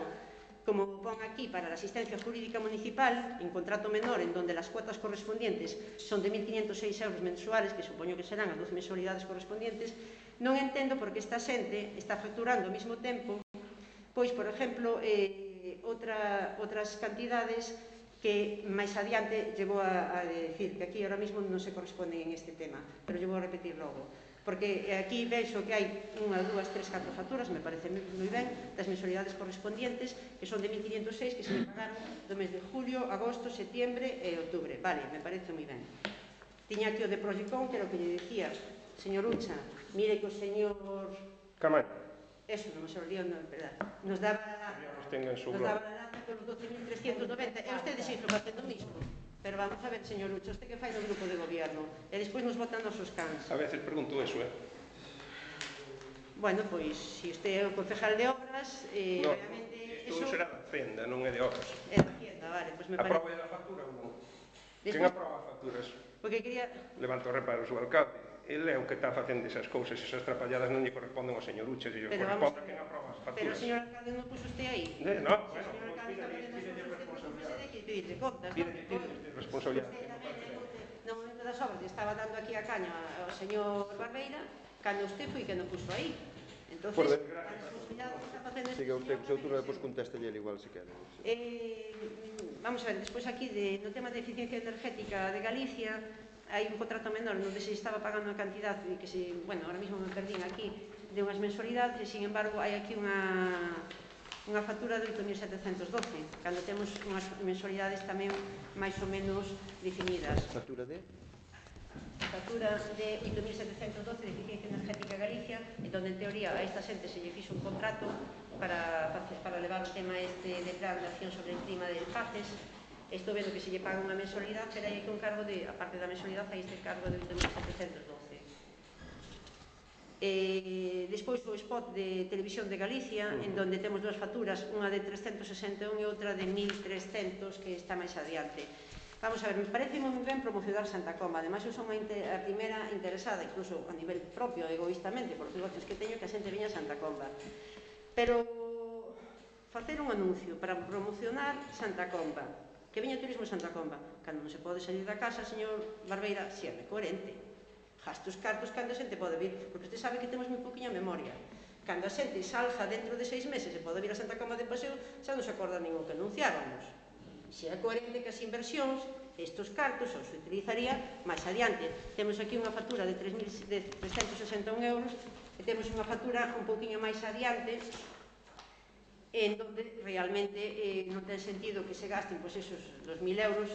C: como pon aquí para a asistencia jurídica municipal, en contrato menor, en donde las cuotas correspondientes son de mil quinientos seis euros mensuales, que supoño que serán as doce mensualidades correspondientes, non entendo por que esta xente está facturando ao mesmo tempo, pois, por exemplo, eh, outra, outras cantidades que máis adiante llevo a, a decir que aquí ahora mesmo non se corresponden en este tema, pero yo vou a repetir logo. Porque aquí vexo que hai unha, dúas, tres, catro facturas, me parece moi ben, das mensualidades correspondientes, que son de mil quinientos seis, que se me pagaron do mes de julio, agosto, setiembre e outubro. Vale, me parece moi ben. Tiña aquí o de Proyecón, que era o que lle dicía, señor Ucha, mire que o señor...
B: Camaño.
C: Eso, non me se olvidou, non, verdad. Nos daba a lata, nos daba a lata con doce mil trescientos noventa, e usted seguiu facendo o mismo. Pero vamos a ver, señor Ucho, usted que fai no grupo de gobierno e despois nos botan os seus cans.
B: A veces pregunto eso, eh?
C: Bueno, pois, se usted é o concejal de obras, eh,
B: no,
C: realmente...
B: isto
C: eso...
B: será da Hacienda, non é de obras.
C: É da Hacienda, vale, pois me parece...
B: Aproba a factura ou non?
C: Despois...
B: Quen aproba facturas?
C: Porque quería...
B: Levanta o reparo o seu alcalde. Ele é o que está facendo esas cousas, esas trapalladas non lle corresponden ao señor Ucha, se lle corresponde a quen aproba as facturas.
C: Pero o señor alcalde non puso usted aí?
B: Eh, no,
C: Se o señor alcalde está facendo as cousas, responsabilidade que pedirle contas, non?
B: Pide responsabilidade.
C: No momento das obras estaba dando aquí a caña ao señor Barbeira, cando usted foi que non puso aí. Entonces,
A: Por
C: a responsabilidade que está facendo...
A: Siga usted co seu turno, depois contestalle igual se quere.
C: Eh, vamos a ver, despois aquí de, no tema de eficiencia energética de Galicia hai un contrato menor onde se estaba pagando unha cantidad que se, bueno, ahora mesmo me perdín aquí de unhas mensualidades e, sin embargo, hai aquí unha unha factura de oito mil setecentos doce, cando temos unhas mensualidades tamén máis ou menos definidas.
A: Factura de?
C: Factura de oito mil setecentos doce de eficiencia energética Galicia, en donde, en teoría, a esta xente se lle fixo un contrato para, para levar o tema este de plan de acción sobre el clima de Faces. Estou vendo que se lle paga unha mensualidade, pero hai aquí un cargo de, aparte da mensualidade, hai este cargo de oito mil setecentos doce. Eh, despois o spot de Televisión de Galicia, en donde temos dúas facturas, unha de trescentos sesenta e un e outra de mil trescentos, que está máis adiante. Vamos a ver, me parece moi ben promocionar Santa Comba. Ademais, eu son a, a primeira interesada, incluso a nivel propio, egoístamente, por os negocios que teño, que a xente viña a Santa Comba. Pero facer un anuncio para promocionar Santa Comba, que veña turismo a Santa Comba, cando non se pode salir da casa, señor Barbeira, si é coherente. Gaste os cartos cando a xente pode vir, porque usted sabe que temos moi poquinha memoria. Cando a xente salga dentro de seis meses e pode vir a Santa Comba de paseo, xa non se acorda ningún que anunciáramos. Se é coherente que as inversións, estos cartos, os utilizaría máis adiante. Temos aquí unha factura de trescentos sesenta e un euros e temos unha factura un pouquinho máis adiante en donde realmente eh, non ten sentido que se gasten pois, esos dos mil euros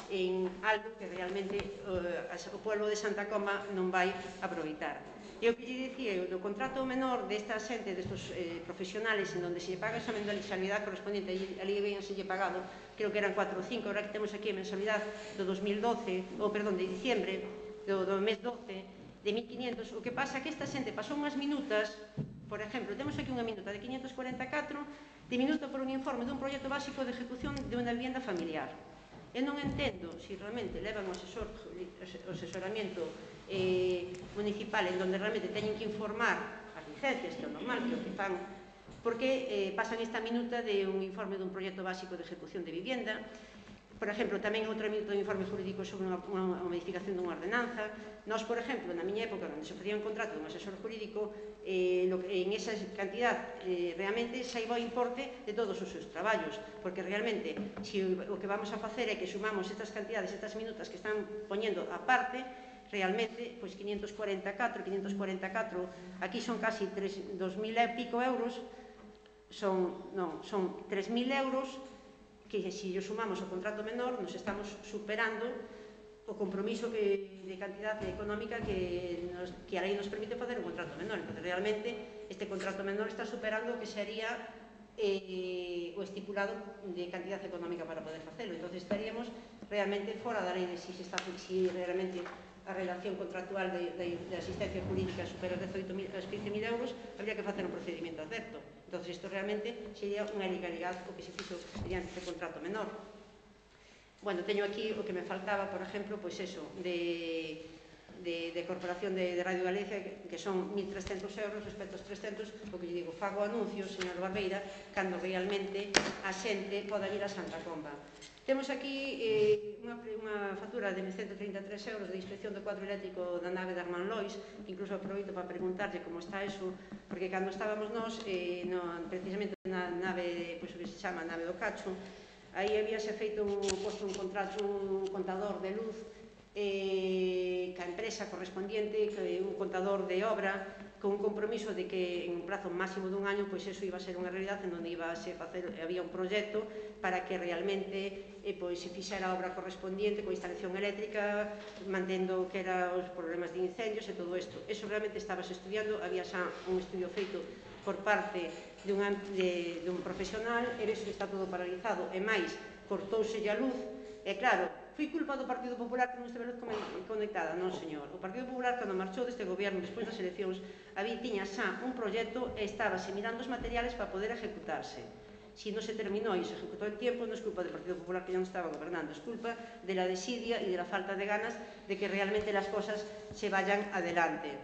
C: en algo que realmente eh, o pueblo de Santa Comba non vai aproveitar. E o que lle dicía, o contrato menor desta xente, destos eh, profesionales, en donde se lle paga esa mensualidade correspondiente, ali ben se lle pagado, creo que eran cuatro ou cinco, ahora que temos aquí a mensualidade do dos mil doce, ou perdón, de diciembre, do, do mes doce, de mil quinientos, o que pasa é que esta xente pasou unhas minutas. Por exemplo, temos aquí unha minuta de quinientos cuarenta e catro, de minuto por un informe dun proxecto básico de ejecución de unha vivienda familiar. Eu non entendo se realmente levan o asesor, o asesoramiento eh, municipal en donde realmente teñen que informar as licencias, que é o normal, que é o que fan, porque eh, pasan esta minuta de un informe dun proxecto básico de ejecución de vivienda. Por exemplo, tamén outra minuta de informe jurídico sobre unha, unha, unha modificación dunha ordenanza. Nós, por exemplo, na miña época, onde se facía un contrato dun asesor jurídico, eh, lo, en esa cantidad eh, realmente saiba o importe de todos os seus traballos, porque realmente, se o que vamos a facer é que sumamos estas cantidades, estas minutas que están poñendo a parte, realmente, pois quinientos cuarenta e catro, quinientos cuarenta e catro, aquí son casi dos mil e pico euros, son, non, son tres mil euros, que se o sumamos ao contrato menor, nos estamos superando o compromiso que, de cantidad económica que, nos, que a lei nos permite facer un contrato menor. Entón, realmente, este contrato menor está superando o que sería eh, o estipulado de cantidad económica para poder facelo. Entón, estaríamos realmente fora da lei de si, se está, si realmente a relación contractual de, de, de asistencia jurídica supera os quince mil euros, habría que facer un procedimento acerto. Entón, isto realmente sería unha ilegalidade o que se fixo mediante este contrato menor. Bueno, teño aquí o que me faltaba, por exemplo, pois eso, de, de, de Corporación de, de Radio Galicia, que, que son mil trescentos euros respecto aos trescentos, o que lle digo, fago anuncios, señor Barbeira, cando realmente a xente poda ir a Santa Comba. Temos aquí eh, unha, unha factura de ciento trinta e tres euros de inspección do cuadro eléctrico da nave de Armand Lois, que incluso aproveito para preguntarlle como está eso, porque cando estábamos nós, eh, no, precisamente na nave, pois, que se chama nave do Cacho, aí habíase feito un, posto un, contrato, un contador de luz eh, ca empresa correspondiente, que un contador de obra, con un compromiso de que en un prazo máximo dun año, pois eso iba a ser unha realidade en onde iba a se facer, había un proxecto para que realmente eh, pois, se fixera a obra correspondiente coa instalación eléctrica, mantendo que eran os problemas de incendios e todo isto. Eso realmente estabas estudiando, había xa un estudio feito por parte de un, de, de un profesional, e ves que está todo paralizado, e máis, cortouse a luz, e claro, foi culpa do Partido Popular que non esteve luz conectada? Non, señor. O Partido Popular, cando marchou deste goberno despois das eleccións, había tiña xa un proxecto e estábase mirando os materiales para poder ejecutarse. Si non se terminou e se ejecutó el tiempo, non é culpa do Partido Popular que non estaba gobernando, é culpa de la desidia e de la falta de ganas de que realmente las cosas se vayan adelante.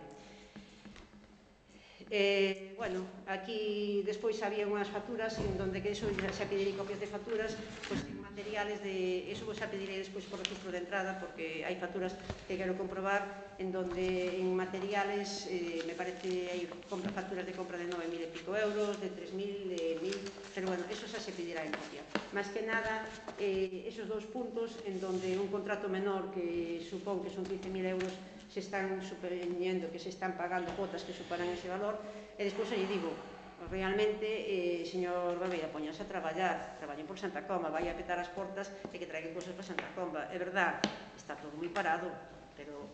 C: Eh, bueno, aquí despois había unhas facturas en donde que eso xa pedirei copias de facturas, pois en materiales de, eso xa pedirei despois por registro de entrada, porque hai facturas que quero comprobar en donde en materiales eh, me parece hai compra, facturas de compra de nove mil e pico euros, de tres mil, de mil, pero bueno, eso xa se pedirá en copia. Más que nada, eh, esos dos puntos en donde un contrato menor que supón que son quince mil euros se están suponiendo que se están pagando cuotas que superan ese valor, e despois lle digo, realmente, eh, señor Barbeira, poñase a traballar, traballen por Santa Comba, vai a petar as portas e que traigan cosas para Santa Comba. É verdad, está todo moi parado, pero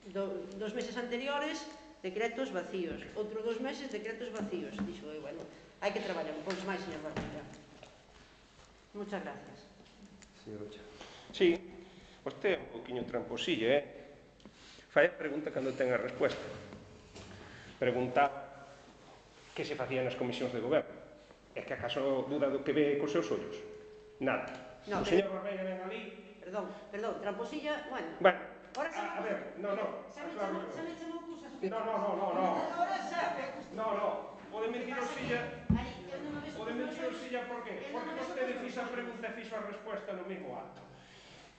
C: do, dos meses anteriores, decretos vacíos, outro dos meses, decretos vacíos. Dixo, eh, bueno, hai que traballar un pouco máis, señor Barbeira. Muchas gracias.
A: Señor Ocha.
B: Sí, vostede é un poquinho tramposilla, eh? Fai a pregunta cando ten a resposta. Preguntaba que se facía nas comisións de goberno. É que acaso duda do que ve cos seus ollos? Nada.
C: No,
B: o señor Barbeira ven ali...
C: Perdón, perdón, tramposilla, bueno...
B: Bueno,
C: ahora xa
B: a, a ver, no, no.
C: Xa me chamou, xa me chamou cosas...
B: No, no, no, no, no.
C: Ahora xa...
B: No, no. O de mentirosilla... O de mentirosilla, por qué? Porque vostede fixo a pregunta e fixo a resposta no mesmo acto.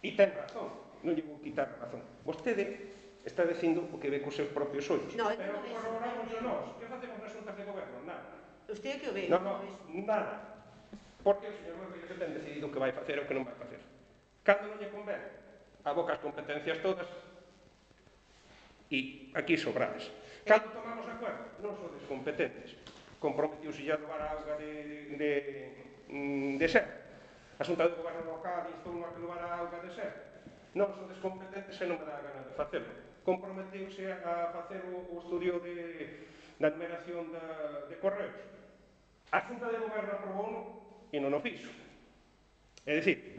B: E ten razón, non lle vou quitar a razón. Vostede está dicindo o que ve cos seus propios ollos.
C: No,
B: pero
C: non é
B: corroboramos nós. Que facemos nas xuntas de goberno? Nada.
C: Usted que o ve?
B: No, no, nada. Porque o señor Barbeira ten decidido o que vai facer ou o que non vai facer. Cando non lle convén, aboca as competencias todas e aquí sobrades. Cando tomamos acuerdo, non sodes competentes. Comprometiuse a levar a auga de, de, de ser. A Xunta de Goberno local instou a que levar a auga de ser. Non sodes competentes e non me dá a gana de facelo. Comprometeuse a facer o, o estudio de, da numeración da, de correos. A Xunta de Goberno aprobou e non o fixo. É dicir,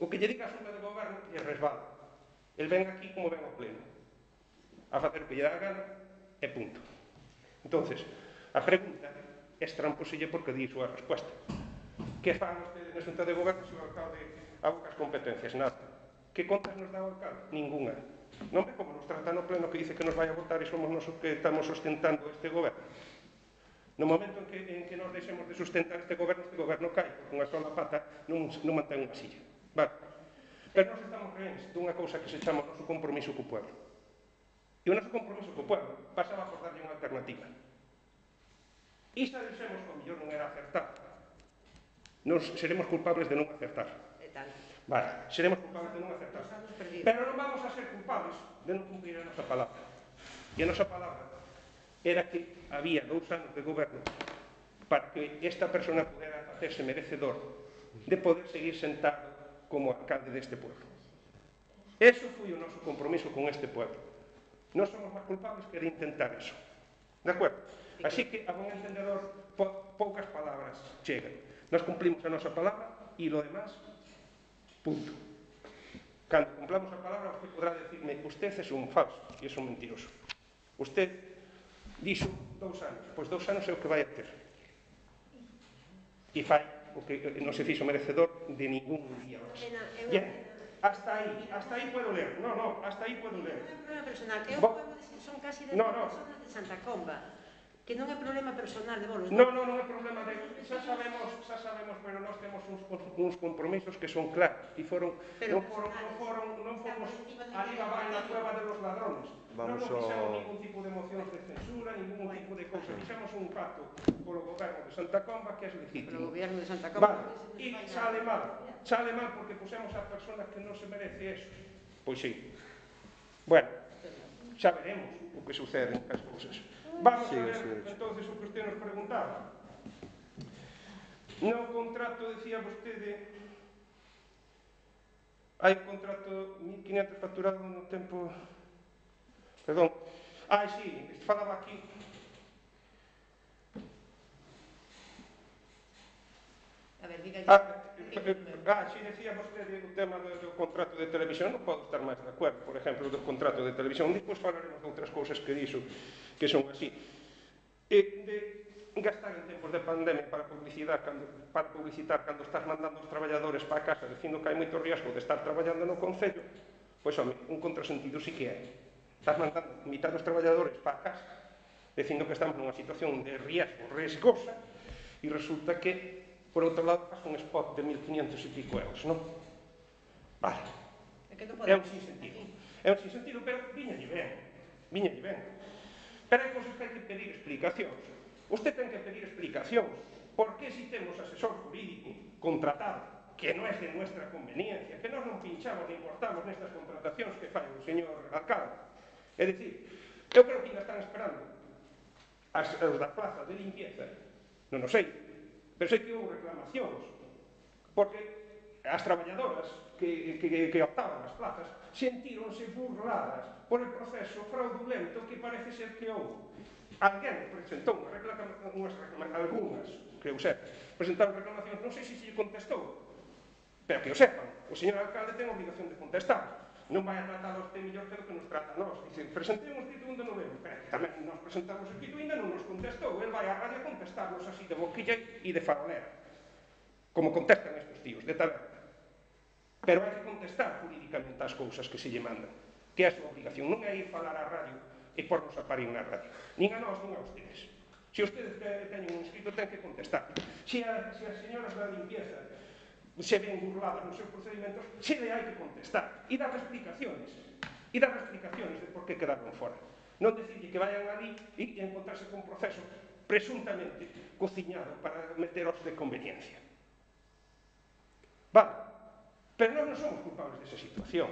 B: o que lle diga a Xunta de Goberno lle resbala. El ven aquí como ven ao pleno. A facer o que lle dá a gana e punto. Entonces, a pregunta é tramposilla porque di súa resposta. Que fan ustedes na Xunta de Goberno se o alcalde aboca as competencias? Nada. Que contas nos dá o alcalde? Ninguna. Non ve como nos trata no pleno que dice que nos vai a votar e somos nos que estamos sustentando este goberno. No momento en que, en que nos deixemos de sustentar este goberno, este goberno cae, porque unha sola pata non, non mantén unha silla. Vale. Pero nós estamos reens dunha cousa que se chama o noso compromiso co pueblo. E o noso compromiso co pueblo pasaba por darlle unha alternativa. E se dixemos que o mellor non era acertar, nos seremos culpables de non acertar. Vale, seremos culpables de non acertar. Pero non vamos a ser culpables de non cumprir a nosa palabra. E a nosa palabra era que había dous anos de goberno para que esta persona pudera hacerse merecedor de poder seguir sentado como alcalde deste pueblo. Eso foi o noso compromiso con este pueblo. Non somos máis culpables que de intentar eso. De acordo? Así que, a buen entendedor, po poucas palabras chegan. Nos cumplimos a nosa palabra e lo demás, punto. Cando cumplamos a palabra, usted podrá decirme, usted é un falso e é un mentiroso. Usted dixo dous anos, pois dous anos é o que vai a ter. E fai o que non se fixo merecedor de ningún día máis. Bien, hasta aí, hasta aí puedo ler. No, no, hasta aí puedo ler.
C: Non é un problema personal, que eu
B: Bo...
C: podo decir, son casi de
B: no, no.
C: personas de Santa Comba, que non é problema personal de bolos.
B: Non, non, non é problema de... Xa sabemos, xa sabemos, pero nós temos uns, uns compromisos que son claros e foron, non foron, non foron, non fomos ali a vai na cueva de los ladrones.
A: Vamos
B: non, non fixemos
A: ao...
B: ningún tipo de mocións de censura, ningún tipo de cousa. Fixemos un pacto polo goberno de Santa Comba que é legítimo.
C: Polo goberno de Santa Comba.
B: Vale, e sale mal, sale mal porque pusemos a persona que non se merece eso. Pois sí. Bueno, xa veremos o que sucede en as cousas. Vamos a ver, entonces, o que usted nos preguntaba. No contrato, decía vostede, hai un contrato mil quinientos facturado no tempo... Perdón. Ah, sí, falaba aquí.
C: A ver, diga
B: Ah, ah, sí, decía vostede o tema do, do contrato de televisión, non podo estar máis de acordo, por exemplo, do contrato de televisión. Depois falaremos de outras cousas que dixo que son así. E de gastar en tempos de pandemia para publicitar cando, para publicitar cando estás mandando os traballadores para a casa dicindo que hai moito riesgo de estar traballando no Concello, pois, home, un contrasentido sí que é. Estás mandando mitad dos traballadores para a casa dicindo que estamos nunha situación de riesgo riesgosa e resulta que por outro lado, faz un spot de mil quinientos e pico euros, non? Vale. É un sinsentido. É un sinsentido, pero viñalle ben. Viñalle ben. Pero hai cousas que hai que pedir explicacións. Usted ten que pedir explicacións. Por que si temos asesor jurídico contratado, que non é de nuestra conveniencia, que nós non pinchamos ni importamos nestas contratacións que fai o señor alcalde? É dicir, eu creo que ainda están esperando as, os da plaza de limpieza, non o sei, pero sei que houve reclamacións, porque as traballadoras que, que, que optaban as plazas sentíronse burladas por el proceso fraudulento que parece ser que houve. Alguén presentou unha reclamación, algunhas, que eu sepa, presentaron reclamacións, non sei se se lle contestou, pero que o sepan, o señor alcalde ten a obligación de contestar. Non vai a tratar a usted mellor que o que nos trata a nós. Dice, presentei un escrito onde non vemos, pero tamén nos presentamos o escrito e ainda non nos contestou. El vai á radio a contestarnos así de boquilla e de farolera, como contestan estes tíos, de taberna. Pero hai que contestar jurídicamente as cousas que se lle mandan, que é a súa obligación. Non é ir falar á radio e pornos a parir na radio. Nin a nós, nin a ustedes. Se ustedes teñen un escrito, ten que contestar. Se, a, se as señoras da limpieza se ven burladas nos seus procedimentos, se le hai que contestar e dar explicaciones e dar explicaciones de por que quedaron fora. Non decirle que vayan ali e encontrarse con un proceso presuntamente cociñado para meteros de conveniencia. Vale, pero nós non somos culpables desa situación.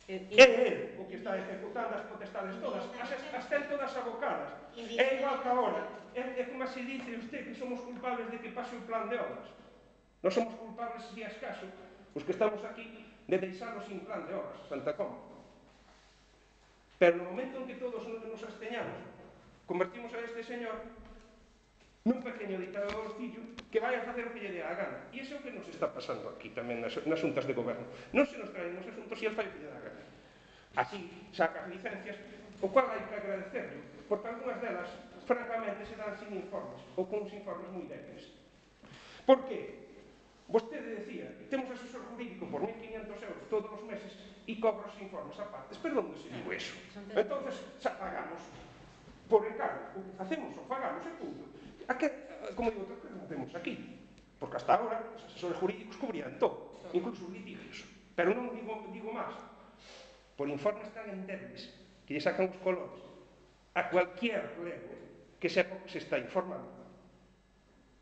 B: É él o que está ejecutando as potestades todas, as, as ten todas abocadas. É igual que agora, é, é como se dice usted que somos culpables de que pase o plan de obras. Non somos culpables, se é escaso, os que estamos aquí, de deixarnos sin plan de obras, Santa Comba. Pero no momento en que todos nos absteñamos, convertimos a este señor nun pequeño dictadorcillo que vai a facer o que lle dé a gana. E iso é o que nos está pasando aquí tamén nas, nas xuntas de goberno. Non se nos traen os asuntos e el fai o que lle dá a gana. Así saca as licencias, o cual hai que agradecerlo, porque algunhas delas, francamente, se dan sin informes, ou con uns informes moi débiles. Por que? Vostede decía, temos asesor jurídico por mil quinientos euros todos os meses e cobra os informes a partes. Pero onde se digo eso? Entón, xa pagamos por encargo. O que facemos o pagamos e punto. A que, como digo, que non temos aquí. Porque hasta agora os asesores jurídicos cubrían todo, incluso os litigios. Pero non digo, digo máis. Por informes tan endebles que lle sacan os colores a cualquier lego que sepa que se está informando.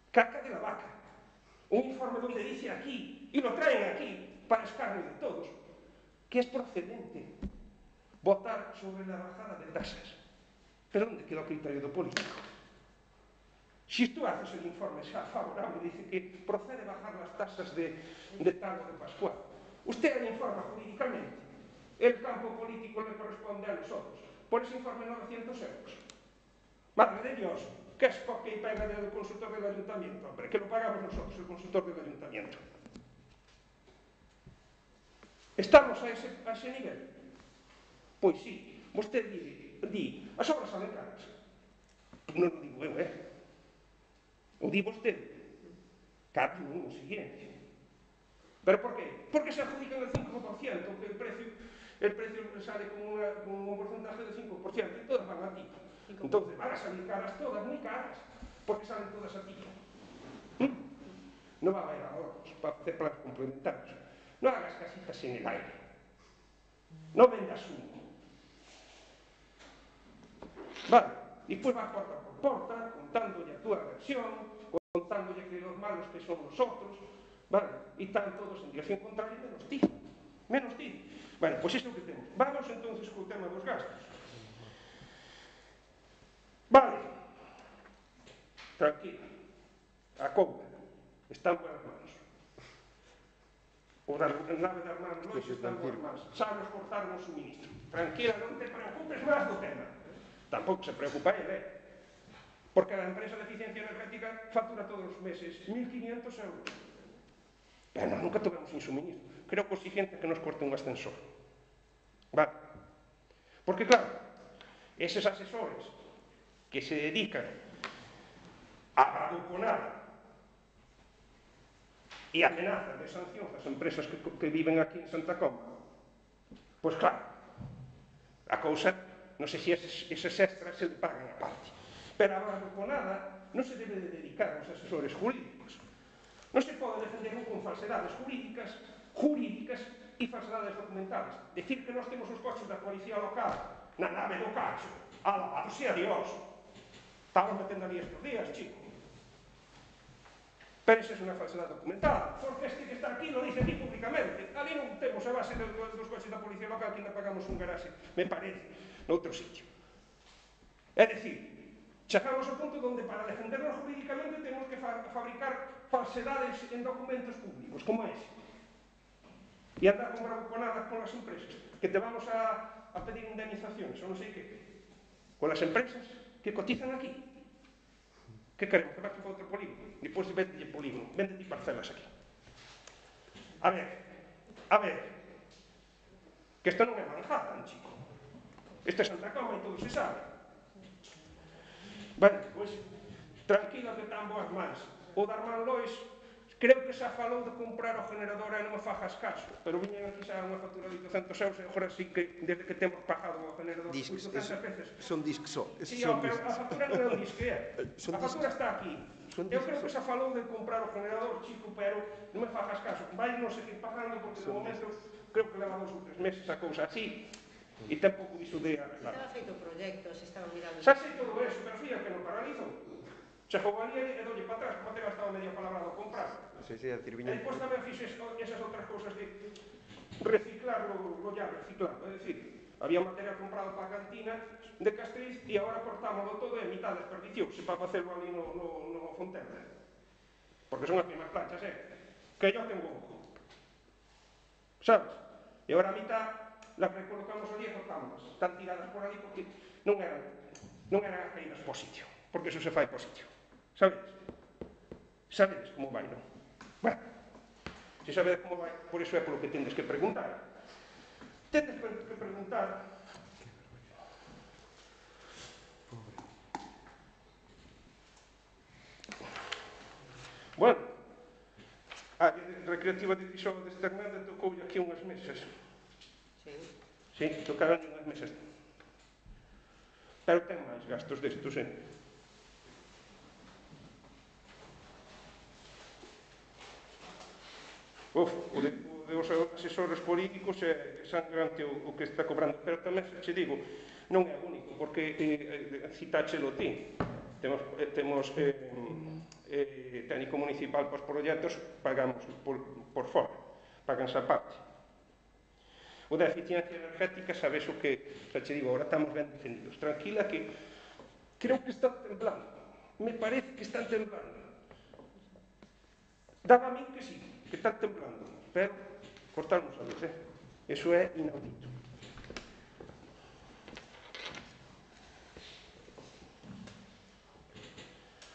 B: Caca de la vaca. Un informe donde dice aquí, y lo traen aquí, para escarnio de todos, que es procedente votar sobre la bajada de tasas. Pero ¿dónde quedó el criterio político? Si tú haces el informe favorable, dice que procede bajar las tasas de, de tal o de Pascual. Usted le informa jurídicamente, el campo político le corresponde a nosotros. Por ese informe novecientos euros. Madre de Dios, que es porque paga del consultor del ayuntamiento, hombre, que lo pagamos nosotros, el consultor del ayuntamiento. Estamos a ese, a ese nivel? Pois sí, vostede di, di as obras salen caras. Non o digo eu, eh? O di vostede. Caro non, o siguiente. Pero por qué? Porque se adjudican el cinco por ciento, que el precio, el precio sale con, una, con un porcentaje del cinco por ciento y todas van a ti. Entonces van a salir caras todas, muy caras, porque salen todas a ti. ¿Mm? No va a haber ahorros para hacer planes complementarios. No hagas casitas en el aire. No vendas humo. Vale, y despois va porta por porta, contándolle a túa versión, contándolle que los malos que son los otros, vale, e están todos en dirección contraria menos ti, menos ti. Bueno, pois iso é o que temos. Vamos entonces co tema dos gastos. Vale, tranquila, a conta está en buenas manos. O da nave de Armando Lois está en buenas manos. Sabes cortar un suministro. Tranquila, non te preocupes máis do tema. Tampouco se preocupa ele, eh? Porque a empresa de eficiencia energética factura todos os meses mil quinientos euros. Pero nunca tuvemos un suministro. Creo que o siguiente é que nos corte un ascensor. Vale? Porque claro, eses asesores que se dedican a bravuconar e amenazan de sancións das empresas que, que viven aquí en Santa Comba, pois claro, a cousa, non sei se eses, eses extras se le pagan a parte. Pero a bravuconada non se debe de dedicar aos asesores jurídicos. Non se pode defender un con falsedades jurídicas, jurídicas e falsedades documentales. Decir que nós temos os coches da policía local na nave do cacho, alabado sea Dios. Estamos metendo ali estes días, chico. Pero esa é unha falsedade documental, porque este que está aquí lo dice aquí públicamente. Ali non temos a base dos, dos coches da policía local que ainda pagamos un garaxe, me parece, noutro sitio. É dicir, chegamos ao punto onde para defendernos jurídicamente temos que fa fabricar falsedades en documentos públicos, como ese. E andar con bravuconadas con as empresas, que te vamos a, a pedir indemnizaciones, ou non sei que, con as empresas que cotizan aquí. Que queremos? Que vas para outro polígono? Depois de vende polígono, vende ti parcelas aquí. A ver, a ver, que isto non é Manhattan, chico. Este é Santa Coma e todo se sabe. Ben, pois, tranquila que tan boas mans. O da Armando Lois, creo que xa falou de comprar o generador e non me fajas caso, pero viñen aquí xa unha factura de oitocentos euros e agora sí que, desde que temos pagado o generador oitocentas veces.
D: Son discos só.
B: Sí, ó, pero a factura non é un disque, é. A factura está aquí. Eu creo que xa falou de comprar o generador, chico, pero non me fajas caso. Vai non seguir pagando porque de momento creo que leva dos ou tres meses a cousa así. E ten pouco iso de arreglar.
C: Estaba feito proxectos, estaba mirando...
B: Xa sei todo eso, pero fui que non paralizo. Chegou ali e doulle para atrás, como te gastaba medio palabrado a comprar.
A: Sí, sí, a decir, viña...
B: E depois tamén fixes esas outras cousas de reciclar lo, lo ya reciclado. É dicir, había material comprado para a cantina de Castriz e agora cortámoslo todo e a mitad desperdiciouse para facerlo ali no, no, no Fonterra. Porque son as mesmas planchas, eh? Que yo tengo ojo. Sabes? E agora a mitad las recolocamos ali e cortámolas. Están tiradas por ali porque non eran, non eran caídas por sitio. Porque eso se fai por sitio. Sabedes? Sabedes como vai, non? Bueno, se sabedes como vai, por iso é polo que tendes que preguntar. Tendes que preguntar... Bueno, a recreativa de Tixó de Esternada tocou aquí unhas mesas.
C: Sí.
B: Sí, tocaron unhas mesas. Pero ten máis gastos destos, eh? Uf, o de, o de os asesores políticos é sangrante o, o que está cobrando. Pero tamén, se digo, non é único, porque eh, citáchelo ti. Temos, eh, temos eh, eh, técnico municipal para os proxectos, pagamos por, por fora, paganse a parte. O da eficiencia energética, sabes o que, xa che digo, agora estamos ben defendidos. Tranquila que creo que están temblando. Me parece que están temblando. Daba a mí que sí, que están temblando, pero cortarnos a luz, eh? Eso é inaudito.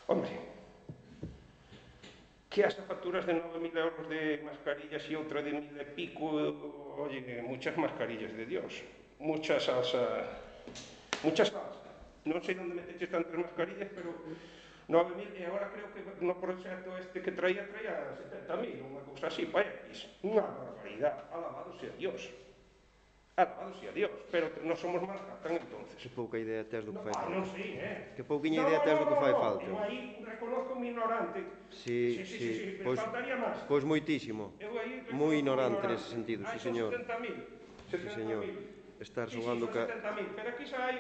B: Hombre, que hasta facturas de nove mil euros de mascarillas e outra de mil e pico, oye, muchas mascarillas de Dios, mucha salsa, mucha salsa. Non sei onde meteches tantas mascarillas, pero nove mil, e agora creo que no proxecto este que traía, traía setenta mil, unha cousa así, pa X. Unha barbaridade, alabado sea Dios. Alabado sea Dios, pero non somos Manhattan, entonces.
A: Que pouca idea tes do que fai
B: Ah,
A: falta.
B: non sei, eh?
A: Que pouquiña idea tes do que fai falta.
B: Eu aí reconozco mi ignorante.
A: Sí,
B: sí, sí,
A: sí,
B: sí,
A: pois,
B: faltaría máis.
A: pois moitísimo.
B: Eu aí reconozco
A: Moi
B: mi
A: ignorante nese sentido, sí,
B: Aí son
A: señor.
B: setenta mil.
A: Sí, señor. Estar
B: Sí, sí,
A: xogando
B: son
A: ca...
B: setenta mil, pero aquí xa hai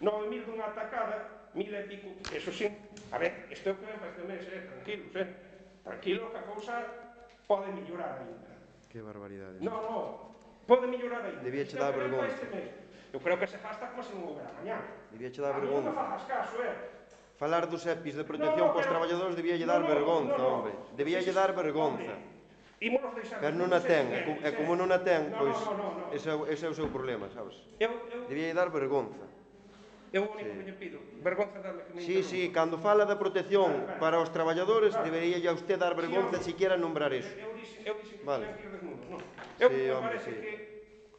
B: nove mil dunha atacada, mil e pico, eso sí. A ver, isto é o que ven para este mes, eh, tranquilos, eh. Tranquilo, que a cousa pode mellorar ainda.
A: Que barbaridade.
B: No, no, pode mellorar ainda.
A: Debía che
B: Isto é o
A: dar
B: que ven para
A: vergonza.
B: este mes. Eu creo que se gasta como se non houbera mañana.
A: Debía che dar
B: A mí non me
A: vergonza.
B: fagas caso, eh.
A: Falar dos E P Is de protección
B: No, no,
A: para os
B: pero-
A: traballadores debía lle
B: no,
A: dar
B: no,
A: vergonza,
B: no, no.
A: hombre. Debía
B: Sí,
A: lle
B: sí,
A: dar
B: sí,
A: vergonza.
B: hombre. Ímonos deixar
A: Pero non a
B: os
A: ten,
B: E
A: e co-
B: P Is,
A: e como non a ten,
B: No,
A: pois
B: no, no, no, no.
A: ese, é o- ese é o seu problema, sabes?
B: Eu, eu,
A: Debía lle dar vergonza.
B: eu o único que lle pido, vergonza darle que me
A: Sí, sí, cando fala da protección para os traballadores, debería a usted dar vergonza siquiera nombrar eso.
B: Eu dixen, eu dixen que
A: Vale.
B: tiñan que ir desnudos, non? Eu,
A: Sí,
B: me
A: hombre,
B: parece
A: sí.
B: que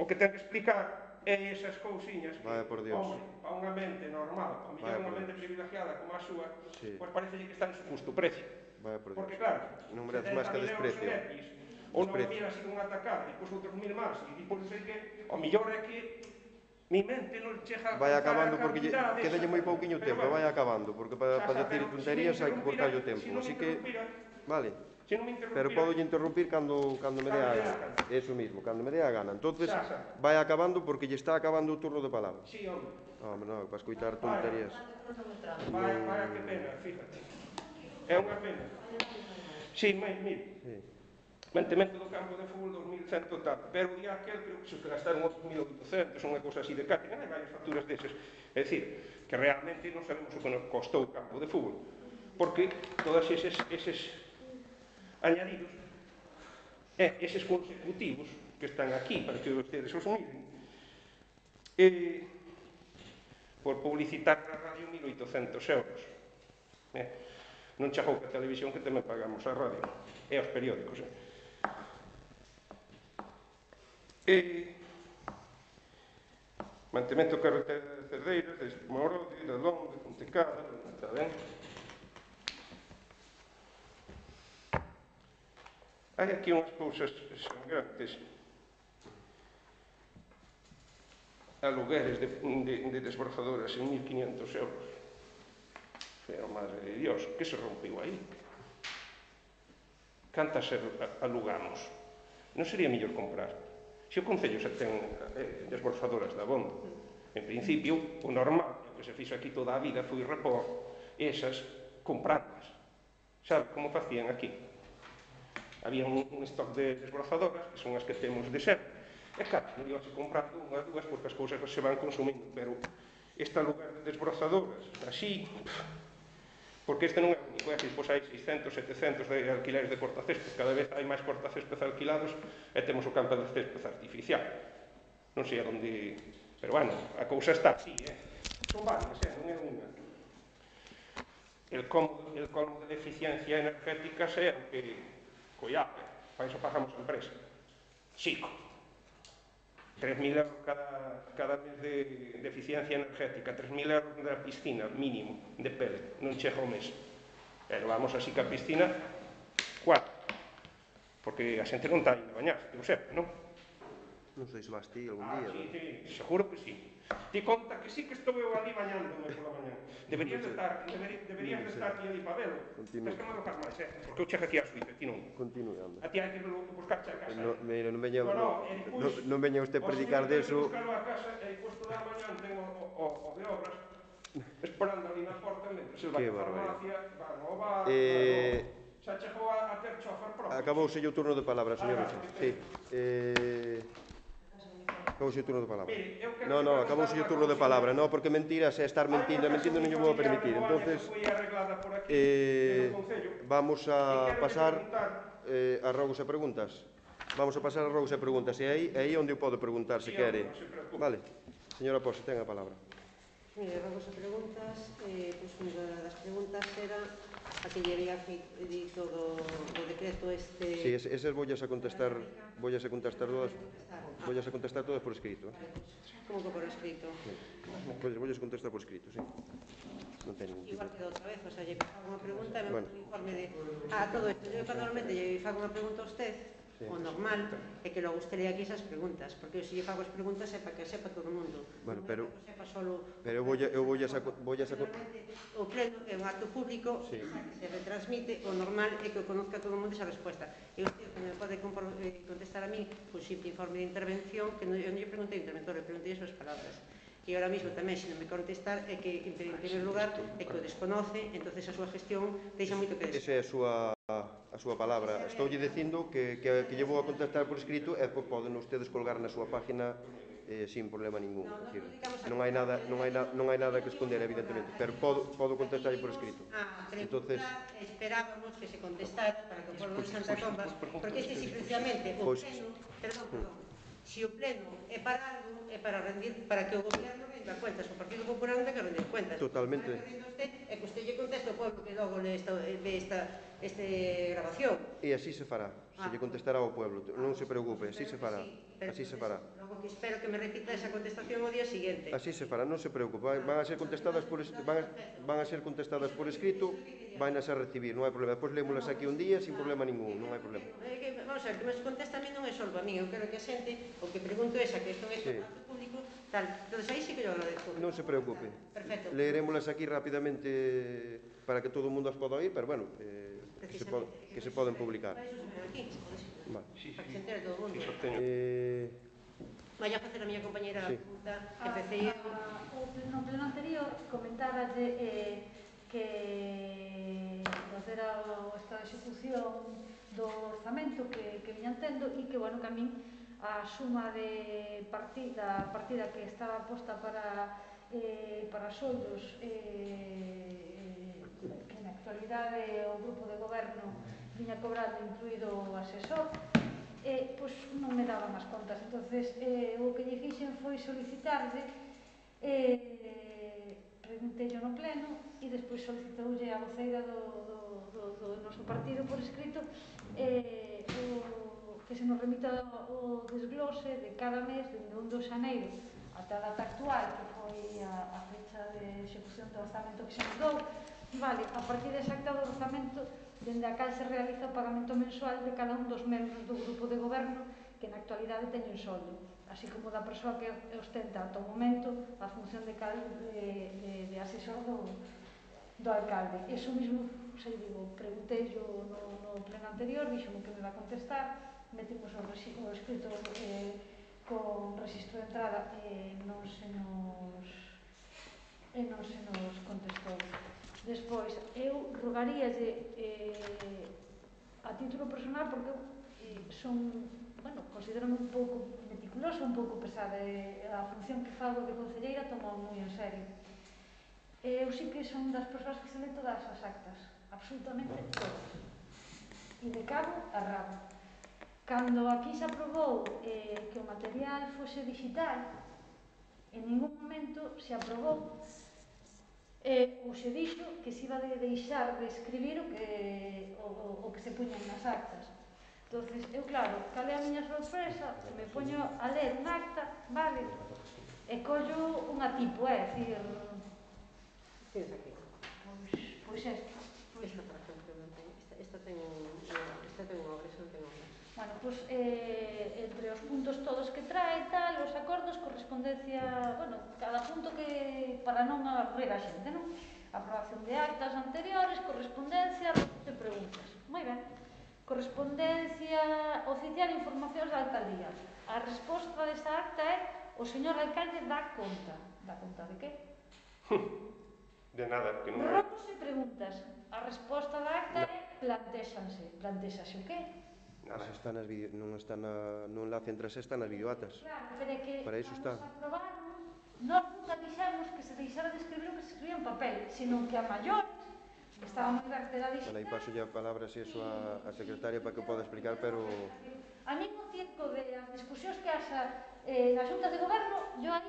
B: o que ten que explicar é esas cousiñas que,
A: Vaya por Dios.
B: hombre, para unha mente normal, para
A: Vaya
B: mellor unha
A: por
B: mente privilegiada como a súa,
A: Sí.
B: pois parece que está en su justo precio.
A: Vaya por Dios.
B: Porque claro,
A: Non merece máis que
B: setenta mil euros
A: desprecio.
B: en E P Is, ou nove
A: Desprecio.
B: mil así dunha atacada, e pois outros mil máis, e depois sei que, o mellor é que mi mente non chega a
A: Vai
B: alcanzar
A: acabando
B: a
A: porque lle,
B: cantidade
A: quédalle
B: esa.
A: moi pouquiño
B: Pero
A: tempo,
B: bueno,
A: vai acabando, porque para
B: xa,
A: pa
B: xa,
A: decir
B: pero
A: tonterías
B: se me
A: hai que cortar o
B: interrumpira,
A: tempo.
B: se non me
A: Así que,
B: interrumpira,
A: vale.
B: se non me interrumpira,
A: Pero podo lle interrumpir cando, cando me dé a
B: Cando lle dé a
A: gana.
B: gana.
A: Eso mismo, cando me dé a gana. Entonces,
B: Xa, xa.
A: vai acabando porque lle está acabando o turno de palabra.
B: sí, hombre,
A: Home, non, para escoitar tonterías.
B: vaya, vaya que pena, fíjate. É unha pena. Sí, mire, mire.
A: Sí.
B: Mantemento do campo de fútbol dos mil cento tal, pero o día aquel creo que se gastaron outros mil oitocentos, unha cousa así de catering, hai varias facturas deses. É dicir, que realmente non sabemos o que nos costou o campo de fútbol, porque todos eses, eses añadidos, e eses consecutivos que están aquí, para que ustedes os miren, e por publicitar na radio mil oitocentos euros. Eh, non chegou que a televisión que tamén pagamos a radio e aos periódicos. Eh. E mantemento carretera de Cerdeiras, de Morode, de Lón, de Pontecada, está ben? Hai aquí unhas cousas sangrantes. Alugueres de, de, de desbrozadoras en mil quinientos euros. Pero, madre de Dios, que se rompiu aí? Cantas alugamos? Non sería mellor comprar? Se o Concello se ten eh, desbrozadoras da Bondo, en principio, o normal, o que se fixo aquí toda a vida foi repor esas comprándolas. Sabe como facían aquí? Había un, un stock de desbrozadoras, que son as que temos de sempre, e claro, non ibas comprando unhas dúas porque as cousas se van consumindo, pero este lugar de desbrozadoras, así, porque este non é o único, é que pois hai seiscentos, setecentos de alquileres de cortacésped, cada vez hai máis cortacésped alquilados e temos o campo de césped artificial. Non sei a onde... Pero, bueno, a cousa está así, eh? Son varias, eh? Non é unha. El colmo, el colmo de eficiencia energética é o que coiape, para iso pagamos a empresa. Chico. tres mil euros cada, cada mes de, de eficiencia energética, tres mil euros da piscina, mínimo, de pele, non chega o mes. Pero vamos así que a piscina, cuatro. Porque a xente non está indo a bañar, eu sepa, non?
A: Non sei se vas ti algún
B: Ah,
A: día.
B: sí, sí, seguro que sí. Ti conta que sí que estou eu ali bañándome pola mañá. Deberías de estar, deberías, deberías de estar ti ali para velo.
A: Continúa.
B: Tens que me alojar máis, eh? Porque eu chego aquí ás oito, ti non.
A: Continue, anda.
B: A ti hai que buscarche a casa.
A: No, mira, non veña,
B: No, no,
A: no,
B: e
A: no,
B: despois,
A: non veña usted
B: o
A: predicar
B: señor ten que
A: deso.
B: buscalo a casa e despois toda a mañá tengo o, o, o de obras esperando ali na porta mentre se vai
A: Que
B: a farmacia, van ao bar,
A: Eh,
B: van ao... Xa chegou a, a ter chofer propio.
A: Acabouse o turno de palabra, señor.
B: Ah,
A: Sí. Eh, acabouse o turno de palabra.
B: Mire, eu quero
A: No, no,
B: que
A: acabouse
B: contar
A: o turno
B: unha
A: de palabra.
B: cousiña.
A: No, porque mentiras é estar mentindo, e mentindo non lle vou a permitir. Entonces,
B: foi arreglada por aquí,
A: eh,
B: no Concello.
A: vamos
B: E
A: a
B: quero
A: pasar
B: preguntar,
A: eh, a rogos e preguntas. Vamos a pasar a rogos e preguntas. E aí, é aí onde eu podo preguntar, se
B: Sí,
A: quere.
B: non se preocupe.
A: Vale. Señora Posse, ten a palabra.
C: Mire, vamos a preguntas. Eh, pois unha das preguntas era a que lle había feito do, do decreto este...
A: Si, sí, esas vollas a contestar, vollas a contestar todas, vollas a contestar todas por escrito.
C: Vale, pois, como que por escrito?
A: Sí. Vollas, vollas a contestar por escrito, sí. Non ten ningún tipo.
C: Igual que da outra vez, o sea, lle fago unha pregunta e me
A: Bueno.
C: bueno. un informe de... Ah, todo isto, eu cando normalmente lle fago unha pregunta a usted, sí. O normal é que logo usted lea aquí esas preguntas, porque eu se lle fago as preguntas é para que sepa todo o mundo.
A: Bueno,
C: non
A: pero...
C: é para que sepa solo...
A: Pero eu voy a... Eu voy a saco, voy a saco...
C: O pleno é un acto público, sí. Que se retransmite, o normal é que o conozca todo o mundo esa resposta. E usted, que me pode contestar a mí, pois, simple informe de intervención, que non, eu non lle preguntei ao interventor, le preguntei as súas palabras. E ahora mismo tamén, se non me contestar, é que, en primeiro lugar, é que o desconoce, entonces a súa gestión deixa moito que desconoce.
A: Esa é a súa, a súa palabra. Estoulle dicindo que, que, que lle vou a contestar por escrito e pois poden ustedes colgar na súa página eh, sin problema ningún.
C: No,
A: Decir,
C: non
A: non hai nada, non hai, na, non hai nada que esconder, evidentemente, pero podo, podo contestarlle por escrito.
C: Ah,
A: Entonces,
C: esperábamos que se contestara para que o pueblo de Santa Comba, porque este simplemente o pleno, perdón, perdón, se o pleno é para algo, é para rendir, para que o goberno renda cuentas, o Partido Popular non ten que rendir cuentas.
A: Totalmente.
C: Para que renda usted, é que usted lle conteste ao pueblo que logo le esta, ve esta, este grabación.
A: E así se fará, se lle contestará ao pueblo, non se preocupe, así se fará, así se fará.
C: Logo que espero que me repita esa contestación o día siguiente.
A: Así se fará, non se preocupe, van a ser contestadas por, van a, van a ser contestadas por escrito, van a ser recibir, non hai problema. Depois lémolas aquí un día sin problema ningún, non hai problema.
C: Vamos a ver, que me contesta a mí non é só a mí, eu quero que a xente, o que pregunto é esa que isto é un acto público, tal, entón aí sí que yo agradezco.
A: Non se preocupe,
C: perfecto.
A: Leerémolas aquí rapidamente para que todo o mundo as poda oír, pero bueno, eh, que, se pod, que se poden publicar.
C: Para iso se ven aquí,
A: vale.
C: Para que se entere todo o mundo.
A: Eh,
C: Vai a facer a miña compañeira
A: sí.
C: a pregunta, empecé eu.
D: No pleno anterior comentáballe eh, que nos era o estado de execución do orzamento que, que viñan tendo e que, bueno, que a min a suma de partida, a partida que estaba posta para eh, para soldos eh, que na actualidade o grupo de goberno viña cobrando incluído o asesor, eh, pois non me daban as contas. Entonces, eh, o que lle fixen foi solicitarle, eh, preguntei no pleno e despois solicitoulle a voceira do, do, do, do noso partido por escrito eh, o, que se nos remita o desglose de cada mes, dende o un de xaneiro ata a data actual, que foi a, a fecha de execución do orzamento que se nos dou. Vale, a partida exacta do orzamento dende a cal se realiza o pagamento mensual de cada un dos membros do grupo de goberno que na actualidade teñen soldo, así como da persoa que ostenta ata o momento a función de, cal, de, de, de asesor do, do alcalde. Eso mismo, sei, digo, preguntei yo no, no pleno anterior, dixo-me que me va a contestar, metimos o, o escrito eh, con registro de entrada e eh, non se nos e non se nos contestou. Despois, eu rogaríalle eh, a título personal, porque eu eh, son, bueno, considero un pouco meticulosa, un pouco pesada, e a función que fago de concelleira tomo moi en serio. Eu sí que son das persoas que se lee todas as actas, absolutamente todas, e de cabo a rabo. Cando aquí se aprobou eh, que o material fose digital, en ningún momento se aprobou eh, ou se dixo que se iba de deixar de escribir o que, o, o que se puñan nas actas. Entonces, eu claro, cal é a miña sorpresa, me poño a ler un acta, vale, e collo unha tipo, é dicir,
C: Tens aquí.
D: pois, pois esta.
C: Esta, por exemplo, non ten, esta, esta ten esta ten unha obra, esta non ten obra.
D: Bueno, pois, eh, entre os puntos todos que trae, tal, os acordos, correspondencia, bueno, cada punto que, para non aburrir a xente, non? Aprobación de actas anteriores, correspondencia, de preguntas. Moi ben. Correspondencia oficial e informacións da alcaldía. A resposta desta acta é o señor alcalde dá conta. Dá conta de que?
B: De nada, que non...
D: Robos e preguntas. A resposta da acta é plantéxanse. Plantéxase o que?
A: Nada. Está nas video, non está na, no enlace entre as está nas videoatas.
D: Claro, pero é que
A: para iso está.
D: Nos aprobaron, nós nunca dixemos que se deixara de escribir o que se escribía en papel, sino que a maiores, que estaba moi cartera digital...
A: Aí paso ya a palabra se eso a, a secretaria para que poda explicar, pero...
D: A mí no tiempo de as discusións que haxa eh, nas xuntas de goberno, yo aí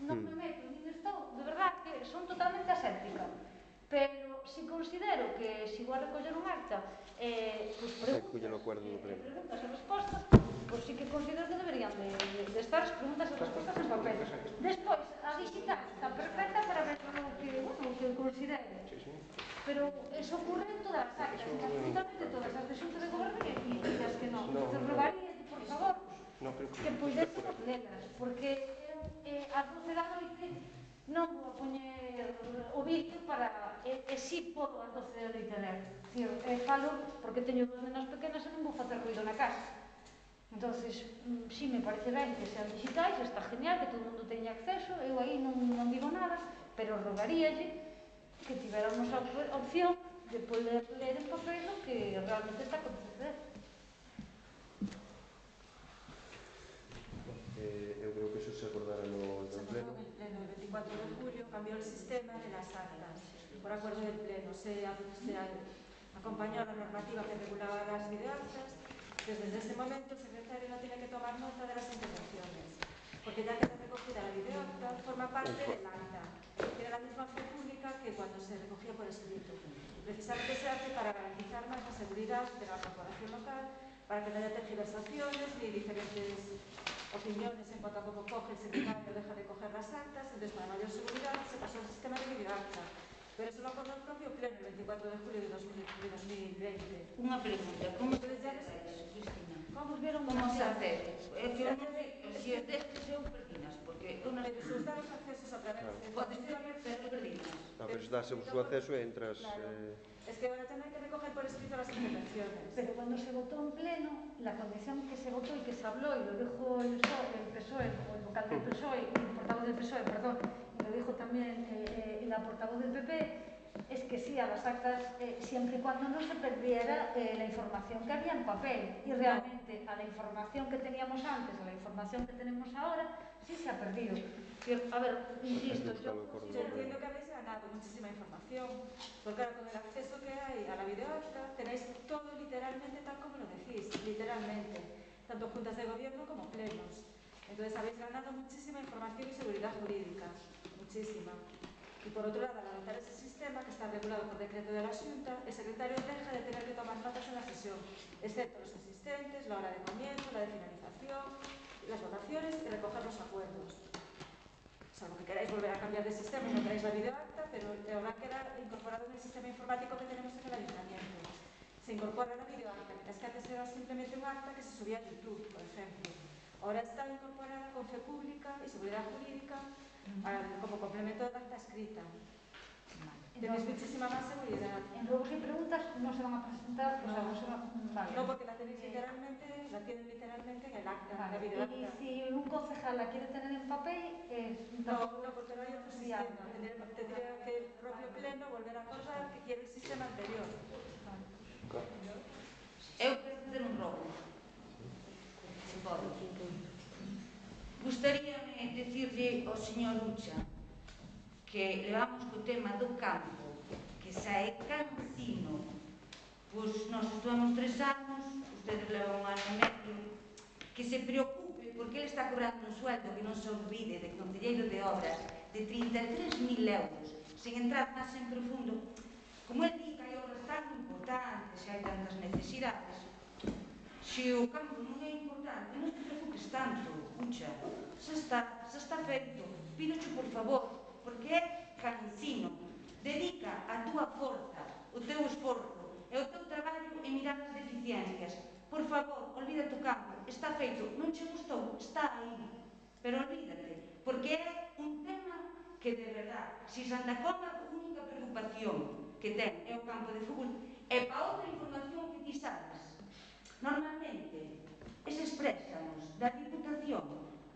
D: non me meto nin estou, de verdad que son totalmente aséptica, pero si considero que si vou a recoller un acta eh, pues preguntas, eh, preguntas e respostas, pues sí que considero que deberían de, de, de estar as preguntas e respostas en papel. Despois, a digital está perfecta para ver o que, bueno, o que considere, pero eso ocurre en todas as actas, en absolutamente todas as de xunta de goberno e as que non. Te rogaría, por favor, que puidésemos lelas, porque eh, ás doce da noite non vou a poñer o vídeo para, e, e si podo ás doce da noite ler. Dicir, eh, falo porque teño dúas nenas pequenas e non vou facer ruido na casa. Entonces, mm, si me parece ben que sean digitais, está genial, que todo o mundo teña acceso, eu aí non, non digo nada, pero rogaríalle que tivéramos a op- opción de poder ler en papel o que realmente está a acontecer.
A: Eh, eu creo que eso se acordara no, no pleno.
E: En el veinticuatro de julio cambió el sistema de las actas por acuerdo del pleno. Se, se acompañó a la normativa que regulaba las videoactas. Desde ese momento el secretario no tiene que tomar nota de las intervenciones, porque ya queda recogida la videoacta, forma parte del acta. Tiene la misma fe pública que cuando se recogía por escrito. Precisamente se hace para garantizar más la seguridad de la corporación local, para que no haya tergiversaciones ni diferentes opiniones en cuanto a cómo coge el secretario o deja de coger las actas. Entonces, para mayor seguridad, se pasó al sistema de videoacta. Pero eso lo acordó el propio pleno el veinticuatro de julio de dos mil veinte.
F: Unha pregunta, como se
E: Entonces, ya
F: faz
E: les-
F: eso, Cristina?
E: Vamos, vieron
F: Como
E: una
F: se
E: serie.
F: accede? É que eu non sei, se é destes eu perdinas, porque eu non
E: Pero se os dan los accesos a través de...
F: podes ter, pero perdinas.
A: Ah, pero se das o seu acceso e entras...
E: Claro.
A: Eh,
E: Es que ahora también hay que recoger por escrito las intervenciones.
D: Pero cuando se votó en pleno, la condición que se votó y que se habló, y lo dijo el P S O E, el P S O E, o el vocal del P S O E, y el portavoz del P S O E, perdón, y lo dijo también eh, eh, la portavoz del P P, es que sí a las actas, eh, siempre y cuando no se perdiera eh, la información que había en papel. Y realmente a la información que teníamos antes, a la información que tenemos ahora, sí se ha perdido. A ver, insisto, yo...
E: Yo entiendo que habéis ganado muchísima información, porque ahora con el acceso que hay a la videoacta tenéis todo literalmente tal como lo decís, literalmente, tanto juntas de gobierno como plenos. Entonces habéis ganado muchísima información y seguridad jurídica, muchísima. Y por otro lado, al adoptar ese sistema que está regulado por decreto de la Xunta, el secretario deja de tener que tomar notas en la sesión, excepto los asistentes, la hora de comienzo, la de finalización, las votaciones y recoger los acuerdos. Salvo que queráis volver a cambiar de sistema y no queráis la videoacta, pero habrá que quedar incorporado en el sistema informático que tenemos en el ayuntamiento. Se incorpora la videoacta, mientras que antes era simplemente un acta que se subía a YouTube, por ejemplo. Ahora está incorporada con fe pública y seguridad jurídica al, como complemento del acta escrita. Tenéis muchísima más seguridad.
D: En ruegos y preguntas no se van a presentar,
E: no,
D: o sea, no se van vale.
E: No, porque la tenéis literalmente, la tienen literalmente en el acta,
D: Vale.
E: la videoacta.
D: Y si un concejal la quiere tener en papel, eh,
E: no, no, porque no hay otro sistema. Tendría, tendría que el propio pleno volver a acordar que quiere el sistema anterior.
F: Eu quero facer un rogo. Se pode. Gustaríame decirle ao señor Ucha que levamos co tema do campo, que xa é cansino. Pois nós estuvemos tres anos, ustedes levan un ano e medio, que se preocupe porque ele está cobrando un sueldo que non se olvide de concelleiro de obras de trinta e tres mil euros, sen entrar máis en profundo. Como ele di que hai obras tan importantes e hai tantas necesidades, se o campo non é importante, non te preocupes tanto, Ucha, xa está, xa está feito. Pídoche por favor, porque é cansino. Dedica a túa forza, o teu esforzo e o teu traballo en mirar as deficiencias. Por favor, olvídate o campo, está feito, non che gustou, está aí. Pero olvídate, porque é un tema que de verdad, se Santa Comba a única preocupación que ten é o campo de fútbol, e para outra información que ti sabes, normalmente, eses préstamos da Diputación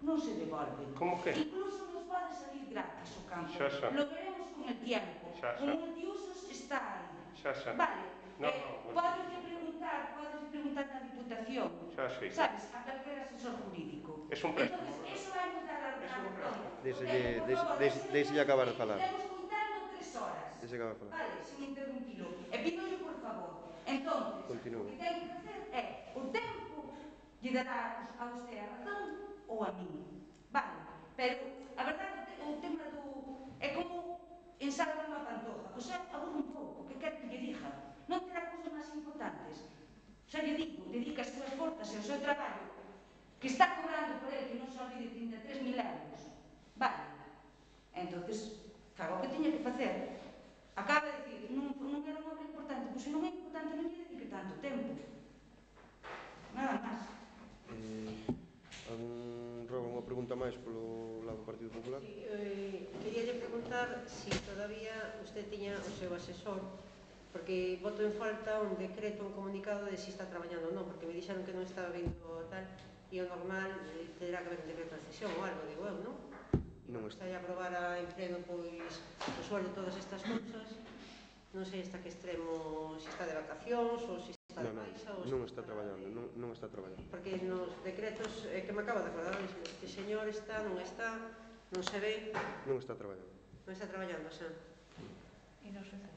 F: non se devolven.
B: Como que?
F: Incluso nos pode salir gratis o campo.
B: Xa, xa.
F: Lo veremos con el tiempo.
B: Xa, xa.
F: O multiusos está aí.
B: Xa, xa.
F: Vale.
B: No,
F: eh,
B: no,
F: podes preguntar, podes preguntar na Diputación.
B: Xa sei.
F: Sabes, a calquera asesor jurídico.
B: Es un préstamo.
F: Entonces, eso vai nos dar a
B: Es un préstamo.
A: Deixelle- deixe- deixe- deixelle acabar de falar.
F: Estamos contando tres horas.
A: Deixe acabar de falar.
F: Vale, sin interrumpilo. E pídolle por favor. Entonces,
A: Continúe.
F: o que ten que facer é o tempo lle dará a usted a razón ou a mí. Vale, pero a verdade é que ensalvan a pantoja. Pois aburre un pouco, que quer que lle diga? Non terá cousas máis importantes. Xa lle digo, dedica as súas forzas e o seu traballo, que está cobrando por ele, que non se olvide, trinta e tres mil euros. Vale. Entonces, faga o que tiña que facer. Acaba de dicir, non, non era unha obra importante, pois se non é importante non lle dedique tanto tempo. Nada máis.
A: Eh, algún rogo unha pregunta máis polo lado do Partido Popular?
C: Sí, eh, quería preguntar se si todavía usted tiña o seu asesor, porque voto en falta un decreto, un comunicado de se si está traballando ou non, porque me dixeron que non estaba vindo tal, e o normal eh, terá que haber un decreto de cesión ou algo, digo eu, non?
A: Non
C: está aí a aprobar a en pleno pois o sueldo todas estas cousas, non sei hasta que extremo, se está de vacacións ou se está de
A: Non, non,
C: baixa ou
A: non
C: se
A: está traballando, non, non está traballando.
C: porque nos decretos é que me acabo de acordar, este señor está, non está, non se ve,
A: Non está traballando.
C: non está traballando, xa.
D: E non se fai.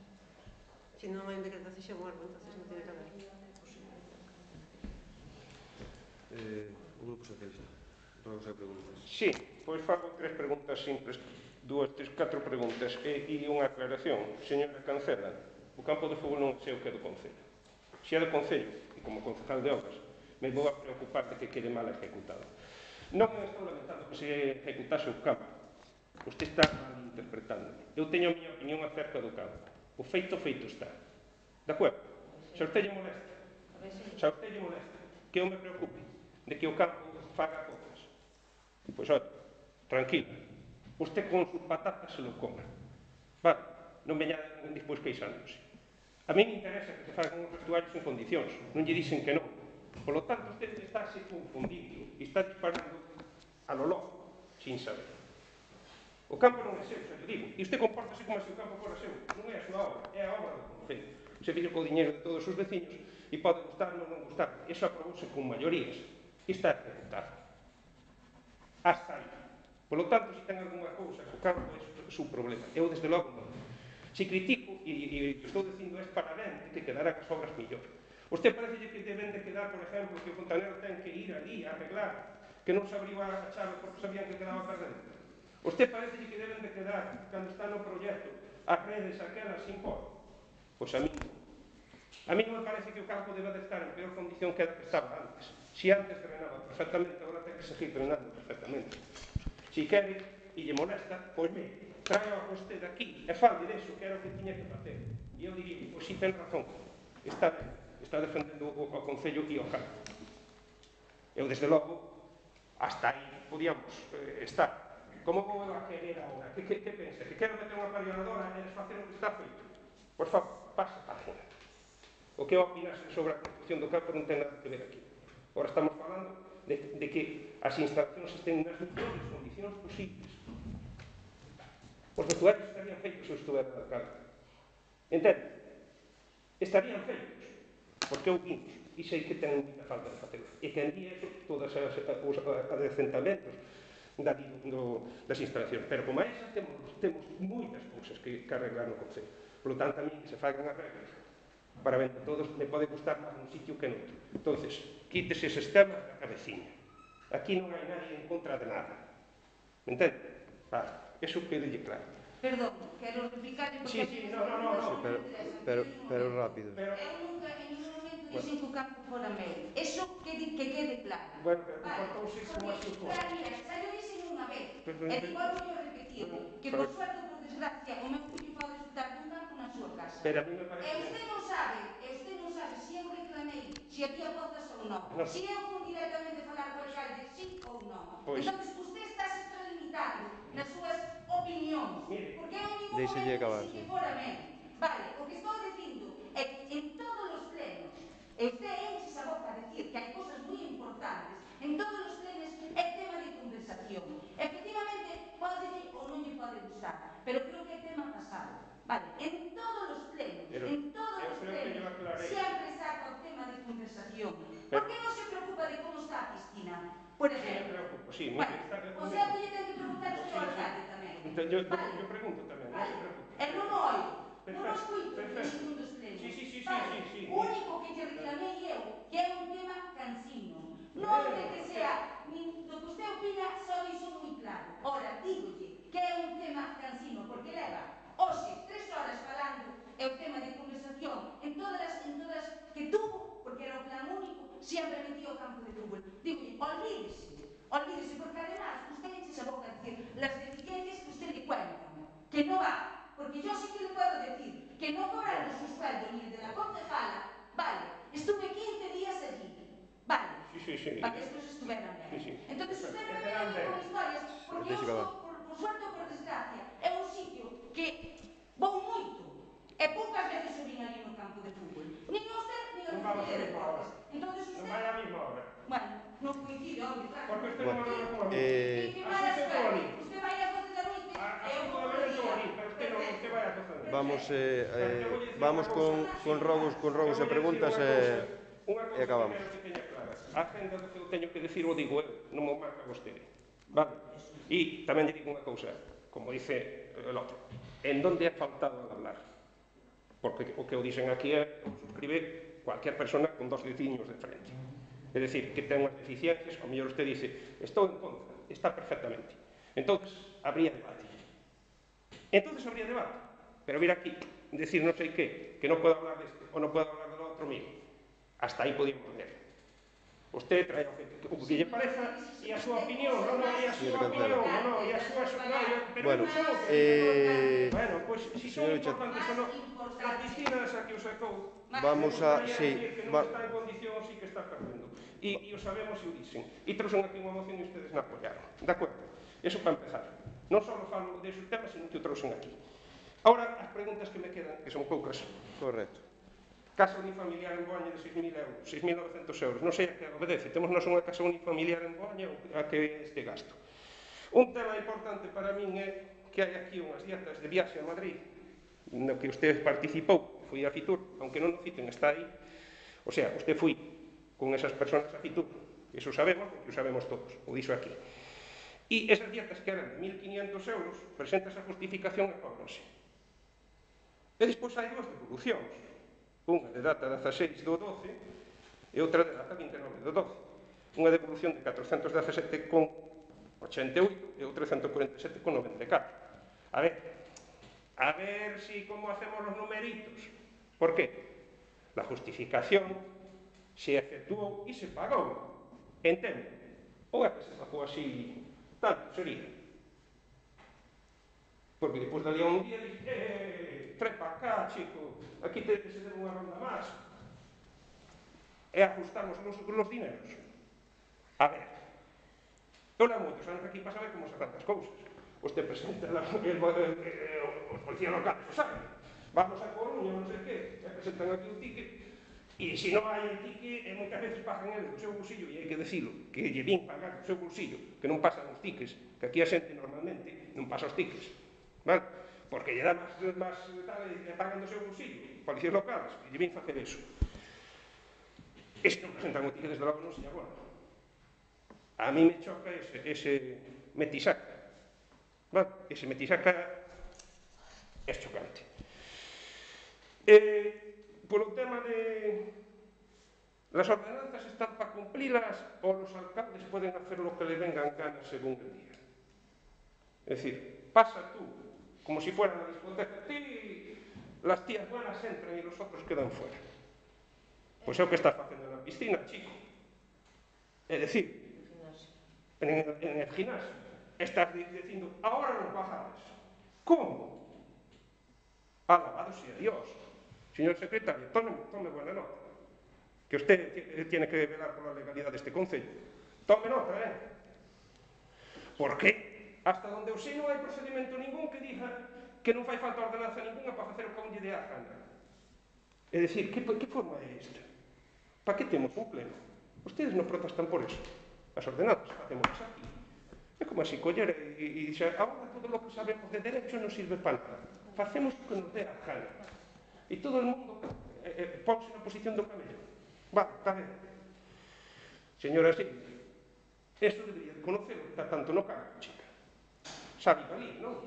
C: Se non hai un decreto de cesión ou algo, entonces non tiene que haber.
A: Eh, o Grupo Socialista. Rogos e preguntas.
B: Sí, pois fago tres preguntas simples, dúas, tres, catro preguntas e, e unha aclaración. Señora Cancela, o campo de fútbol non é seu que é do Concello. Se é do Concello, e como concejal de obras, me vou a preocupar de que quede mal ejecutado. Non me estou lamentando que se ejecutase o campo. Usted está mal interpretando. Eu teño a miña opinión acerca do campo. O feito, feito está. De acordo? Se a usted lle molesta, se a usted lle molesta, que eu me preocupe de que o campo faga cosas. Pois, olha, tranquilo. Usted con sus patatas se lo coma. Vale, non veña despois queixándose. A mí me interesa que se fagan os vestuarios en condicións. Non lle dicen que non. Por lo tanto, usted está se confundindo e está disparando a lo loco, sin saber. O campo non é seu, xa lle digo. E usted compórtase como se o campo fora seu. Non é a súa obra, é a obra do Concello. Se fica co diñeiro de todos os veciños e pode gustar ou non gustar. Eso aprobouse con maiorías. E está ejecutado. Hasta aí. Por lo tanto, se ten algunha cousa co campo, é o seu problema. Eu, desde logo, non. Se critico, e, e estou dicindo, é para ben que quedarán as obras mellor. Usted parece que deben de quedar, por exemplo, que o fontanero ten que ir ali a arreglar, que non se abriu a chave porque sabían que quedaba perdendo. Usted parece que deben de quedar, cando está no proxecto, as redes aquelas sin por. Pois a mí non. A mí non me parece que o campo deba de estar en peor condición que a que estaba antes. Si antes drenaba perfectamente, agora ten que seguir drenando perfectamente. Si quere e lle molesta, pois me traio a vostede aquí e fale deso que era o que tiña que facer. E eu diría, pois si ten razón, está ben, está defendendo o, o Concello e o campo. Eu, desde logo, hasta aí podíamos eh, estar. Como vou a querer agora? Que, que, que pensa? Que quero meter unha pariadora e desfacer o que está feito? Por favor, pasa página. O que opinase sobre a construcción do campo non ten nada que ver aquí. Agora estamos falando de, de que as instalacións estén nas mellores condicións posibles. Os vestuarios estarían feitos se eu estuvera de alcalde. Entende? Estarían feitos. Porque eu vimos e sei que ten moita falta de facer. E que en día eso, todos os adecentamentos da, do, das instalacións. Pero como a esa temos, temos moitas cousas que, que arreglar no Concello. Por lo tanto, a mí que se fagan arreglos para ben todos me pode gustar máis nun sitio que noutro. Entonces, quítese eses temas da cabeciña. Aquí non hai nadie en contra de nada. Me entende? Vale, eso quedelle claro.
F: Perdón, quero replicarle porque...
B: Sí, sí, no, no, no, no.
A: Sí, pero, pero, pero rápido.
F: Pero... Eu nunca, en ningún momento dixen que o campo fora meu. Eso que, que quede claro.
B: Bueno, pero
F: vale.
B: comportouse como así fora.
F: Claro, mira, xa lo dixen unha vez.
B: Pero,
F: E
B: pero,
F: igual vou repetir. Que por suerte ou por desgracia, o meu fillo pode disfrutar dun campo na súa casa.
B: Pero a mí me parece...
F: E usted non sabe, e usted non sabe se eu reclamei, se había pozas ou non.
B: No.
F: Se eu fui directamente falar co alcalde, sí ou non.
B: Pois.
F: Entón, usted está se extralimitando nas súas opinións.
B: Mire,
F: porque eu en ningún
A: Deixelle
F: momento
A: acabar,
F: dixen que
A: sí.
F: fora meu. Vale, o que estou dicindo é que en todos os plenos, e usted enche a boca a decir que hai cosas moi importantes, en todos os plenos é tema de conversación. Efectivamente, pode decir ou non lle pode gustar, pero creo que é tema pasado. Vale, en todos os plenos,
B: pero,
F: en todos os plenos, sempre saca o tema de conversación. Por que non se preocupa de como está a piscina? Por
B: Sí, me
F: exemplo.
B: preocupo, sí.
F: Bueno,
B: Está,
F: o sea, que lle ten que preguntar usted ao alcalde tamén.
B: Entón, yo,
F: vale.
B: yo pregunto tamén, non se preocupe.
F: El non o oio, non
B: Perfecto,
F: os cuito
B: perfecto.
F: en ningún dos plenos.
B: Sí, sí, sí, sí,
F: vale.
B: sí, sí.
F: O único que lle reclamei eu, que é un tema cansino. Non de que sea, nin do que usted opina, só iso moi claro. Ora, dígolle que é un tema cansino, porque leva os sempre metía o campo de fútbol. Digo, olvídese, olvídese, porque además usted eche a boca a decir las deficiencias que usted le cuenta, que no va, porque yo sí que le puedo decir que no cobrando su sueldo ni el de la concejala, vale, estuve quince días allí, vale,
B: Sí, sí, sí.
F: vale, estos estuvieron bien.
B: Sí, sí.
F: Entonces usted no me venga con historias, porque eu estou, por, por suerte ou por desgracia, é un sitio que vou moito, e poucas veces eu vin ali no campo de fútbol. Nin usted, nin a
B: Non vamos a
F: Consellería de
B: mesma hora.
F: Deportes. Entonces
B: Non
F: usted,
B: vai a mesma hora.
F: bueno, non coincide, obvio, claro.
B: Porque usted
A: Bueno,
B: non vai como a mí.
A: eh,
F: Que
B: Así
F: mala
B: se
F: suerte.
B: pone.
F: Usted vai a doce da noite
B: A,
F: e
B: así
F: eu vou
B: todo
F: por
B: ben todo
F: día.
B: ali, pero usted non, usted vai a cocer.
A: Vamos, eh,
B: Pero te
A: eh,
B: voy a decir
A: vamos
B: unha
A: con,
B: cousa.
A: con rogos, con rogos e preguntas e, e acabamos.
B: Unha cousa que quero que teña clara. A agenda do que eu teño que decir o digo eu, non me marca vostede. Vale? E tamén lle digo unha cousa, como dice el outro. En donde ha faltado al hablar? Porque o que eu dixen aquí é, o suscribe cualquier persona con dos dediños de frente. É dicir, que ten unhas deficiencias, o mellor usted dice, estou en contra, está perfectamente. Entonces, habría debate. Entonces habría debate. Pero vir aquí, decir non sei que, que non podo hablar deste, ou non podo hablar do outro, mire, hasta aí podíamos ver. Usted trae o que lle pareza e a súa opinión, non, non, e a súa opinión, non, non, e a súa, non, pero
A: Bueno,
B: non sei o que...
A: eh,
B: Bueno, pois, si son
A: señor Ucha,
B: importantes ou non, a Cristina esa que o sacou,
A: vamos a, sí,
B: que non
A: va,
B: está en condición, sí que está perdendo. E, e o sabemos e o dicen. E trouxen aquí unha moción e ustedes na apoyaron. De acordo? Eso para empezar. Non só falo deses temas, sino que o trouxen aquí. Ahora, as preguntas que me quedan, que son poucas.
A: correcto.
B: Casa unifamiliar en Boaña de seis mil euros, seis mil novecientos euros. Non sei a que obedece. Temos nós unha casa unifamiliar en Boaña a que é este gasto. Un tema importante para min é que hai aquí unhas dietas de viaxe a Madrid no que usted participou, foi a Fitur, aunque non o citen, está aí. O sea, usted foi con esas personas a Fitur. Iso sabemos, porque o sabemos todos. O dixo aquí. E esas dietas que eran de mil quinientos euros, presentas a justificación e cobranse. E despois hai dúas devolucións. Unha de data dezaseis do doce e outra de data vinte e nove do doce. Unha devolución de catrocentos dezasete con ochenta e oito e outra ciento cuarenta e sete con noventa e catro. A ver, a ver si como hacemos los numeritos. Por qué? La justificación se efectuou e se pagou. Entende? Ou é que se pagou así tanto sería? Porque depois dali a un día dixe, eh, trae para cá, chico, aquí te, se debe unha ronda máis. E ajustamos los, los dineros. A ver, eu levo moitos anos aquí para saber como se fan as cousas. Usted presenta la, el, el, el, el, os policías locales, o saben. Vamos a Coruña, non sei que, e presentan aquí un ticket, e se non hai el ticket, e moitas veces pagan eles do seu bolsillo, e hai que decirlo, que lle vin pagar do seu bolsillo, que non pasan os tickets, que aquí a xente normalmente non pasa os tickets. Vale? Porque lle dá máis, máis tal, e pagan do seu bolsillo, policías locales, e lle vin facer eso. Este non presentan o ticket desde logo non se agora. A mí me choca ese, ese metisaca. Vale? Ese metisaca é chocante. Eh, polo tema de las ordenanzas están para cumplirlas ou los alcaldes poden hacer lo que le vengan ganas según el día. Es decir, pasa tú como si fuera una discoteca, ti, las tías buenas entran y los otros quedan fuera. Pois é o que estás facendo na piscina, chico. É dicir, en, en el gimnasio, estás dicindo, ahora non bajades. Como? Alabado sea Dios. Señor secretario, tome, tome buena nota. Que usted tiene que velar por la legalidad de este concello. Tome nota, eh? ¿Por qué? Hasta donde eu sei non hai procedimento ningún que diga que non fai falta ordenanza ninguna para facer o que a un lle dé a gana. É dicir, que, que forma é esta? Para que temos un pleno? Ustedes non protestan por eso. As ordenanzas facemos aquí. É como así coller e, e dixer, agora todo o que sabemos de derecho non sirve para nada. Facemos o que nos dé a gana. E todo o mundo eh, eh, ponse na posición do camello. Va, está ben. Señora, sí, eso debería de conocerlo, está tanto no cargo, chica. Sabe ali, non?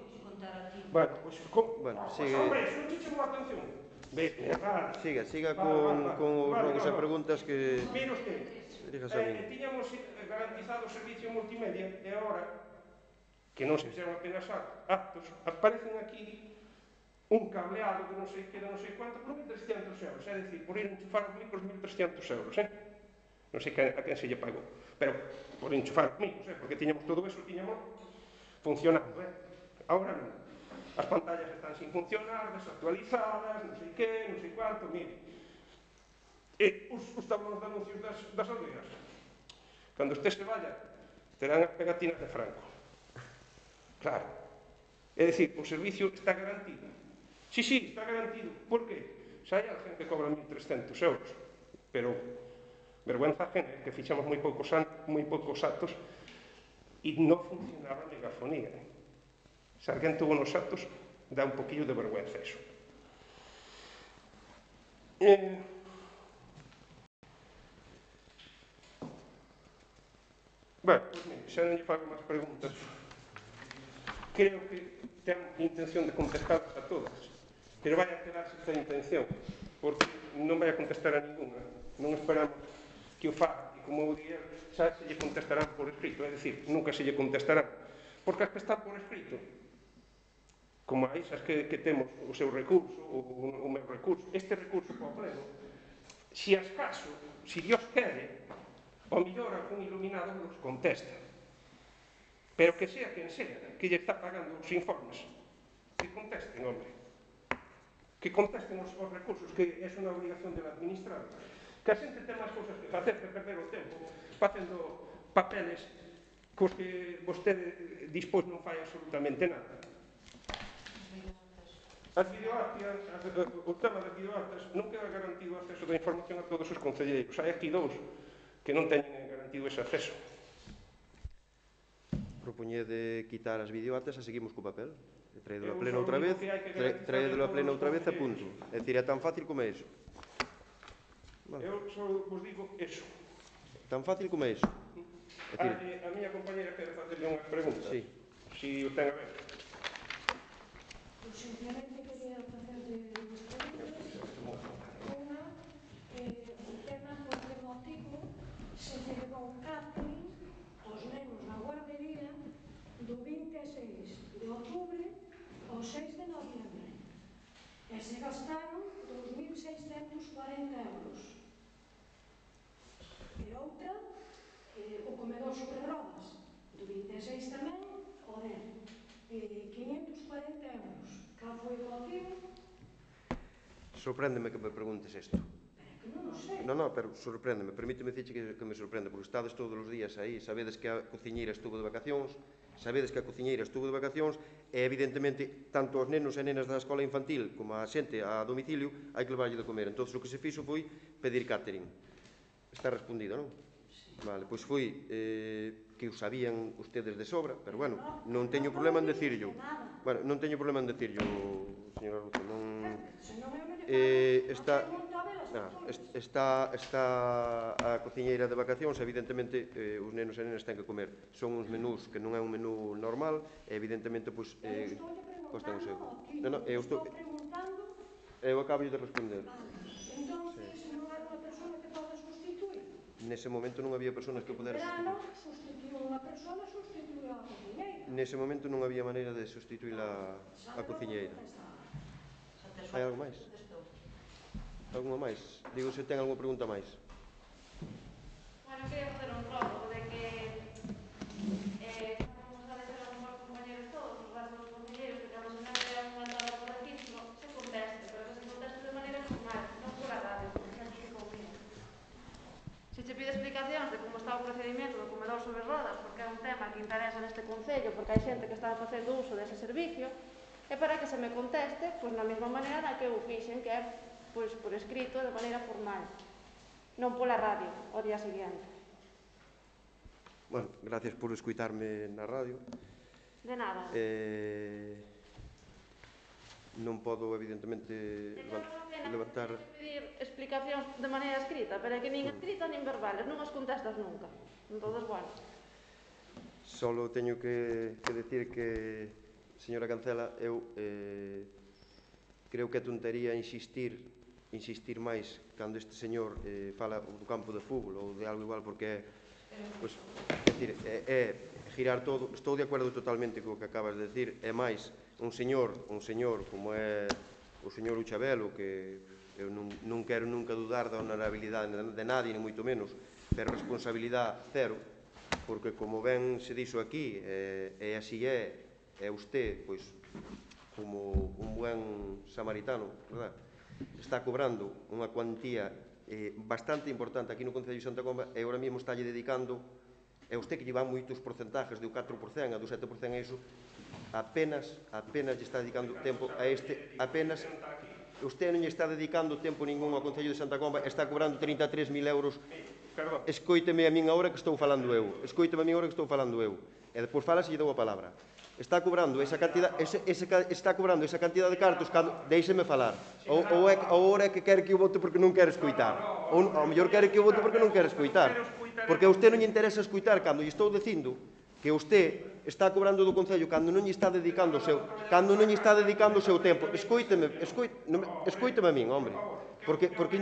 B: Bueno, pois, pues, con...
A: Bueno,
B: pues,
A: sigue...
B: hombre, eso non te chamou a atención. Ve, vale.
A: Siga, siga
B: vale,
A: con,
B: vale, vale.
A: con os
B: vale,
A: rogos
B: no,
A: e
B: no.
A: preguntas que...
B: Mire usted,
A: Diríjase a min.
B: eh, tiñamos garantizado o servicio multimedia e agora, que non se fixeron apenas actos, aparecen aquí un cableado que non sei que era non sei cuánto por mil trescientos euros, é dicir, por ir enchufar os micros mil trescientos euros, eh? non sei a quen se lle pagou, pero por enchufar comigo, porque tiñamos todo eso, tiñamos funcionando, eh? Agora non. As pantallas están sin funcionar, desactualizadas, non sei que, non sei cuánto, mire. E os, os tablones de anuncios das, das aldeas, cando este se vaya, terán as pegatinas de Franco. Claro. É dicir, o servicio está garantido. Sí, sí, está garantido. Por qué? Xa hai alguén que cobra mil trescentos euros, pero vergüenza ajena, que fichamos moi poucos, moi poucos actos e non funcionaba a megafonía. Se alguén tuvo nos actos, dá un poquillo de vergüenza eso. Eh, bueno, pues, mire, xa non lle fago máis preguntas. Creo que ten intención de contestar a todas, pero vai a quedarse esta intención, porque non vai a contestar a ninguna. Non esperamos que o faga, e como eu diría, xa se lle contestarán por escrito, é dicir, nunca se lle contestarán, porque as que están por escrito, como a esas que, que temos o seu recurso, o, o meu recurso, este recurso para o pleno, se as caso, se Dios quere, o mellor algún iluminado nos contesta. Pero que sea quen sea, que lle está pagando os informes, que contesten, hombre. Que contesten os, os recursos, que é unha obligación del administrado. Que a xente ten máis cousas que facer, que perder o tempo, facendo papeles cos que vostede dispós non fai absolutamente nada. As videoactas, o tema das videoactas, non queda garantido o acceso da información a todos os concelleiros. Hai aquí dous que non teñen garantido ese acceso.
A: Propoñede quitar as videoactas e seguimos co papel. Traídelo a pleno outra vez, traídelo a pleno outra vez e punto. É dicir, é tan fácil como é iso.
B: Eu só vos digo eso.
A: Tan fácil como é iso.
B: A, a miña compañera quere facerle unhas preguntas.
A: Sí.
B: Si o ten a ver.
G: Pois simplemente quería facerle unhas preguntas. Unha, eh, o tema por que motivo se lle levou catering aos nenos na guardería do vinte e seis de outubro ao seis de noviembre. E se gastaron dous mil seiscentos cuarenta euros. E outra, eh, o comedor sobre rodas, do vinte e seis tamén, o dez, eh, quinhentos cuarenta euros. Cal foi o motivo?
A: Sorpréndeme que me preguntes isto.
G: Pero que non o sei.
A: Non, non, pero sorpréndeme, permíteme dicirche que, que me sorprende, porque estades todos os días aí, sabedes que a cociñeira estuvo de vacacións, sabedes que a cociñeira estuvo de vacacións, e evidentemente, tanto aos nenos e nenas da escola infantil como a xente a domicilio, hai que levarlle de comer. Entón, o que se fixo foi pedir catering. Está respondido, non? Vale, pois foi eh, que o sabían ustedes de sobra, pero bueno, non teño problema en decirlo. Bueno, non teño problema en decirlo, señora Ruta, non... Eh, está, nah, está, está a cociñeira de vacacións, evidentemente eh, os nenos e nenas ten que comer. Son uns menús que non é un menú normal, e evidentemente, pois, eh, costan o seu. Non, non, eu estou... Eu acabo de responder. Nese momento non había personas que poder sustituir. Nese momento non había maneira de sustituir a, a cociñeira. Hai algo máis? Alguma máis? Digo se ten alguma pregunta máis.
H: Bueno, quería facer un prólogo de que eh, como sabes ser algún dos compañeros todos, os restos dos compañeros, que cando se me vea unha tabla por aquí, no, se conteste, pero que se conteste de maneira formal, non por a radio, porque xa te ficou bien. Se che pide explicacións de como está o procedimento do comedor sobre rodas, porque é un tema que interesa neste concello, porque hai xente que está facendo uso dese servicio, e para que se me conteste, pois na mesma maneira na que eu fixen, que é pois por escrito, de maneira formal, non pola radio, o día seguinte.
A: Bueno, gracias por escuitarme na radio.
H: De nada.
A: Eh, non podo, evidentemente, levantar...
H: pedir explicacións de maneira escrita, pero é que nin escrita nin verbales, non as contestas nunca. Entón, bueno.
A: Solo teño que, que decir que, señora Cancela, eu eh, creo que é tontería insistir insistir máis cando este señor eh, fala do campo de fútbol ou de algo igual, porque é, pues, é, decir, é, é girar todo. Estou de acordo totalmente co que acabas de decir. É máis un señor, un señor como é o señor Uchabelo, que eu non, non quero nunca dudar da honorabilidade de nadie, nem moito menos, pero responsabilidade cero, porque como ben se dixo aquí, e así é, é usted, pois, como un buen samaritano, verdad? Está cobrando unha cuantía bastante importante aquí no Concello de Santa Comba e agora mesmo está lle dedicando, é usted que lle van moitos porcentajes do catro por cento, a do sete por cento a iso, apenas, apenas lle está dedicando tempo a este, apenas, usted non lle está dedicando tempo ningún ao Concello de Santa Comba, está cobrando trinta e tres mil euros. Escoíteme a min agora que estou falando eu, escoíteme a min agora que estou falando eu, e depois fala se lle dou a palabra. Está cobrando esa cantidad, ese, ese, está cobrando esa cantidad de cartos, cando, deixeme falar. Ou, ou é, ou é que quere que eu vote porque non quere escoitar. Ou ao mellor quere que eu vote porque non quere escoitar. Porque a usted non lle interesa escoitar cando lle estou dicindo que usted está cobrando do Concello cando non lle está dedicando o seu, cando non lle está dedicando o seu tempo. Escoíteme, escoíteme, escoíteme a min, hombre. Porque, porque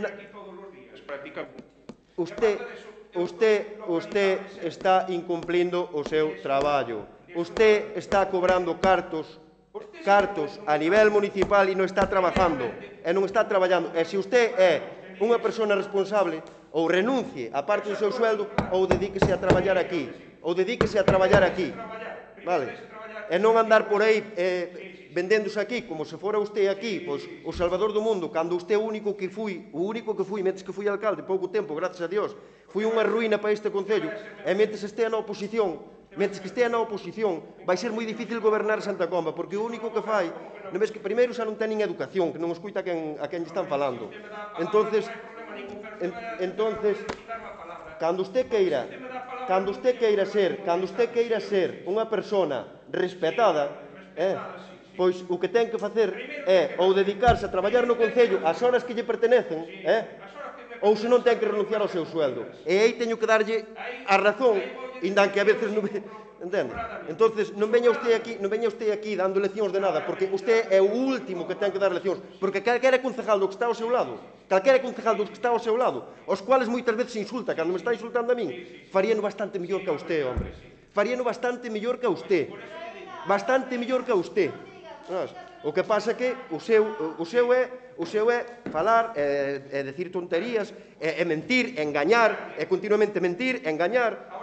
A: usted, usted, usted está incumplindo o seu traballo. Usted está cobrando cartos, cartos a nivel municipal e non está trabajando, e non está traballando. E se usted é unha persona responsable, ou renuncie a parte do seu sueldo, ou dedíquese a traballar aquí, ou dedíquese a traballar aquí, vale? E non andar por aí eh, vendéndose aquí, como se fora usted aquí, pois, o salvador do mundo, cando usted o único que fui, o único que fui, metes que fui alcalde, pouco tempo, gracias a Dios, fui unha ruína para este Concello, e metes este na oposición, Mentre que estea na oposición, vai ser moi difícil gobernar Santa Comba, porque o único que fai, non ves que primeiro xa non teñen educación, que non escuita a quen, a quen lle están falando. Entonces, en, entonces, cando usted queira, cando usted queira ser, cando usted queira ser unha persona respetada, eh, pois o que ten que facer é ou dedicarse a traballar no Concello as horas que lle pertenecen, eh, ou se non ten que renunciar ao seu sueldo. E aí teño que darlle a razón, indan que a veces non... Entende? Entonces, non veña usted aquí, non veña usted aquí dando leccións de nada, porque usted é o último que ten que dar leccións, porque calquera concejal do que está ao seu lado, calquera concejal do que está ao seu lado, os cuales moitas veces insulta, cando me está insultando a min, faríano bastante mellor que a usted, hombre. Faríano bastante mellor que a usted. Bastante mellor que a usted. O que pasa é que o seu, o seu é o seu é falar, é, é decir tonterías, é, é mentir, é engañar, é continuamente mentir, é engañar.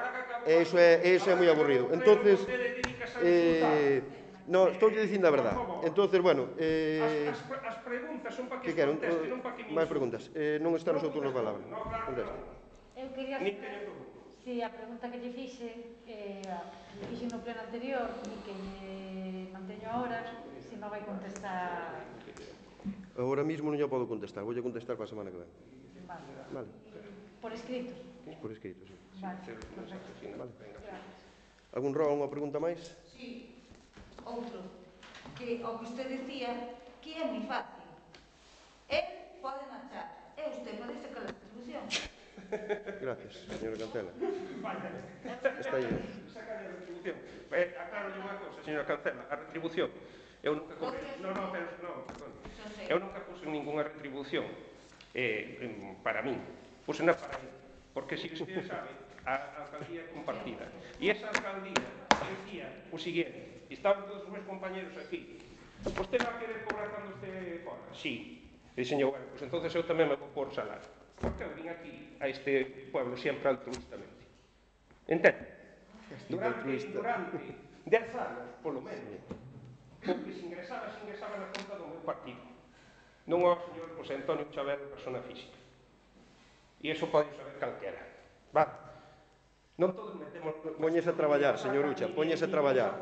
A: E iso é, iso é moi aburrido. Entonces, eh, no, estou dicindo a verdade. Entonces, bueno, eh,
B: as preguntas son para que
A: quero,
B: conteste, non para que me
A: máis preguntas. Eh, non está no seu turno de palabra. Conteste.
D: Eu quería saber se a pregunta que lle fixe, eh, lle fixe no pleno anterior e que lle manteño ahora, se non vai contestar.
A: Agora mismo non lle podo contestar, voulle contestar para a semana que ven.
D: Vale.
A: Vale.
D: Por escrito?
A: Por escrito, sí.
D: Vale, perfecto.
A: Vale. Algún rogo, unha pregunta máis?
F: Sí, outro. Que o que usted decía, que é moi fácil. Él pode marchar, e usted pode sacar a retribución.
A: Gracias, señora Cancela. Está aí.
B: Sacar a retribución. Eh, aclaro unha cousa, señora Cancela, a retribución. Eu nunca cobrei, non, non, pero, non, perdón. Eu nunca puse ninguna retribución eh, para min. Puse na para ele. Porque, se usted sabe, a alcaldía é compartida. E esa alcaldía decía o siguiente, estaban todos os meus compañeros aquí. Vostede vai querer cobrar cando este fora? Sí. E dixen, bueno, pues entonces eu tamén me vou por salario. Porque eu vim aquí a este pueblo sempre altruistamente. Entende? Durante, durante dez anos, polo menos, o que se ingresaba, se ingresaba na conta do meu partido. Non ao señor José Antonio Chavero, persona física. E iso pode saber calquera. Vale. Non todos metemos...
A: Póñese a traballar, señor Ucha, póñese a traballar.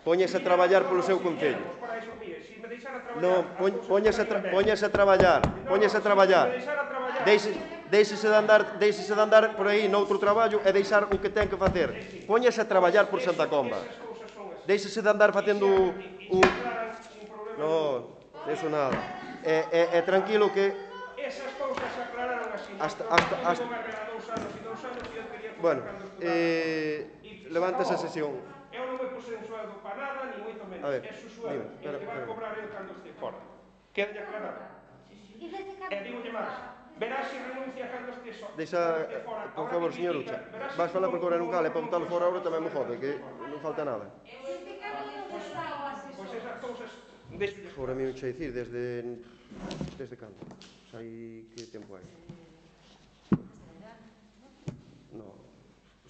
A: Póñese a traballar polo seu concello. Non, póñese a, tra póñese a traballar, póñese a traballar. Deixese de andar, deixese de andar por aí noutro traballo e deixar o que ten que facer. Póñese a traballar por Santa Comba. Deixese de andar facendo o... Non, eso nada. É, é, é tranquilo que...
B: Esas cousas se aclararon así.
A: Hasta, hasta, hasta...
B: Dous anos e dous anos e eu quería...
A: Bueno, eh, levanta esa sesión.
B: Eu non me puse en sueldo para nada, ni moito menos.
A: A ver,
B: é su sueldo,
A: dime,
B: e o que vai cobrar eu cando este fora. Queda aclarado. E digolle máis, verás se renuncia cando este fora.
A: Deixa, por favor, señor Ucha, vas falar por cobrar un cale, para botalo fora ahora tamén me jode, que non falta nada.
B: Pois esas cousas...
A: Fora mi Ucha dicir, desde... Desde cando? Hai que tempo hai?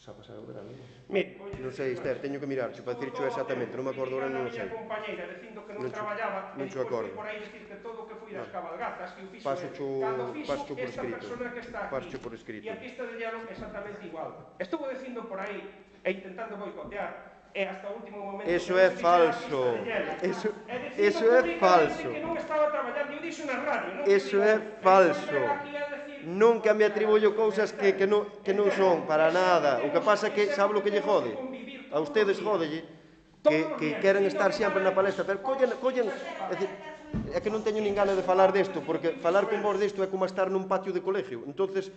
A: Xa pasado o verano.
B: Mire, voy a
A: Non sei,
B: decir
A: Esther, teño que mirar, para dicircho exactamente, non me acordo ahora, non o sei.
B: A compañeira dicindo que non
A: Non cho-
B: traballaba,
A: non
B: e
A: cho
B: depois
A: acordo.
B: foi por aí dicir que todo o que foi das
A: No.
B: cabalgatas, que o fixo
A: Pásocho,
B: é, cando fixo
A: pásocho por
B: esta
A: escrito.
B: persona que está aquí.
A: Pásocho por escrito.
B: E a pista de hielo exactamente igual. Estuvo dicindo por aí, e intentando boicotear, e hasta o último momento...
A: Eso
B: que
A: é
B: non se fixera a
A: falso.
B: pista de hielo.
A: Eso,
B: E dicindo
A: eso é
B: públicamente
A: falso.
B: que non estaba traballando, eu dixo na radio, non?
A: Eso é falso. Nunca me atribuyo cousas que, que, non, que non son para nada. O que pasa é que, sabe o que lle jode? A ustedes jódelle que, que queren estar sempre na palestra, pero collen, collen, é, dicir, é que non teño nin gana de falar desto, porque falar con vos desto é como estar nun patio de colegio. Entonces,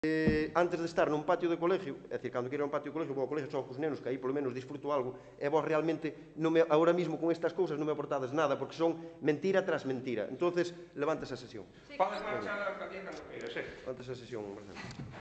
A: eh, antes de estar nun patio de colegio, é dicir, cando quero un patio de colegio, vou ao colegio só cos nenos, que aí polo menos disfruto algo, e vos realmente, non me, ahora mismo con estas cousas non me aportades nada, porque son mentira tras mentira. Entonces, levanta esa sesión.
B: Podes marchar a alcaldía cando queiras, eh?
A: Levanta esa sesión, Marcelo.